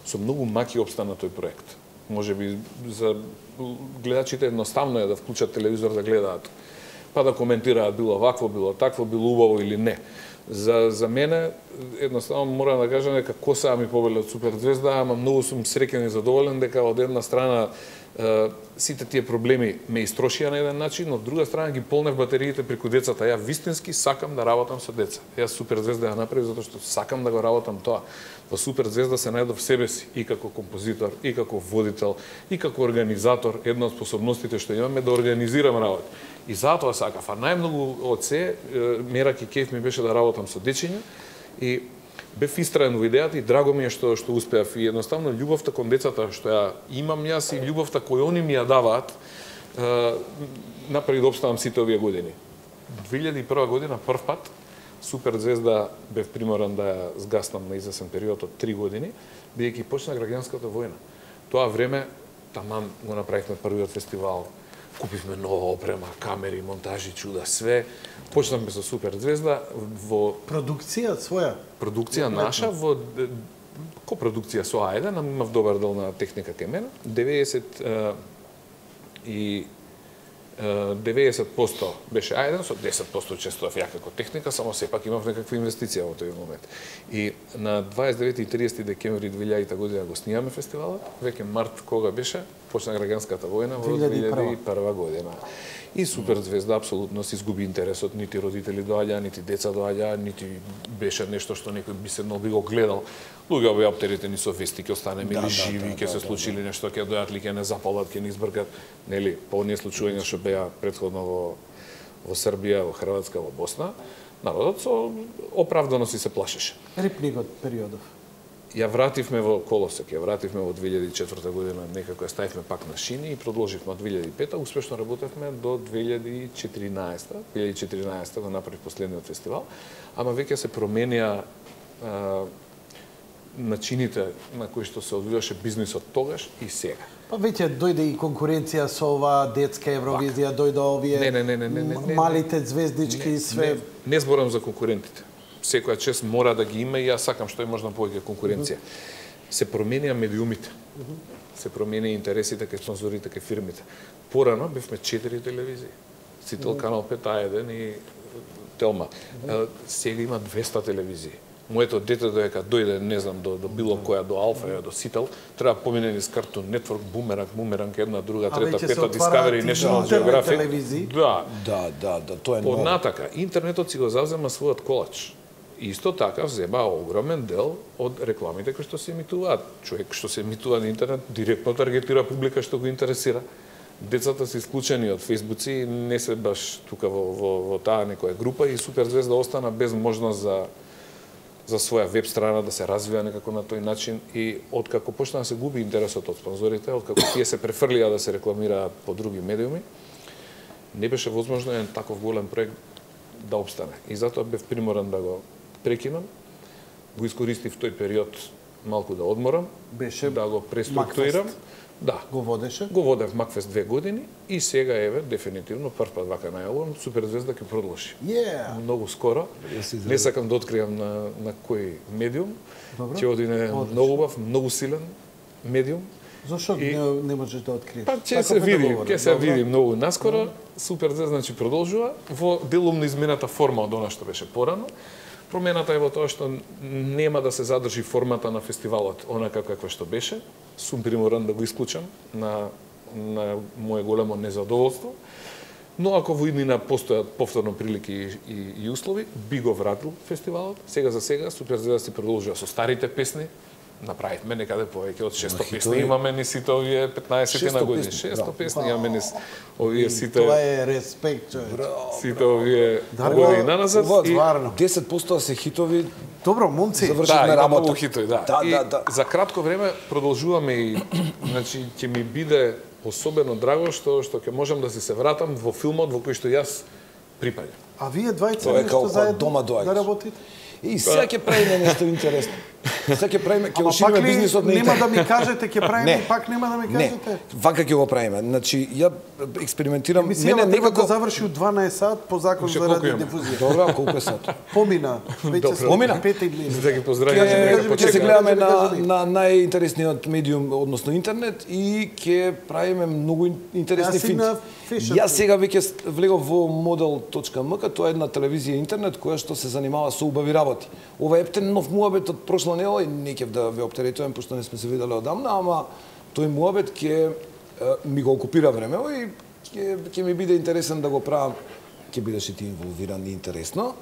Со многу маки обстана тој проект. Може би за гледачите едноставно е да вклучат телевизор да гледаат, па да коментираат било вакво, било такво, било убаво или не. За, за мене, едноставно морам да кажам дека коса ми победи од Суперзвезда, ама многу сум среќен и задоволен дека од една страна сите тие проблеми ме истрошија на еден начин, но од друга страна ги полнев батериите преку децата. Ја вистински сакам да работам со деца. Јас Суперзвезда ја направив затоа што сакам да го работам тоа. Во Суперзвезда се најдов себе си и како композитор, и како водител, и како организатор. Една од способностите што имам е да организирам работи. И затоа сакав. А најмногу од се, мерак и кеф ми беше да работам со дечиња и бев истраен во идејата и драго ми е што што успеав. И едноставно љубовта кон децата што ја имам јас и љубовта која они ми ја даваат, направи да обставам сите овие години. две илјади и прва година прв пат Суперзвезда бев приморан да ја згаснам на извесен период од три години, бидејќи почна граѓанската војна. Тоа време таман го направивме првиот фестивал, купивме нова опрема, камери, монтажи, чуда, све. Почнавме со Суперзвезда во
продукција своја.
Продукција наша во копродукција со Ајде, нам имав добар дел на техника кај мене. деветдесет и деветдесет проценти беше Ајден, со десет проценти учествував ја како техника, само сепак имав некаква инвестиција во тој момент. И на дваесет и девети и триесети декември две илјадета година го снимаме фестивалот, веќе март кога беше, почна граѓанската војна во две илјади и прва година. И Суперзвезда апсолутно се изгуби интересот, нити родители доаѓаа, нити деца доаѓаа, нити беше нешто што некој би седнал би го гледал. Луѓе беа оптеретени со вести, ќе останеме или живи, ќе се случили нешто, ќе дојат ли, ќе не запалат, ќе не избркат, нели, по оние случувања што беа претходно во во Србија, во Хрватска, во Босна, народот со оправдано си се плашеше.
Рипникот периодов.
Ја вративме во колосек, ја вративме во две илјади и четврта година, некако ја ставивме пак на шини и продолживме од две илјади и пета, успешно работевме до две илјади и четиринаесета. две илјади и четиринаесета го направив последниот фестивал, ама веќе се променија а, начините на кои што се одвиваше бизнисот тогаш и сега.
Па веќе дојде и конкуренција со ова детска Евровизија, дојде овие
не, не, не, не, не, не,
малите звездички и све.
Не, не зборам за конкурентите. Секоја чест мора да ги има и јас сакам што е можна повеќе конкуренција. Се променија медиумите. Се променија интересите кај спонзорите, кај фирмите. Порано бевме четири телевизии. Сител, Канал пет, А еден и Телма. Сега има двеста телевизии. Моето дете доека дојде, не знам, до, до било која, до Алфа, до Сител, треба помине низ Cartoon Network, Бумеранг, Бумеранг, една, друга, трета, пета, Discovery, National Geographic.
Да.
Да, да, да, тоа е ново.
Однатака, интернетот си го завзема својот колач. Исто така взема огромен дел од рекламите кои што се емитуваат. Човек што се емитува на интернет директно таргетира публика што го интересира. Децата се исклучени од фејсбуци, не се баш тука во, во, во таа некоја група и Суперзвезда остана без можност за за своја веб страна да се развија некако на тој начин и откако почна да се губи интересот од спонзорите, откако тие се префрлија да се рекламираат по други медиуми, не беше возможно еден таков голем проект да обстане. И затоа бев приморан да го прекинам. Го искористив тој период малку да одморам,
беше
да го преструктурирам. Да.
Го водеше?
Го водев Макфест две години и сега еве дефинитивно прв пат вака најавувам Суперзвезда ќе продолжи.
Yeah.
Многу скоро. Не сакам да откријам на на кој медиум. Ќе одине многу убав, многу силен медиум.
Зошто и... не, не можеш да откриеш?
Па ќе се види, ќе се види многу наскоро. Суперзвезда значи продолжува во делумно измената форма од она што беше порано. Промената е во тоа што нема да се задржи формата на фестивалот онака каква што беше. Сум приморан да го исклучам на, на моје големо незадоволство. Но ако во иднина постојат повторно прилики и, и, и услови, би го вратил фестивалот. Сега за сега Суперзвезда си продолжува со старите песни. Направивме некаде повеќе од шесто песни. Имаме ни сите овие петнаесет на години. шесто песни имаме ни овие сите.
Тоа е респект, човек.
Сите овие горе и наназад.
И
десет проценти се хитови.
Добро, момци.
Да, има многу хитови, да.
Да,
и
да, да.
За кратко време продолжуваме и значи ќе ми биде особено драго што што ќе можам да си се вратам во филмот во кој што јас припаѓам.
А вие двајца
Тоа е
нешто
како
заедно
дома доаѓаш.
да работите?
И сега ќе правиме нешто интересно. Сега ќе правиме, ќе ушириме бизнисот на
интернет. Нема
интернет.
да ми кажете ќе правиме, пак нема да ми кажете.
Не, вака ќе го правиме. Значи, ја експериментирам,
мене некако да заврши од дванаесет сат по закон за радиодифузија.
Добро, колку е сат?
Помина, веќе се
Помина?
пет и дваесет.
Да ги поздравиме,
Ќе ќе се гледаме на на најинтересниот медиум, односно интернет и ќе правиме многу интересни финти. Јас сега веќе влегов во модел точка ем ка, тоа е една телевизија интернет која што се занимава со убави работи. Ова е ептен нов муабет од прошла недела и не ќе да ве оптеретувам пошто не сме се виделе одамна, ама тој муабет ќе ми го окупира времево и ќе ќе ми биде интересен да го правам, ќе бидеш и ти инволвиран и интересно.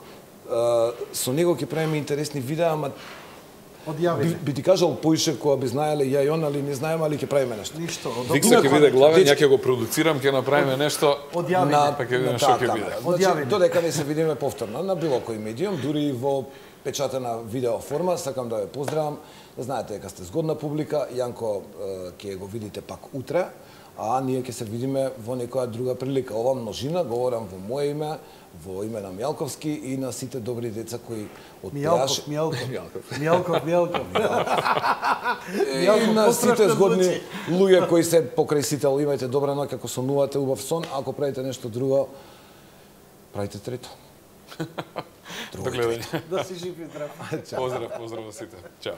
Со него ќе правиме интересни видеа, ама
Одјавите.
би, би ти кажал поише кога би знаеле ја и он, али не знаеме, али ќе правиме нешто.
Ништо.
Викса ќе биде главен, ја ќе го продуцирам, ќе направиме нешто.
Одјавите.
На,
па ќе видиме
на
што
таа
ќе
камера.
биде.
Значи,
Одјавите.
додека не се видиме повторно на било кој медиум, дури и во печатена видео форма, сакам да ве поздравам. Знаете дека сте згодна публика, Јанко ќе го видите пак утре, а ние ќе се видиме во некоја друга прилика. Ова множина, говорам во мое име, во име на Мјалковски и на сите добри деца кои од
Мјалков, Мјалков. Мјалков, Мјалков.
и на сите згодни луѓе кои се покрај сител, имајте добра ноќ, ако сонувате убав сон, ако правите нешто друго, правите трето.
До гледање.
Да си жив и здрав.
Поздрав, поздрав во сите. Чао.